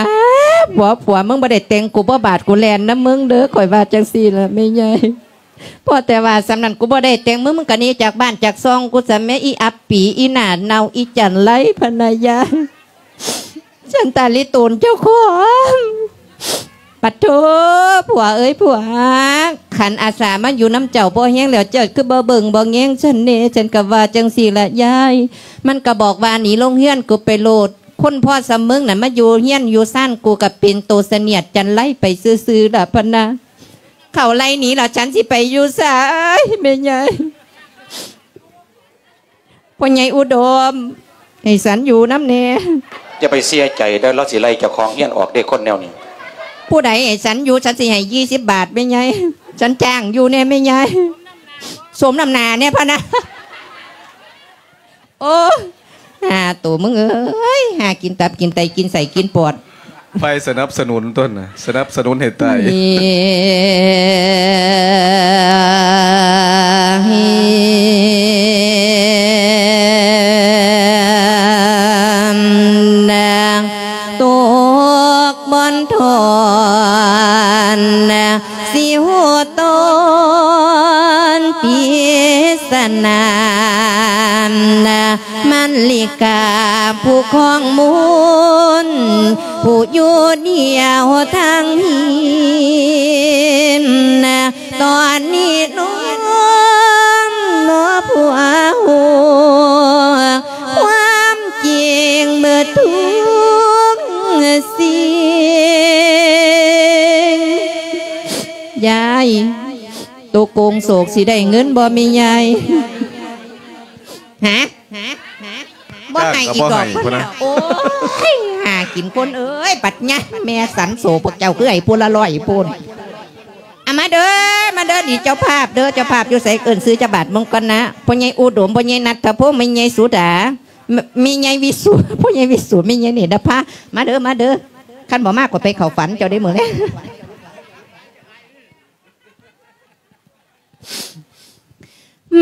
ຜົວ, ຜົວ, ມຶງບໍ່ໄດ້ແຕ່ງ ກູບໍ່ບາດ ກູແລ່ນນຳມຶງເດີ, ຂ້ອຍວ່າຈັ່ງຊີ້ລະແມ່ໃຫຍ່. ພໍແຕ່ວ່າສ່ຳນັ້ນ ກູບໍ່ໄດ້ແຕ່ງ ມຶງ, ມຶງກໍໜີຈາກບ້ານຈາກຊ່ອງກູຊະແມ້ ອີອັບປີ, ອີໜ້າເນົ່າ, ອີຈັນໄລພະນາຍາ. ສັນຕາລິໂຕນເຈົ້າຂອງ. ປະໂທ, ຜົວເອີຍຜົວ, ຄັນອາສາມາຢູ່ນຳເຈົ້າພໍແຮງແລ້ວ, ເຈົ້າຄືບໍ່ເບິ່ງບໍ່ແຍງສັນແດ່? ສັນກໍວ່າຈັ່ງຊີ້ລະຍາຍ. ມັນກໍບອກວ່າ ໜີລົງເຮືອນກູໄປໂລດ. ຄົນພໍສ່ຳມຶງນັ້ນມາຢູ່ເຮືອນຢູ່ຊານກູ ກໍເປັນໂຕສະໜຽດຈັນໄລໄປຊື່ໆລະພະນາ. ເຂົາໄລ່ໜີລະ ສັນຊິໄປຢູ່ໃສແມ່ໃຫຍ່? ພໍ່ໃຫຍ່ອຸດົມ ໃຫ້ສັນຢູ່ນຳແດ່. ຢ່າໄປເສຍໃຈເດີ, ລາວຊິໄລ່ເຈົ້າຂອງເຮືອນອອກເດ້ ຄົນແນວນີ້. ຜູ້ໃດໃຫ້ສັນຢູ່? ສັນຊິໃຫ້ຊາວບາດແມ່ໃຫຍ່, ສັນຈ້າງຢູ່ແດ່ແມ່ໃຫຍ່. ສົມນ້ຳໜ້າແດ່ພະນາ. ໂອ້ ຫາໂຕມຶງເອີຍ, ຫາກິນຕັບກິນໄຕກິນໄສ້ກິນປອດ. ໄຟສະໜັບສະໜູນຕົນນະ, ສະໜັບສະໜູນໃຫ້ຕາຍ. ຕົກບ່ອນທອນ ຊິຮູ້ຕອນປິດສະໜາ, ມະລິກາຜູ້ຄອງມົນ ຜູ້ຢູ່ດຽວທາງຫີນ, ຕອນນີ້ນ້ອງໜໍຜູ້ຮູ້ຄວາມຈິງເບິດທຸກສິ່ງ. ຍາຍ ໂຕໂກງໂສກຊິໄດ້ເງິນບໍ່ແມ່ໃຫຍ່? ຫາ? ບໍ່ໃຫ້ອີກດອກ. ໂອ້ຍ ຫາກິນຄົນເອີຍ, ບັດຍາມແມ່ສັນໂສພວກເຈົ້າຄືໃຫ້ຜູ້ລະຮ້ອຍພຸ້ນ. ອາ ມາເດີ ມາເດີ ນີ້ເຈົ້າພາບເດີ, ເຈົ້າພາບຢູ່ໃສ? ເອີ້ນຊື່ຈັກບາດເບິ່ງກ່ອນນະ. ພໍ່ໃຫຍ່ອຸດົມ, ພໍ່ໃຫຍ່ນັດທະພົງ, ແມ່ໃຫຍ່ສຸດາ, ແມ່ໃຫຍ່ວິສຸ, ພໍ່ໃຫຍ່ວິສຸ, ແມ່ໃຫຍ່ເນດນະພາ. ມາເດີ ມາເດີ, ຄັນບໍ່ມາ ຂ້ອຍໄປເຂົ້າຝັນເຈົ້າເດ້ມື້ແລງ.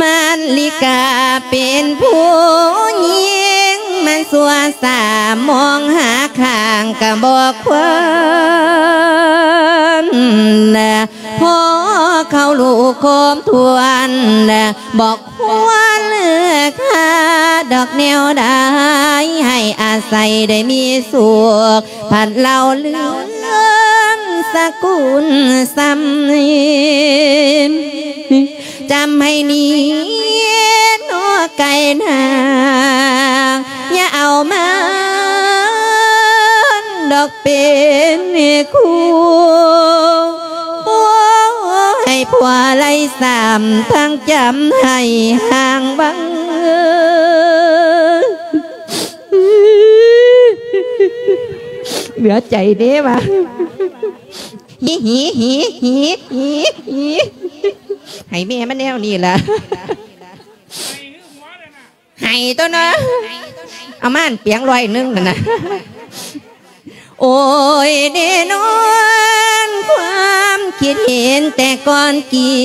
ມະລິກາເປັນຜູ້ຍິງ ມັນຊົ່ວຊ້າມອງຫາຂ້າງກະບໍ່ຄວນ, ພໍເຂົ້າລູກຄອມທວນ ບໍ່ຄວນເລືອກຫາດອກແນວໃດ ໃຫ້ອາໄສໄດ້ມີສຸກ ພັດເລົ່າເລື່ອງສະກຸນຊຳ. ຈຳໃຫ້ດີເນາະໄກ່ນາ, ຢ່າເອົາມັນດອກເປັນຄູ່. ໂອ້ຍ ຜົວໄລ່ຊ້ຳທັງຈຳໃຫ້ຫ່າງວັງ. ເຫຼືອໃຈເດ້ວ່າ ຫີ ຫີ ຫີ ຫີ ຫີ ຫີ ໃຫ້ແມ່ມັນແນວນີ້ລະ ໃຫ້ຕົວເນາະ ເອົາມາອັນປຽງຮ້ອຍໜຶ່ງຫັ້ນນະ. ໂອ້ຍ ແນ່ນອນຄວາມຄິດເຫັນແຕ່ກ່ອນກິ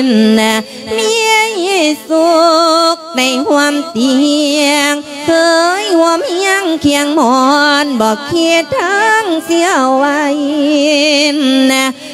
ນ ເມຍສຸກໄດ້ຮ່ວມຕຽງ ເຄີຍຮ່ວມຮຽງຄຽງໝອນ ບໍ່ຄິດທາງເສຍໄວ້.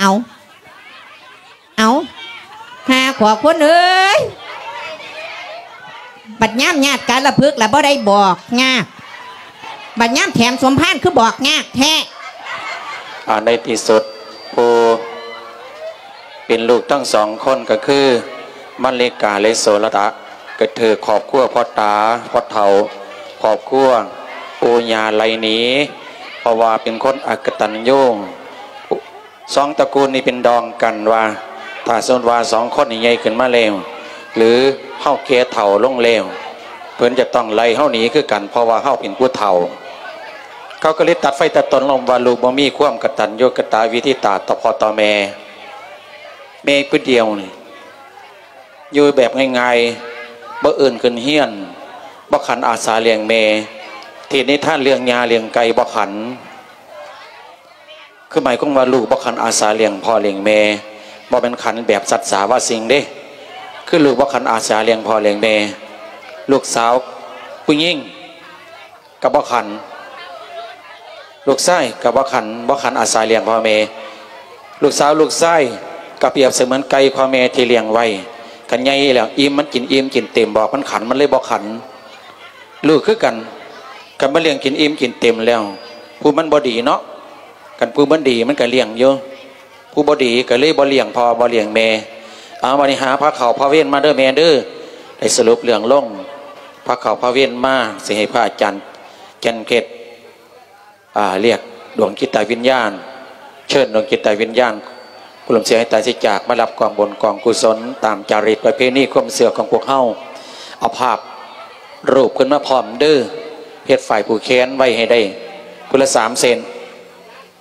ເອົາ ເອົາ ຫາຂວາຄົນເອີຍ ບັດຍາມຍາດກາລະພຶກລະບໍ່ໄດ້ບອກຍາກ ບັດຍາມແຖມສົມພານຄືບອກຍາກແທ້. ອ່າ ໃນທີ່ສຸດ ຜູ້ເປັນລູກທັງສອງຄົນກໍຄື ມະລິກາ ແລະ ໂສລະຕະ ກໍຖືກຄອບຄົວພໍ່ຕາພໍ່ເຖົ້າ ຄອບຄົວປູ່ຍ່າໄລ່ໜີ ເພາະວ່າເປັນຄົນອະກະຕັນຍູ. ສອງຕະກູນນີ້ເປັນດອງກັນວ່າ ຖ້າສົມມຸດວ່າສອງຄົນນີ້ໃຫຍ່ຂຶ້ນມາແລ້ວ ຫຼື ເຮົາແກ່ເຖົ້າລົງແລ້ວ ເພິ່ນຈະຕ້ອງໄລ່ເຮົາໜີຄືກັນ ເພາະວ່າເຮົາເປັນຜູ້ເຖົ້າ. ເຂົາກໍເລີຍຕັດໄຟຕັດຕົນລົງວ່າ ລູກບໍ່ມີຄວາມກະຕັນຍູກະຕະເວທິຕາຕໍ່ພໍ່ຕໍ່ແມ່. ແມ່ຜູ້ດຽວນີ້ ຢູ່ແບບງ່າຍໆ ບໍ່ເອີ້ນຂຶ້ນຮຽນ ບໍ່ຂັນອາສາລ້ຽງແມ່ ເທດນິທານເລື່ອງຫຍ້າເລື່ອງໄກ່ບໍ່ຂັນ. ຄືໝາຍຄວາມວ່າລູກບໍ່ຂັນອາສາລ້ຽງພໍ່ລ້ຽງແມ່ ບໍ່ແມ່ນຂັນແບບສັດສາວາສິ່ງເດ້ ຄືລູກບໍ່ຂັນອາສາລ້ຽງພໍ່ລ້ຽງແມ່. ລູກສາວຜູ້ຍິງກໍບໍ່ຂັນ ລູກຊາຍກໍບໍ່ຂັນ ບໍ່ຂັນອາສາລ້ຽງພໍ່ແມ່. ລູກສາວລູກຊາຍກໍປຽບສະເໝືອນໄກ່ພໍ່ແມ່ທີ່ລ້ຽງໄວ້ ຄັນໃຫຍ່ແລ້ວອີ່ມ ມັນກິນອີ່ມກິນເຕັມ ບອກມັນຂັນ ມັນເລີຍບໍ່ຂັນ. ລູກຄືກັນ ຄັນມັນລ້ຽງກິນອີ່ມກິນເຕັມແລ້ວ ຜູ້ມັນບໍ່ດີເນາະ ຄັນຜູ້ມັນດີມັນກໍລ້ຽງຢູ່ ຜູ້ບໍ່ດີກໍເລີຍບໍ່ລ້ຽງພໍ່ບໍ່ລ້ຽງແມ່. ເອົາ ບັດນີ້ຫາພາເຂົ້າພາເວນມາເດີແມ່ເດີ. ໄດ້ສະຫຼຸບເລື່ອງລົງ ພາເຂົ້າພາເວນມາ ຊິໃຫ້ພະອາຈານແກ່ນເພັດ ອ່າ ລຽກດວງຈິດຕະວິນຍານ ເຊີນດວງຈິດຕະວິນຍານ ຜູ້ລ່ວງເສຍໃຫ້ຕາຍເສຍຈາກ ມາຮັບກອງບຸນກອງກຸສົນ ຕາມຈາຣິດປະເພນີຄວາມເຊື່ອຂອງພວກເຮົາ. ເອົາພາບຮູບຂຶ້ນມາພ້ອມເດີ ເຮັດຝ້າຍຜູກແຂນໄວ້ໃຫ້ໄດ້ຜູ້ລະສາມເສັ້ນ.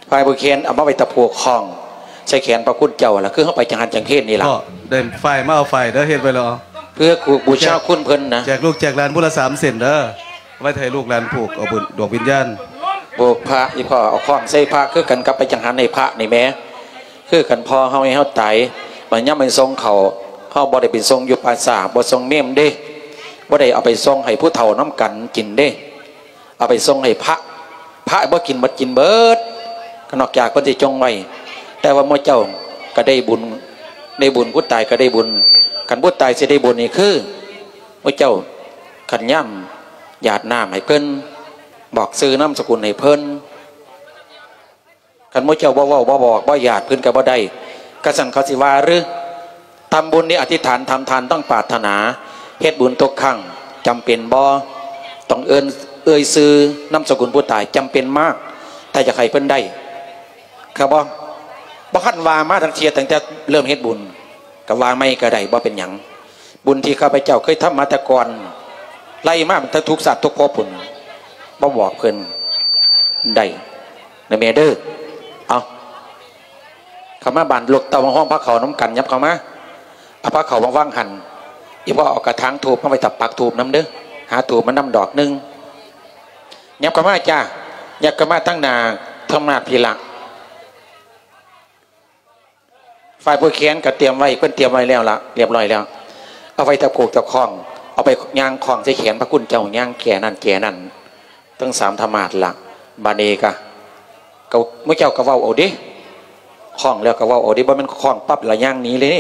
ຝ້າຍຜູກແຂນເອົາມາໄວ້ຕະຜູກຂ້ອງ ໃສ່ແຂນພະຄຸນເຈົ້າລະ ຄືເຮົາໄປຈັງຫັນຈັງເພນນີ້ລະ. ກໍໄດ້ຝ້າຍມາເອົາຝ້າຍເດີ ເຮັດໄວ້ແລ້ວ. ເພື່ອກູກບູຊາຄຸນເພິ່ນນະ. ແຈກລູກແຈກຫຼານຜູ້ລະສາມເສັ້ນເດີ ໄວ້ໃຫ້ລູກຫຼານຜູກເອົາບຸນດວງວິນຍານ. ໂອ້ ພະ ອີ່ພໍ່ເອົາຄ້ອງໃສ່ພະຄືກັນກັບໄປຈັງຫັນໃຫ້ພະນີ້ແໝ່ ຄືກັນ. ພໍ່ເຮົາໃຫ້ເຮົາຕາຍ ບັດຍາມໄປສົ່ງເຂົ້າ ເຮົາບໍ່ໄດ້ໄປສົ່ງຢູ່ປ່າຊ້າ ບໍ່ສົ່ງເມມເດ້ ບໍ່ໄດ້ເອົາໄປສົ່ງໃຫ້ຜູ້ເຖົ້ານຳກັນກິນເດ້. ເອົາໄປສົ່ງໃຫ້ພະ ພະບໍ່ກິນໝົດ ກິນເບິດ ກໍນອກຈາກເພິ່ນຊິຈົ່ງໄວ້. ແຕ່ວ່າໝູ່ເຈົ້າກໍໄດ້ບຸນ ໄດ້ບຸນ ຜູ້ຕາຍກໍໄດ້ບຸນ. ຄັນຜູ້ຕາຍຊິໄດ້ບຸນນີ້ຄື ໝູ່ເຈົ້າ ຄັນຍາມຢາດນ້ຳໃຫ້ເພິ່ນ ບອກຊື່ນາມສະກຸນໃຫ້ເພິ່ນ. ຄັນໝູ່ເຈົ້າບໍ່ເວົ້າ ບໍ່ບອກ ບໍ່ຢາດ ເພິ່ນກໍບໍ່ໄດ້. ຄັນຊັ້ນເຂົາຊິວ່າຫຼື? ທຳບຸນນີ້ອະທິຖານ ທຳທານຕ້ອງປາດຖະໜາ ເຮັດບຸນທຸກຄັ້ງ ຈຳເປັນບໍ່? ຕ້ອງເອີ້ນ ເອີ່ຍຊື່ນາມສະກຸນຜູ້ຕາຍ ຈຳເປັນມາກ ຖ້າຢາກໃຫ້ເພິ່ນໄດ້. ເຂົ້າບໍ່? ບໍ່ຄັນວ່າມາທັງເທື່ອ ຕັ້ງແຕ່ເລີ່ມເຮັດບຸນ ກໍວ່າໃໝ່ກໍໄດ້ ບໍ່ເປັນຫຍັງ. ບຸນທີ່ຂ້າພະເຈົ້າເຄີຍທຳມາແຕ່ກ່ອນ ໄລ່ມາຕັ້ງແຕ່ທຸກຊາດທຸກພົບພຸ້ນ ບໍ່ບອກເພິ່ນໄດ້ ນະແມ່ເດີ. ເອົາ ເຂົ້າມາບ້ານລູກເຕົ້າ ມາຮ່ວມພາເຂົ້ານຳກັນ ຫຍັບເຂົ້າມາ ເອົາພາເຂົ້າມາວາງຫັ້ນ. ອີ່ພໍ່ເອົາກະຖາງທູບມາໄວ້ ຕາປັກທູບນຳເດີ ຫາທູບມານຳດອກໜຶ່ງ. ຫຍັບເຂົ້າມາຈ້າ ຫຍັບເຂົ້າມາທາງໜ້າທຳມາດພີ້ລະ. ຝ່າຍຜູ້ແຂນກໍຕຽມໄວ້ ເພິ່ນຕຽມໄວ້ແລ້ວລະ ລຽບຮ້ອຍແລ້ວ. ເອົາໄວ້ແຕ່ຜູກແຕ່ຄ້ອງ ເອົາໄປຍ່າງຄ້ອງໃສ່ແຂນພະຄຸນເຈົ້າ ຍ່າງແຈນັ້ນແຈນັ້ນ ທັງສາມທຳມາດລະ. ບາດນີ້ກະ ກໍໝູ່ເຈົ້າກໍເວົ້າເອົາເດ້ ຄ້ອງແລ້ວກໍເວົ້າເອົາເດ້ ບໍ່ແມ່ນຄ້ອງປັບລະຍ່າງໜີເລີຍ.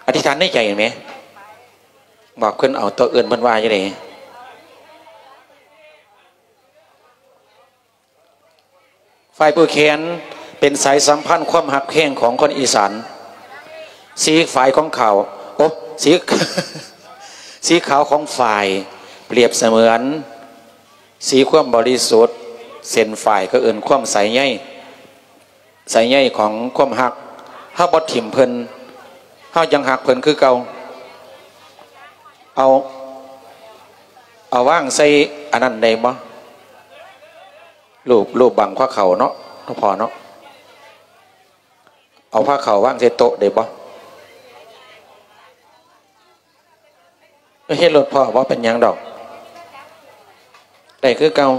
ອະທິຖານໃນໃຈແໝ່ ບອກເພິ່ນເອົາ ໂຕອື່ນເພິ່ນວ່າຈັ່ງໃດ? ຝ່າຍຜູ້ແຂນເປັນສາຍສຳພັນຄວາມຮັກແພງຂອງຄົນອີສານ. ສີຝ້າຍຂອງຂາວ ໂອ້ ສີ ສີຂາວຂອງຝ້າຍ ປຽບສະເໝືອນສີຄວາມບໍລິສຸດ, ເສັ້ນຝ້າຍກໍເອີ້ນຄວາມໃສໃຍ ໃສໃຍຂອງຄວາມຮັກ. ເຮົາບໍ່ຖິ້ມເພິ່ນ ເຮົາຍັງຮັກເພິ່ນຄືເກົ່າ. ເອົາ ເອົາວາງໃສ່ອັນນັ້ນໄດ້ບໍ່? ຮູບ ຮູບບັງພາເຂົ້າເນາະ ຫຼວງພໍ່ເນາະ ເອົາພາເຂົ້າວາງໃສ່ໂຕະໄດ້ບໍ່? ເຮັດໂລດພໍ່ ບໍ່ເປັນຫຍັງດອກ ໄດ້ຄືເກົ່າ.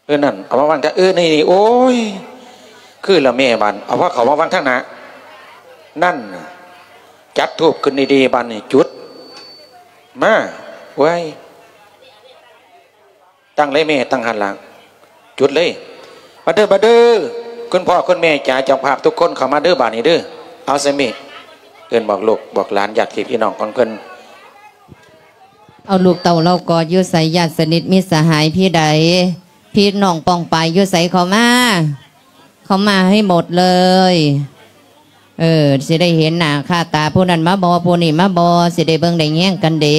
ເອີ ນັ້ນ ເອົາມາວາງທາງ ເອີ ນີ້ ນີ້ ໂອ້ຍ ຄືລະແມ່. ບາດເອົາພາເຂົ້າມາວາງທາງໜ້າ ນັ້ນ ຈັດທູບຂຶ້ນດີໆ ບາດນີ້ ຈຸດ ມາ ເວີຍ ຕັ້ງເລີຍແມ່ ຕັ້ງຫັ້ນລະ ຈຸດເລີຍ. ມາເດີ ມາເດີ ຄຸນພໍ່ ຄຸນແມ່ຈ໋າ ເຈົ້າພາບທຸກຄົນເຂົ້າມາເດີ ບາດນີ້ເດີ. ເອົາ ຊາມິ ເອີ້ນບອກລູກບອກຫຼານ ຍາດພີ່ນ້ອງຂອງເພິ່ນ. ເອົາ ລູກເຕົ້າເຫຼົ່າກໍຢູ່ໃສ ຍາດສະໜິດມິດສະຫາຍພີ່ໃດ ພີ່ນ້ອງປ້ອງປາຍຢູ່ໃສ ເຂົ້າມາ ເຂົ້າມາໃຫ້ໝົດເລີຍ. ເອີ ຊິໄດ້ເຫັນໜ້າຄ່າຕາ ຜູ້ນັ້ນມາບໍ່ ຜູ້ນີ້ມາບໍ່ ຊິໄດ້ເບິ່ງໄດ້ແຍງກັນເດ້.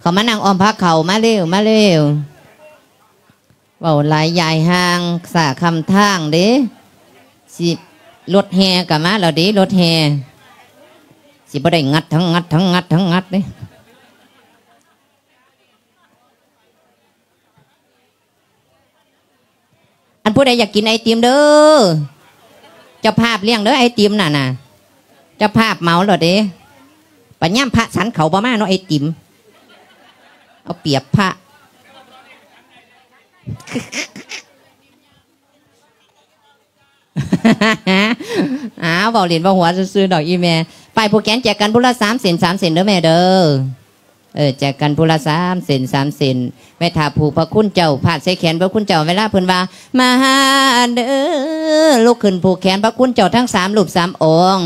ເຂົ້າມານັ່ງອ້ອມພາເຂົ້າ ມາເລັວ ມາເລັວ. ເວົ້າຫຼາຍຢາຍຫ່າງ ສາຄຳທາງເດ້. ຊິ ລົດແຫ່ກໍມາແລ້ວເດ້ ລົດແຫ່. ຊິບໍ່ໄດ້ງັດທັງງັດ ທັງງັດ ທັງງັດເດ້. ອັນຜູ້ໃດຢາກກິນໄອຕິມເດີ ເຈົ້າພາບລ້ຽງເດີ ໄອຕິມນັ້ນນະ ເຈົ້າພາບເໝົາໂລດເດ້. ບັດຍາມພະສັນເຂົ້າບໍ່ມາເນາະ ໄອຕິມ ເອົາປຽບພະ. ອ້າວ ເວົ້າຫຼິ້ນເວົ້າຫົວຊື່ໆ ດອກອີ່ແມ່. ໄປ ຜູ້ແຂນແຈກກັນຜູ້ລະສາມເສັ້ນ ສາມເສັ້ນເດີແມ່ເດີ. ເອີ ແຈກກັນຜູ້ລະສາມເສັ້ນ ສາມເສັ້ນ. ແມ່ຖ້າຜູກພະຄຸນເຈົ້າ ພາດໃສ່ແຂນພະຄຸນເຈົ້າ ເວລາເພິ່ນວ່າ ມາເດີ ລຸກຂຶ້ນຜູກແຂນພະຄຸນເຈົ້າທັງສາມຮູບສາມອົງ.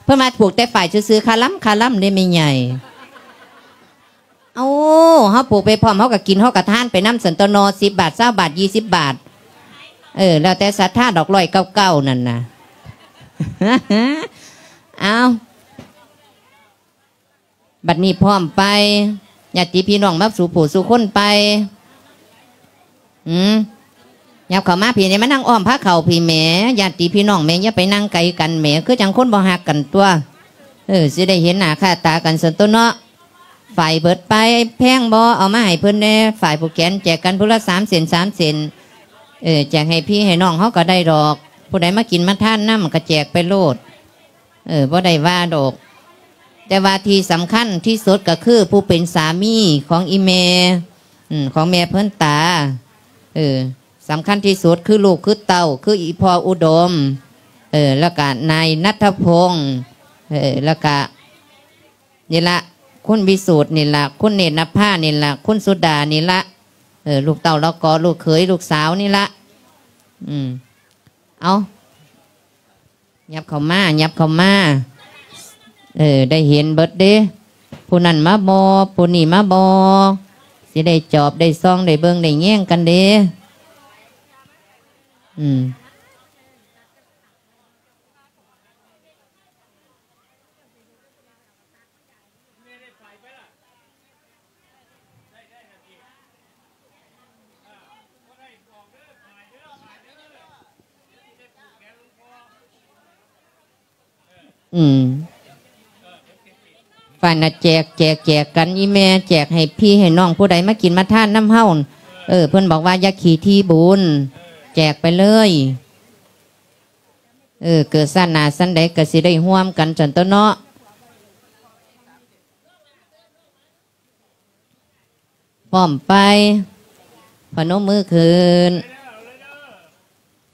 ເພິ່ນວ່າຜູກແຕ່ຝ້າຍຊື່ໆ ຄາລຳ ຄາລຳເດ້ແມ່ໃຫຍ່. ເອົາ ເຮົາປູກໄປພ້ອມ ເຮົາກໍກິນ ເຮົາກໍທານໄປນຳຊັ້ນຕົວເນາະ ສິບບາດ ຊາວບາດ ຊາວບາດ ເອີ ແລ້ວແຕ່ສັດທາດອກ ຮ້ອຍເກົ້າເກົ້າ ນັ້ນນະ. ເອົາ ບັດນີ້ພ້ອມໄປ ຍາດຕິພີ່ນ້ອງມາສູ່ຜູ້ສູ່ຄົນໄປ. ອືມ ຫຍັບເຂົ້າມາພີ້ແດ່ ມານັ່ງອ້ອມພາເຂົ້າພີ້ແໝ ຍາດຕິພີ່ນ້ອງແໝ ຢ່າໄປນັ່ງໄກກັນແໝ ຄືຈັ່ງຄົນບໍ່ຮັກກັນຕົວະ. ເອີ ຊິໄດ້ເຫັນໜ້າຄ່າຕາກັນຊັ້ນຕົວະເນາະ. ຝ້າຍເບິດໄປ ແພງບໍ່ ເອົາມາໃຫ້ເພິ່ນແດ່. ຝ້າຍຜູກແຂນແຈກກັນຜູ້ລະສາມເສັ້ນ ສາມເສັ້ນ. ເອີ ແຈກໃຫ້ພີ່ໃຫ້ນ້ອງເຮົາກໍໄດ້ດອກ. ຜູ້ໃດມາກິນມາທານນຳກໍແຈກໄປໂລດ ເອີ ບໍ່ໄດ້ວ່າດອກ. ແຕ່ວ່າທີ່ສຳຄັນທີ່ສຸດກໍຄືຜູ້ເປັນສາມີຂອງອີ່ແມ່ ອືມ ຂອງແມ່ເພິ່ນຕາ ເອີ ສຳຄັນທີ່ສຸດຄືລູກຄືເຕົ້າ ຄືອີ່ພໍ່ອຸດົມ ເອີ ແລ້ວກະນາຍນັດທະພົງ ເອີ ແລ້ວກະ ນີ້ລະ ຄຸນວິສູດນີ້ລະ ຄຸນເນດນະພານີ້ລະ ຄຸນສຸດານີ້ລະ ເອີ ລູກເຕົ້າລະກໍ ລູກເຂີຍ ລູກສາວນີ້ລະ ອືມ ເອົາ ຫຍັບເຂົ້າມາ ຫຍັບເຂົ້າມາ ເອີ ໄດ້ເຫັນເບິດເດ້ ຜູ້ນັ້ນມາບໍ່ ຜູ້ນີ້ມາບໍ່ ຊິໄດ້ຈອບໄດ້ສ່ອງ ໄດ້ເບິ່ງໄດ້ແຍງກັນເດ້ ອືມ. ອືມ ໄປນະ ແຈກ ແຈກ ແຈກກັນ ອີ່ແມ່ແຈກໃຫ້ພີ່ໃຫ້ນ້ອງ ຜູ້ໃດມາກິນມາທານນຳເຮົາ ເອີ ເພິ່ນບອກວ່າຢ່າຂີ້ຖີ່ບຸນ ແຈກໄປເລີຍ ເອີ ເກີດຊາດໜ້າຊາດໃດກໍຊິໄດ້ຮ່ວມກັນຊັ້ນຕົວເນາະ. ພ້ອມໄປ ພະນົມມືຂຶ້ນ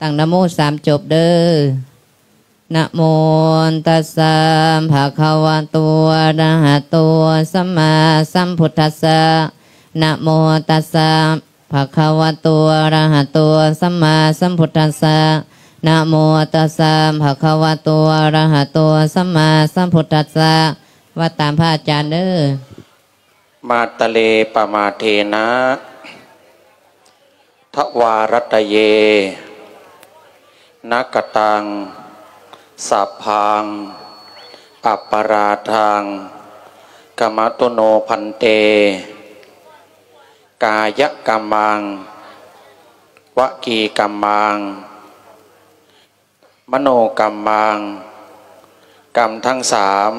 ຕັ້ງນະໂມສາມຈົບເດີ້. ນະໂມຕັດສະ ພະຄະວະໂຕ ອະລະຫະໂຕ ສຳມາສຳພຸດທັດສະ. ນະໂມຕັດສະ ພະຄະວະໂຕ ອະລະຫະໂຕ ສຳມາສຳພຸດທັດສະ. ນະໂມຕັດສະ ພະຄະວະໂຕ ອະລະຫະໂຕ ສຳມາສຳພຸດທັດສະ. ວ່າຕາມພະອາຈານເດີ້. ມາຕະເລ ປະມາເທນະ ທະວາຣັດຕະເຍ ນະກະຕັງ ສັບພັງ ອັບປະລາທັງ ຂະມະຕຸໂນ ພັນເຕ. ກາຍະກຳມັງ ວະຈີກຳມັງ ມະໂນກຳມັງ ກຳທັງສາມ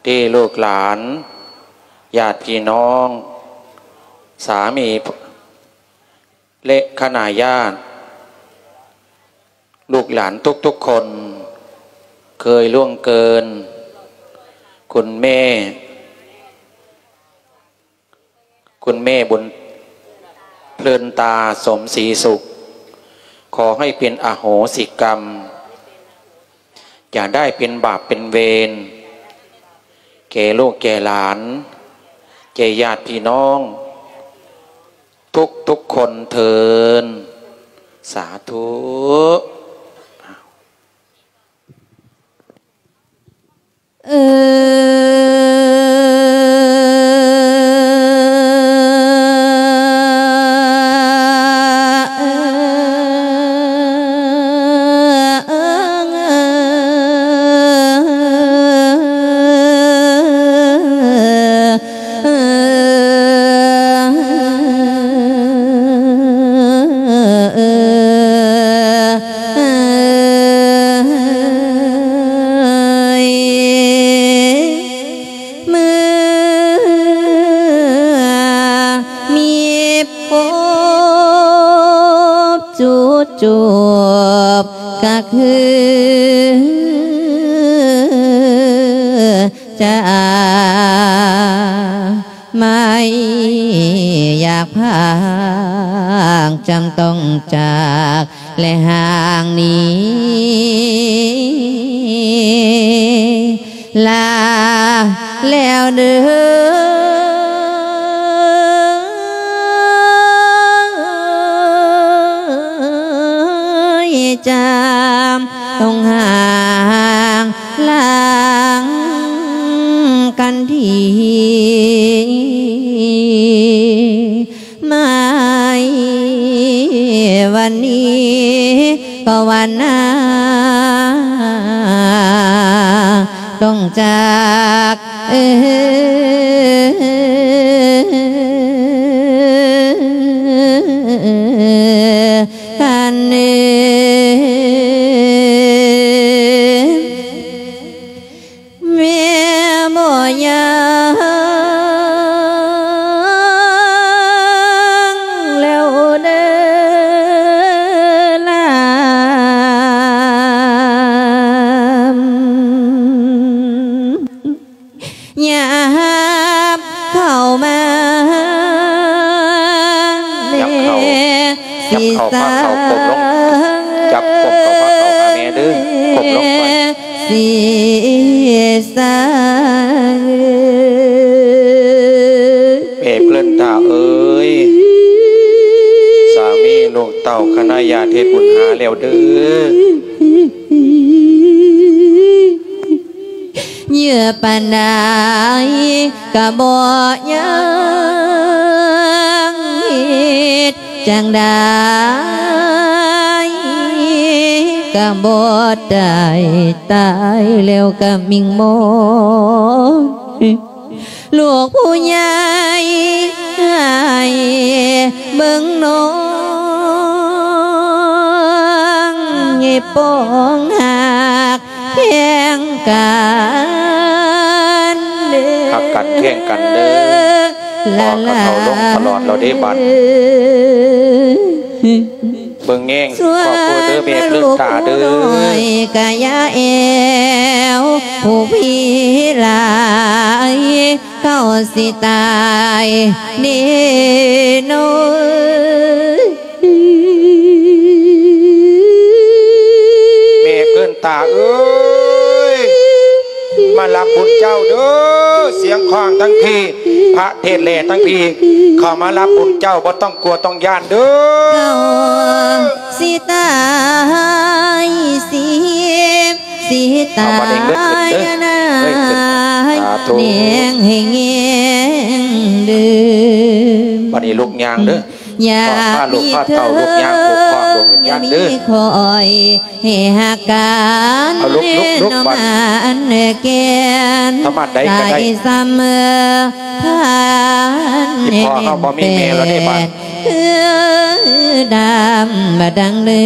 ທີ່ລູກຫຼານ ຍາດພີ່ນ້ອງ ສາມີ ແລະ ຄະນະຍາດ ລູກຫຼານທຸກໆຄົນ ເຄີຍລ່ວງເກີນ ຄຸນແມ່ ຄຸນແມ່ບຸນເພລິນຕາ ສົມສີສຸກ ຂໍໃຫ້ເປັນອະໂຫສິກຳ ຢ່າໄດ້ເປັນບາບເປັນເວນ ແກ່ລູກແກ່ຫຼານ ແກ່ຍາດພີ່ນ້ອງ ທຸກໆຄົນເທີ້ນ ສາທຸ. ເມື່ອມີພົບຈຸດຈົບ ກະຄືຈາກ ໄມ່ຢາກພາກ ຈຳຕ້ອງຈາກ ແລະ ຫ່າງໜີ ລາແລ້ວເດີ້ ຈຳຕ້ອງຫ່າງ ລາງກັນທີ ໃນວັນນີ້ ພາວະນາ ຕ້ອງຈາກ ເອີ ກັນເອີ ແມ່ບໍ່ຍັງແລ້ວເດີຫຼາ. ຍາມເຂົ້າມາ ຍາມເຂົ້າ ແລ ຍາມເຂົ້າ ພາເຂົ້າ ກົ້ມລົງ ຈັບກົ້ມເຂົ້າ ພາເຂົ້າຫາແມ່ເດີ ກົ້ມລົງໄປ ສີສາ ແມ່ເພິ່ນຕາເອີຍ ສາມີລູກເຕົ້າຄະນະຍາດເຮັດບຸນຫາແລ້ວເດີ. ເຍອະປານໃດກະບໍ່ຍັງ ເຮັດຈັ່ງໃດກະບໍ່ໄດ້ ຕາຍແລ້ວກະມິ່ງມອນ ລູກຜູ້ໃຫຍ່ໃຫ້ເບິ່ງນ້ອງ ໃຫ້ປ້ອງຮັກ ແພງກັນເດີ ຮັກກັນແພງກັນເດີ ພໍ່ກະເຖົ້າລົງຕະຫຼອດແລ້ວເດ້ບັດ ເບິ່ງແຍງຄອບຄົວເດີແມ່ເພິ່ນຕາເດີ ກະຢ່າແອວຜູ້ພີຫຼາຍ ເຂົາຊິຕາຍແນ່ນອນ ແມ່ເພິ່ນຕາເອີຍ ມາຮັບບຸນເຈົ້າເດີ ສຽງຂອງທັງພີ້ ພະເທດແລທັງພີ້ ເຂົ້າມາຮັບບຸນເຈົ້າ ບໍ່ຕ້ອງກົວຕ້ອງຢ້ານເດີ ເຂົາຊິຕາຍຊິ ຊິຕາຍນາຍແນງໃຫ້ແຍງເດີ ບັດນີ້ລູກຍ່າງເດີ ຍາມມີເທີດ ບໍ່ມີຂ້ອຍ ໃຫ້ຮັກກັນ ເອົາລຸກໆໆ ເນາະ ບັດ ອັນແກ່ນ ທຳມາດໃດກໍໄດ້ ສາຍສຳພັນ ອີ່ພໍ່ເຮົາບໍ່ມີແມ່ແລ້ວເດ້ບັດ ຄືດຳມາດັ່ງເດີ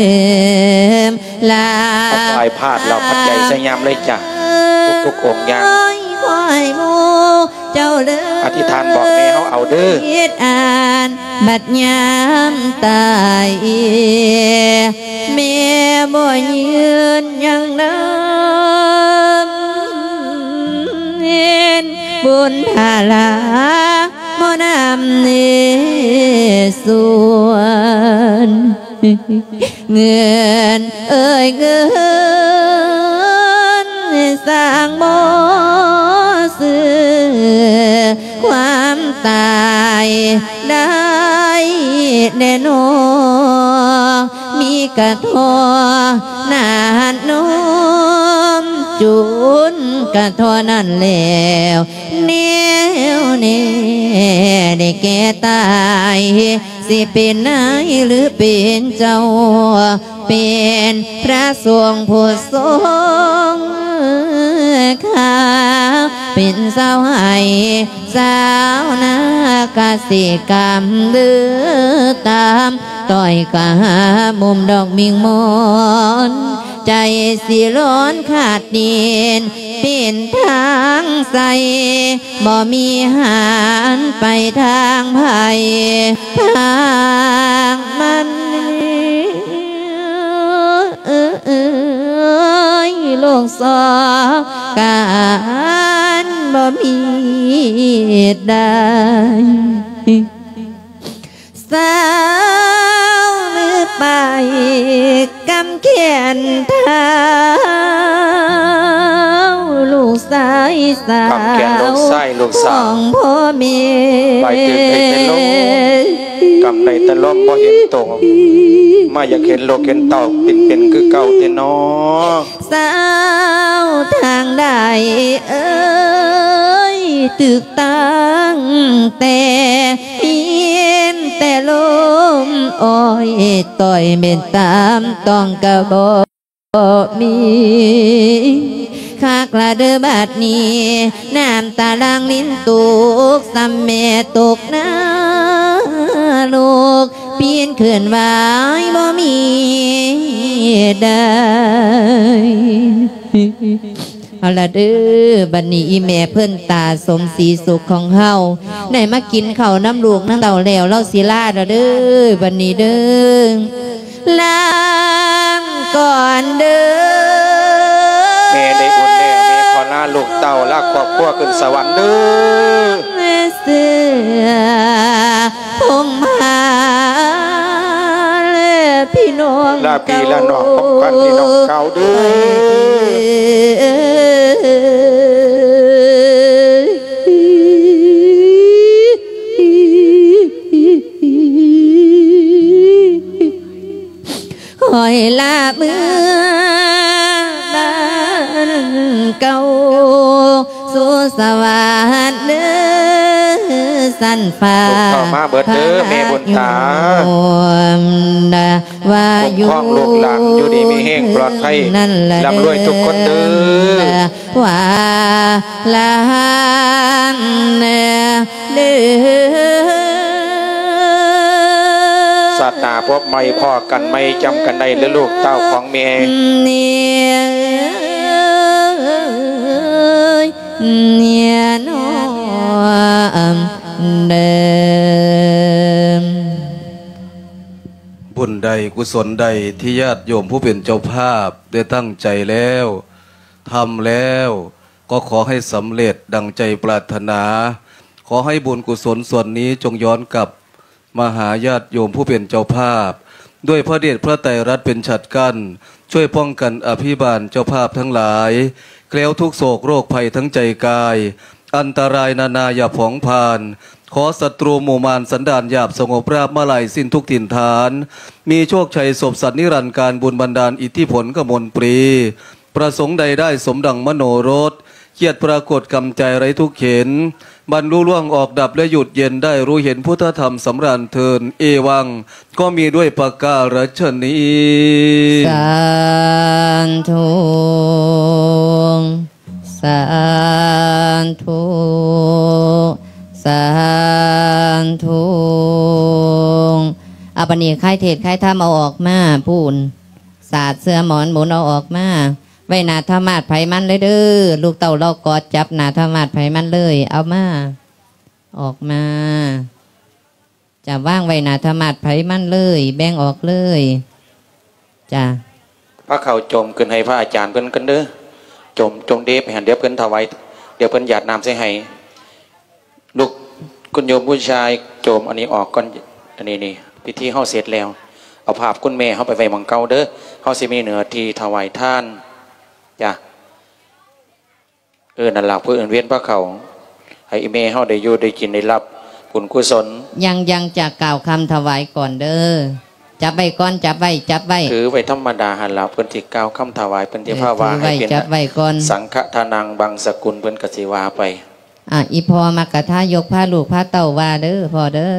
ມ ລາ ເອົາໄປພາດລາວພັດໃຫຍ່ໃສ່ຍາມເລີຍຈ້າ ທຸກໆອົງຍ່າງ ຂໍໃຫ້ໝູ່ເຈົ້າເລີຍ ອະທິຖານບອກແມ່ເຮົາເອົາເດີ ເຮັດອັນບັດຍາມຕາຍ ແມ່ບໍ່ຍືນຍັງນຳ ເຫັນບຸນພາລາ ບໍ່ນຳເນສວນ ເງິນເອີຍເງິນ ສ້າງບໍ່ຊື້ຄວາມຕາຍໄດ້ແນ່ນອນ ມີກະທໍ່ໜາດນົມ ຈຸນກະທໍ່ນັ້ນແລ້ວ ແນວແນ່ໄດ້ແກ່ຕາຍ ຊິເປັນນາຍຫຼືເປັນເຈົ້າ ເປັນພະສົງຜູ້ຊົງຄ່າ ເປັນຊາວໄຮ່ຊາວນາກະສິກຳເດີ ຕາມຕ້ອຍກະຫາມຸມດອກມິ່ງມອນ ໃຈຊິຮ້ອນຂາດດິນ ເປັນທາງໃສ ບໍ່ມີຫັນໄປທາງໃຜທາງມັນ ເອີຍ ໂລກສອງການບໍ່ມີດາຍ ສາວມືປາຍກຳແຂນທ້າວ ລູກຊາຍສາວ ກຳແຂນລູກຊາຍລູກສາວ ຂອງພໍ່ແມ່ ບາຍຕື່ນໄດ້ແຕ່ລົມ ກຳໄດ້ແຕ່ລົມບໍ່ເຫັນໂຕ ມາຢາກເຫັນລູກເຫັນເຕົ້າ ເປັນ ເປັນຄືເກົ່າແຕ່ນ້ອ. ສາວທາງໃດເອີຍ ຕຶກຕັ້ງແຕ່ ຍິນແຕ່ລົມອ້ອຍຕ້ອຍ ແມ່ນຕາມຕ້ອງກະບໍ່ມີ ຄັກລະເດີບາດນີ້ ນ້ຳຕາຫຼັ່ງລິນຕົກ ສ່ຳແມ່ຕົກນະລົກ ປີນຂຶ້ນໄຫວ້ບໍ່ມີດາຍ. ເອົາລະເດີ ບັດນີ້ອີ່ແມ່ເພິ່ນຕາສົມສີສຸກຂອງເຮົາ ໄດ້ມາກິນເຂົ້ານຳລູກນຳເຕົ້າແລ້ວ ລາວຊິລາລະເດີ ບັດນີ້ເດີ ລາກ່ອນເດີ ແມ່ໄດ້ບຸນແລ້ວ ແມ່ຂໍລາ ລູກເຕົ້າລາຄອບຄົວຂຶ້ນສະຫວັນເດີ. ເສືອພົມມາແລະພີ່ນ້ອງ ລາພີ່ລານ້ອງ ເຈົ້າ ຂອງຂວັນພີ່ນ້ອງເກົ່າເດີ. ຂ້ອຍລາເມືອບ້ານເກົ່າ ສູ່ສະຫວັດເດີ ຊັ້ນຟ້າ ລູກເຕົ້າມາເບິດເດີ ແມ່ບຸນຕາ ພະຍາຍາມ ວ່າຢູ່ ຄຸ້ມຄອງລູກຫຼານ ຢູ່ດີມີແຮງ ປອດໄພ ນັ້ນລະເດີ ລ່ຳລວຍທຸກຄົນເດີ. ວ່າລານເດີ ຊາດໜ້າພົບໃໝ່ ພໍ້ກັນໃໝ່ ຈຳກັນໄດ້ເດີລູກເຕົ້າຂອງແມ່. ບຸນໃດ ກຸສົນໃດ ທີ່ຍາດໂຍມຜູ້ເປັນເຈົ້າພາບໄດ້ຕັ້ງໃຈແລ້ວ ທຳແລ້ວ ກໍຂໍໃຫ້ສຳເລັດດັ່ງໃຈປາດຖະໜາ. ຂໍໃຫ້ບຸນກຸສົນສ່ວນນີ້ຈົ່ງຍ້ອນກັບມາຫາຍາດໂຍມຜູ້ເປັນເຈົ້າພາບ ດ້ວຍພະເດດພະໄຕລັດເປັນສັດກັ້ນ ຊ່ວຍປ້ອງກັນອະພິບານເຈົ້າພາບທັງຫຼາຍ ແຄล้วທຸກໂສກໂລກໄພທັງໃຈກາຍ ອັນຕະລາຍນານາຢ່າຜອງຜ່ານ ຂໍສັດຕູໝູ່ມານສັນດານຫຍາບສະຫງົບລາບມາລາຍສິ້ນທຸກຖິ່ນຖານ ມີໂຊກໄຊສົບສັນນິລັນການ ບຸນບັນດານອິດທິຜົນກະມົນປຣີ ປະສົງໃດໄດ້ສົມດັ່ງມະໂນລົດ ຄຽດປາກົດກຳໃຈໄຮ້ທຸກເຂັນ ບັນລຸລ່ວງອອກດັບແລະຢຸດເຢັນໄດ້ຮູ້ເຫັນພຸດທະທຳສຳລານເທີນ ເອວັງ ກໍມີດ້ວຍປະກາລະຊະນີ້. ສາທຸ ສາທຸ ສາທຸ. ເອົາ ບັດນີ້ຄາຍເທດຄາຍທຳເອົາອອກມາ ປູນ ສາດເສື້ອໝອນໝູນເອົາອອກມາ ໄວ້ໜ້າທາມາດໃຜມັນເລີຍເດີ. ລູກເຕົ້າລອກກອດຈັບໜ້າທາມາດໃຜມັນເລີຍ ເອົາມາ ອອກມາ ຈະວາງໄວ້ໜ້າທາມາດໃຜມັນເລີຍ ແບ່ງອອກເລີຍ ຈ້າ. ພາເຂົ້າຈົ່ມຂຶ້ນໃຫ້ພະອາຈານເພິ່ນກັນເດີ ຈົ່ມ ຈົ່ມເດບໃຫ້ຫັ້ນ ດຽວເພິ່ນຖວາຍ ດຽວເພິ່ນຫຍາດນ້ຳໃສ່ໃຫ້. ລູກ ຄຸນໂຍມຜູ້ຊາຍ ຈົ່ມອັນນີ້ອອກກ່ອນ ອັນນີ້ນີ້ ພິທີເຮົາເສັດແລ້ວ ເອົາພາບຄຸນແມ່ເຮົາໄປໄວ້ໝ່ອງເກົ່າເດີ ເຮົາຊິມີເນື້ອທີ່ຖວາຍທານ ຈ້າ. ເອີ ນັ້ນລະ ເພື່ອເອີ້ນວຽນພາເຂົ້າ ໃຫ້ອີ່ແມ່ເຮົາໄດ້ຢູ່ໄດ້ກິນໄດ້ຮັບບຸນກຸສົນ. ຍັງ ຍັງຈະກ່າວຄຳຖວາຍກ່ອນເດີ ຈັບໄວ້ກ່ອນ ຈັບໄວ້ ຈັບໄວ້ ຖືໄວ້ທຳມະດາຫັ້ນລະ ເພິ່ນຊິກ່າວຄຳຖວາຍ ເພິ່ນຊິພາວ່າໃຫ້ເປັນ ຈັບໄວ້ກ່ອນ ສັງຄະທານັງບັງສະກຸນ ເພິ່ນກໍຊິວ່າໄປ. ອ່າ ອີ່ພໍ່ມັກກະທາຍົກພາລູກພາເຕົ້າວ່າເດີພໍ່ເດີ.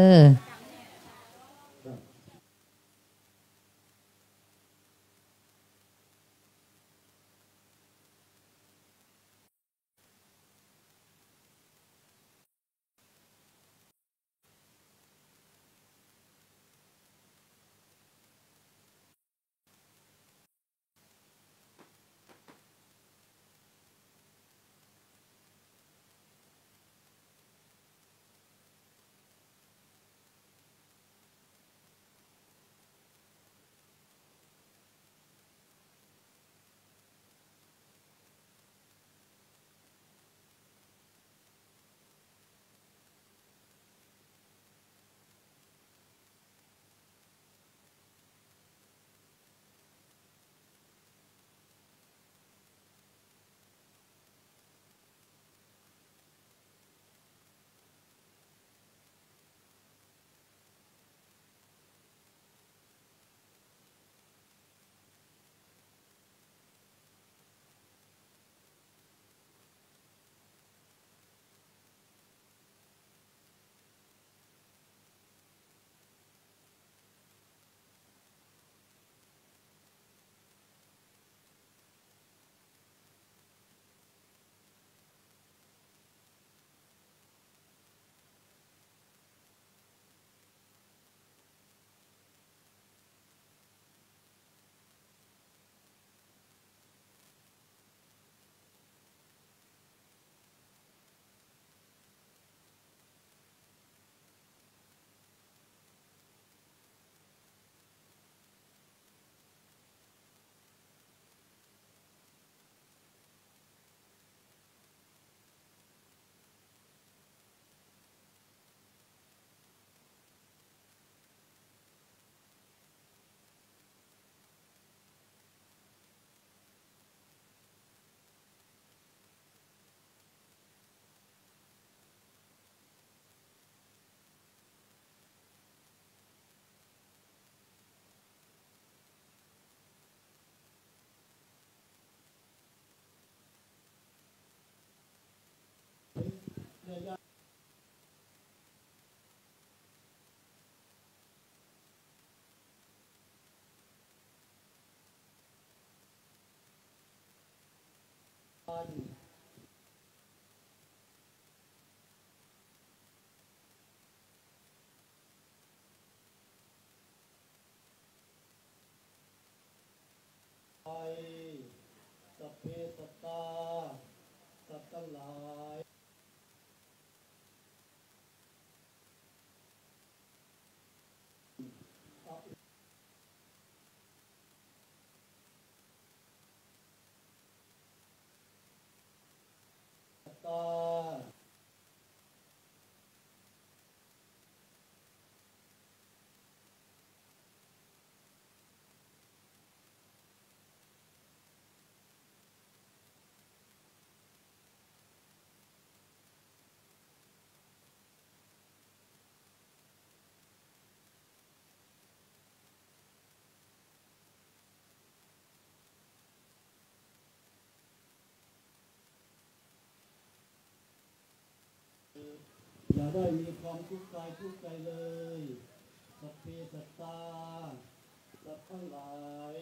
ສັບເພສັດຕາ ສັດທັງຫຼາຍ ຢ່າໄດ້ມີຄວາມທຸກກາຍທຸກໃຈເລີຍ ສັບເພສັດຕາ ສັດທັງຫຼາຍ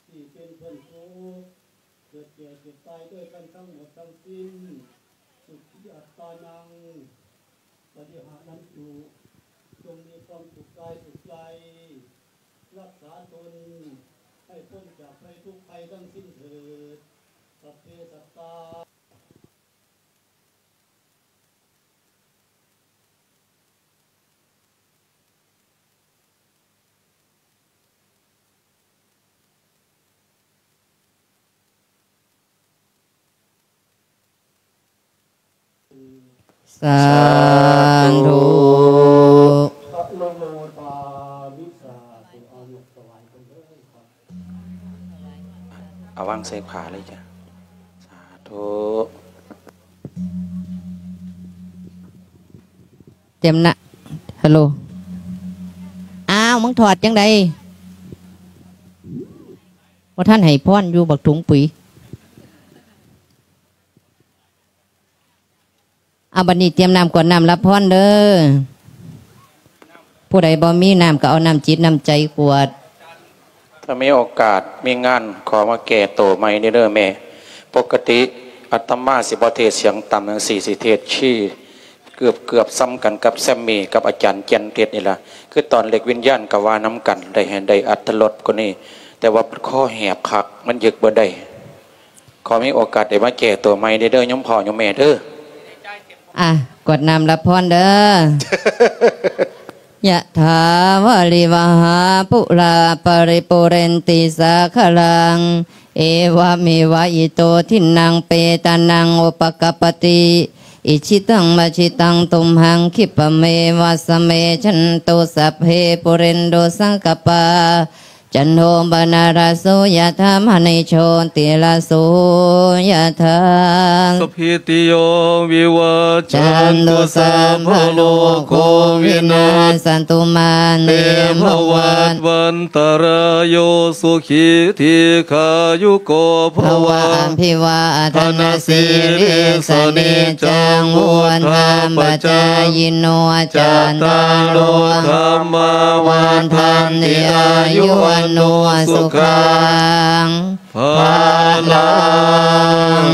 ທີ່ເປັນເພື່ອນທຸກ ເກີດແກ່ເຈັບຕາຍດ້ວຍກັນທັງໝົດທັງສິ້ນ ສຸຂີອັດຕານັງ ປະລິຫານນຳຈຸ ຈົ່ງມີຄວາມສຸກກາຍສຸກໃຈ ຮັກສາຕົນໃຫ້ພົ້ນຈາກໄພທຸກໄພທັງສິ້ນເຖີດ ສັບເພສັດຕາ. ສາທຸ ເອົາວາງໃສ່ຜ້າເລີຍຈ້ະ ສາທຸ. ຕຽມນະ ຮັລໂຫຼ ອ້າວ ມຶງຖອດຈັ່ງໃດ ບໍ່ທັນໃຫ້ພອນຢູ່ ບັກຖົງປຸຍ. ເອົາ ບັດນີ້ຕຽມນ້ຳກວດນ້ຳຮັບພອນເດີ້ ຜູ້ໃດບໍ່ມີນ້ຳກໍເອົານ້ຳຈິດນ້ຳໃຈກວດ. ຖ້າມີໂອກາດມີງານ ຂໍມາແກ້ໂຕໃໝ່ເດີ້ແມ່. ປົກກະຕິອາດຕະມາຊິບໍ່ເທດສຽງຕ່ຳຈັ່ງຊີ້ ຊິເທດຄີເກືອບໆສ່ຳກັນກັບແຊມມີ້ກັບອາຈານແກ່ນເທດນີ້ລະ. ຄືຕອນເລກວິນຍານກໍວ່ານຳກັນ ໄດ້ໃຫ້ໄດ້ອັດຖະລົດກວ່ານີ້ ແຕ່ວ່າຄອແຫບຄັກ ມັນຍຶກບໍ່ໄດ້. ຂໍມີໂອກາດໄດ້ມາແກ້ໂຕໃໝ່ເດີ້ ໂຍມພໍ່ໂຍມແມ່ເດີ້. ອ່ະ ກວດນ້ຳຮັບພອນເດີ້. ຍະຖາວາລິວະຫາປູລາປະລິປູເຣນຕິສາຄະລັງ ເອວະເມວະອິໂຕທິນນັງເປຕານັງອຸປະກັບປະຕິ ອິຊິຕັງປັດສິຕັງຕຸມຫັງຂິບປະເມວະສະເມ ຈັນໂຕສັບເພປູເຣນຕຸສັງກະປາ ຈັນໂທປະນະລະໂສຍະຖາ ມະນີໂຊຕິລະໂສຍະຖາ ສະພີຕິໂຍວິວັດ ຈັນ ຈັນ ຕຸ ຕຸ ສະ ສະ ບະ ໂລ ໂຄ ວິນາສະຕຸມາ ເຕ ພະວັດ ວັນຕະລາໂຍ ສຸຂີ ດີຄາຍຸໂກ ພະ ພະ ວະ ອະ ອະ ພິວາທະນະ ສິລິສະ ນິຈຈັງ ວຸດທາ ປະຈາຍິໂນ ຈັດຕາໂລ ທຳມາ ວັດທັນຕິ ອາຍຸ ວັນໂນ ສຸຂັງ ພະລັງ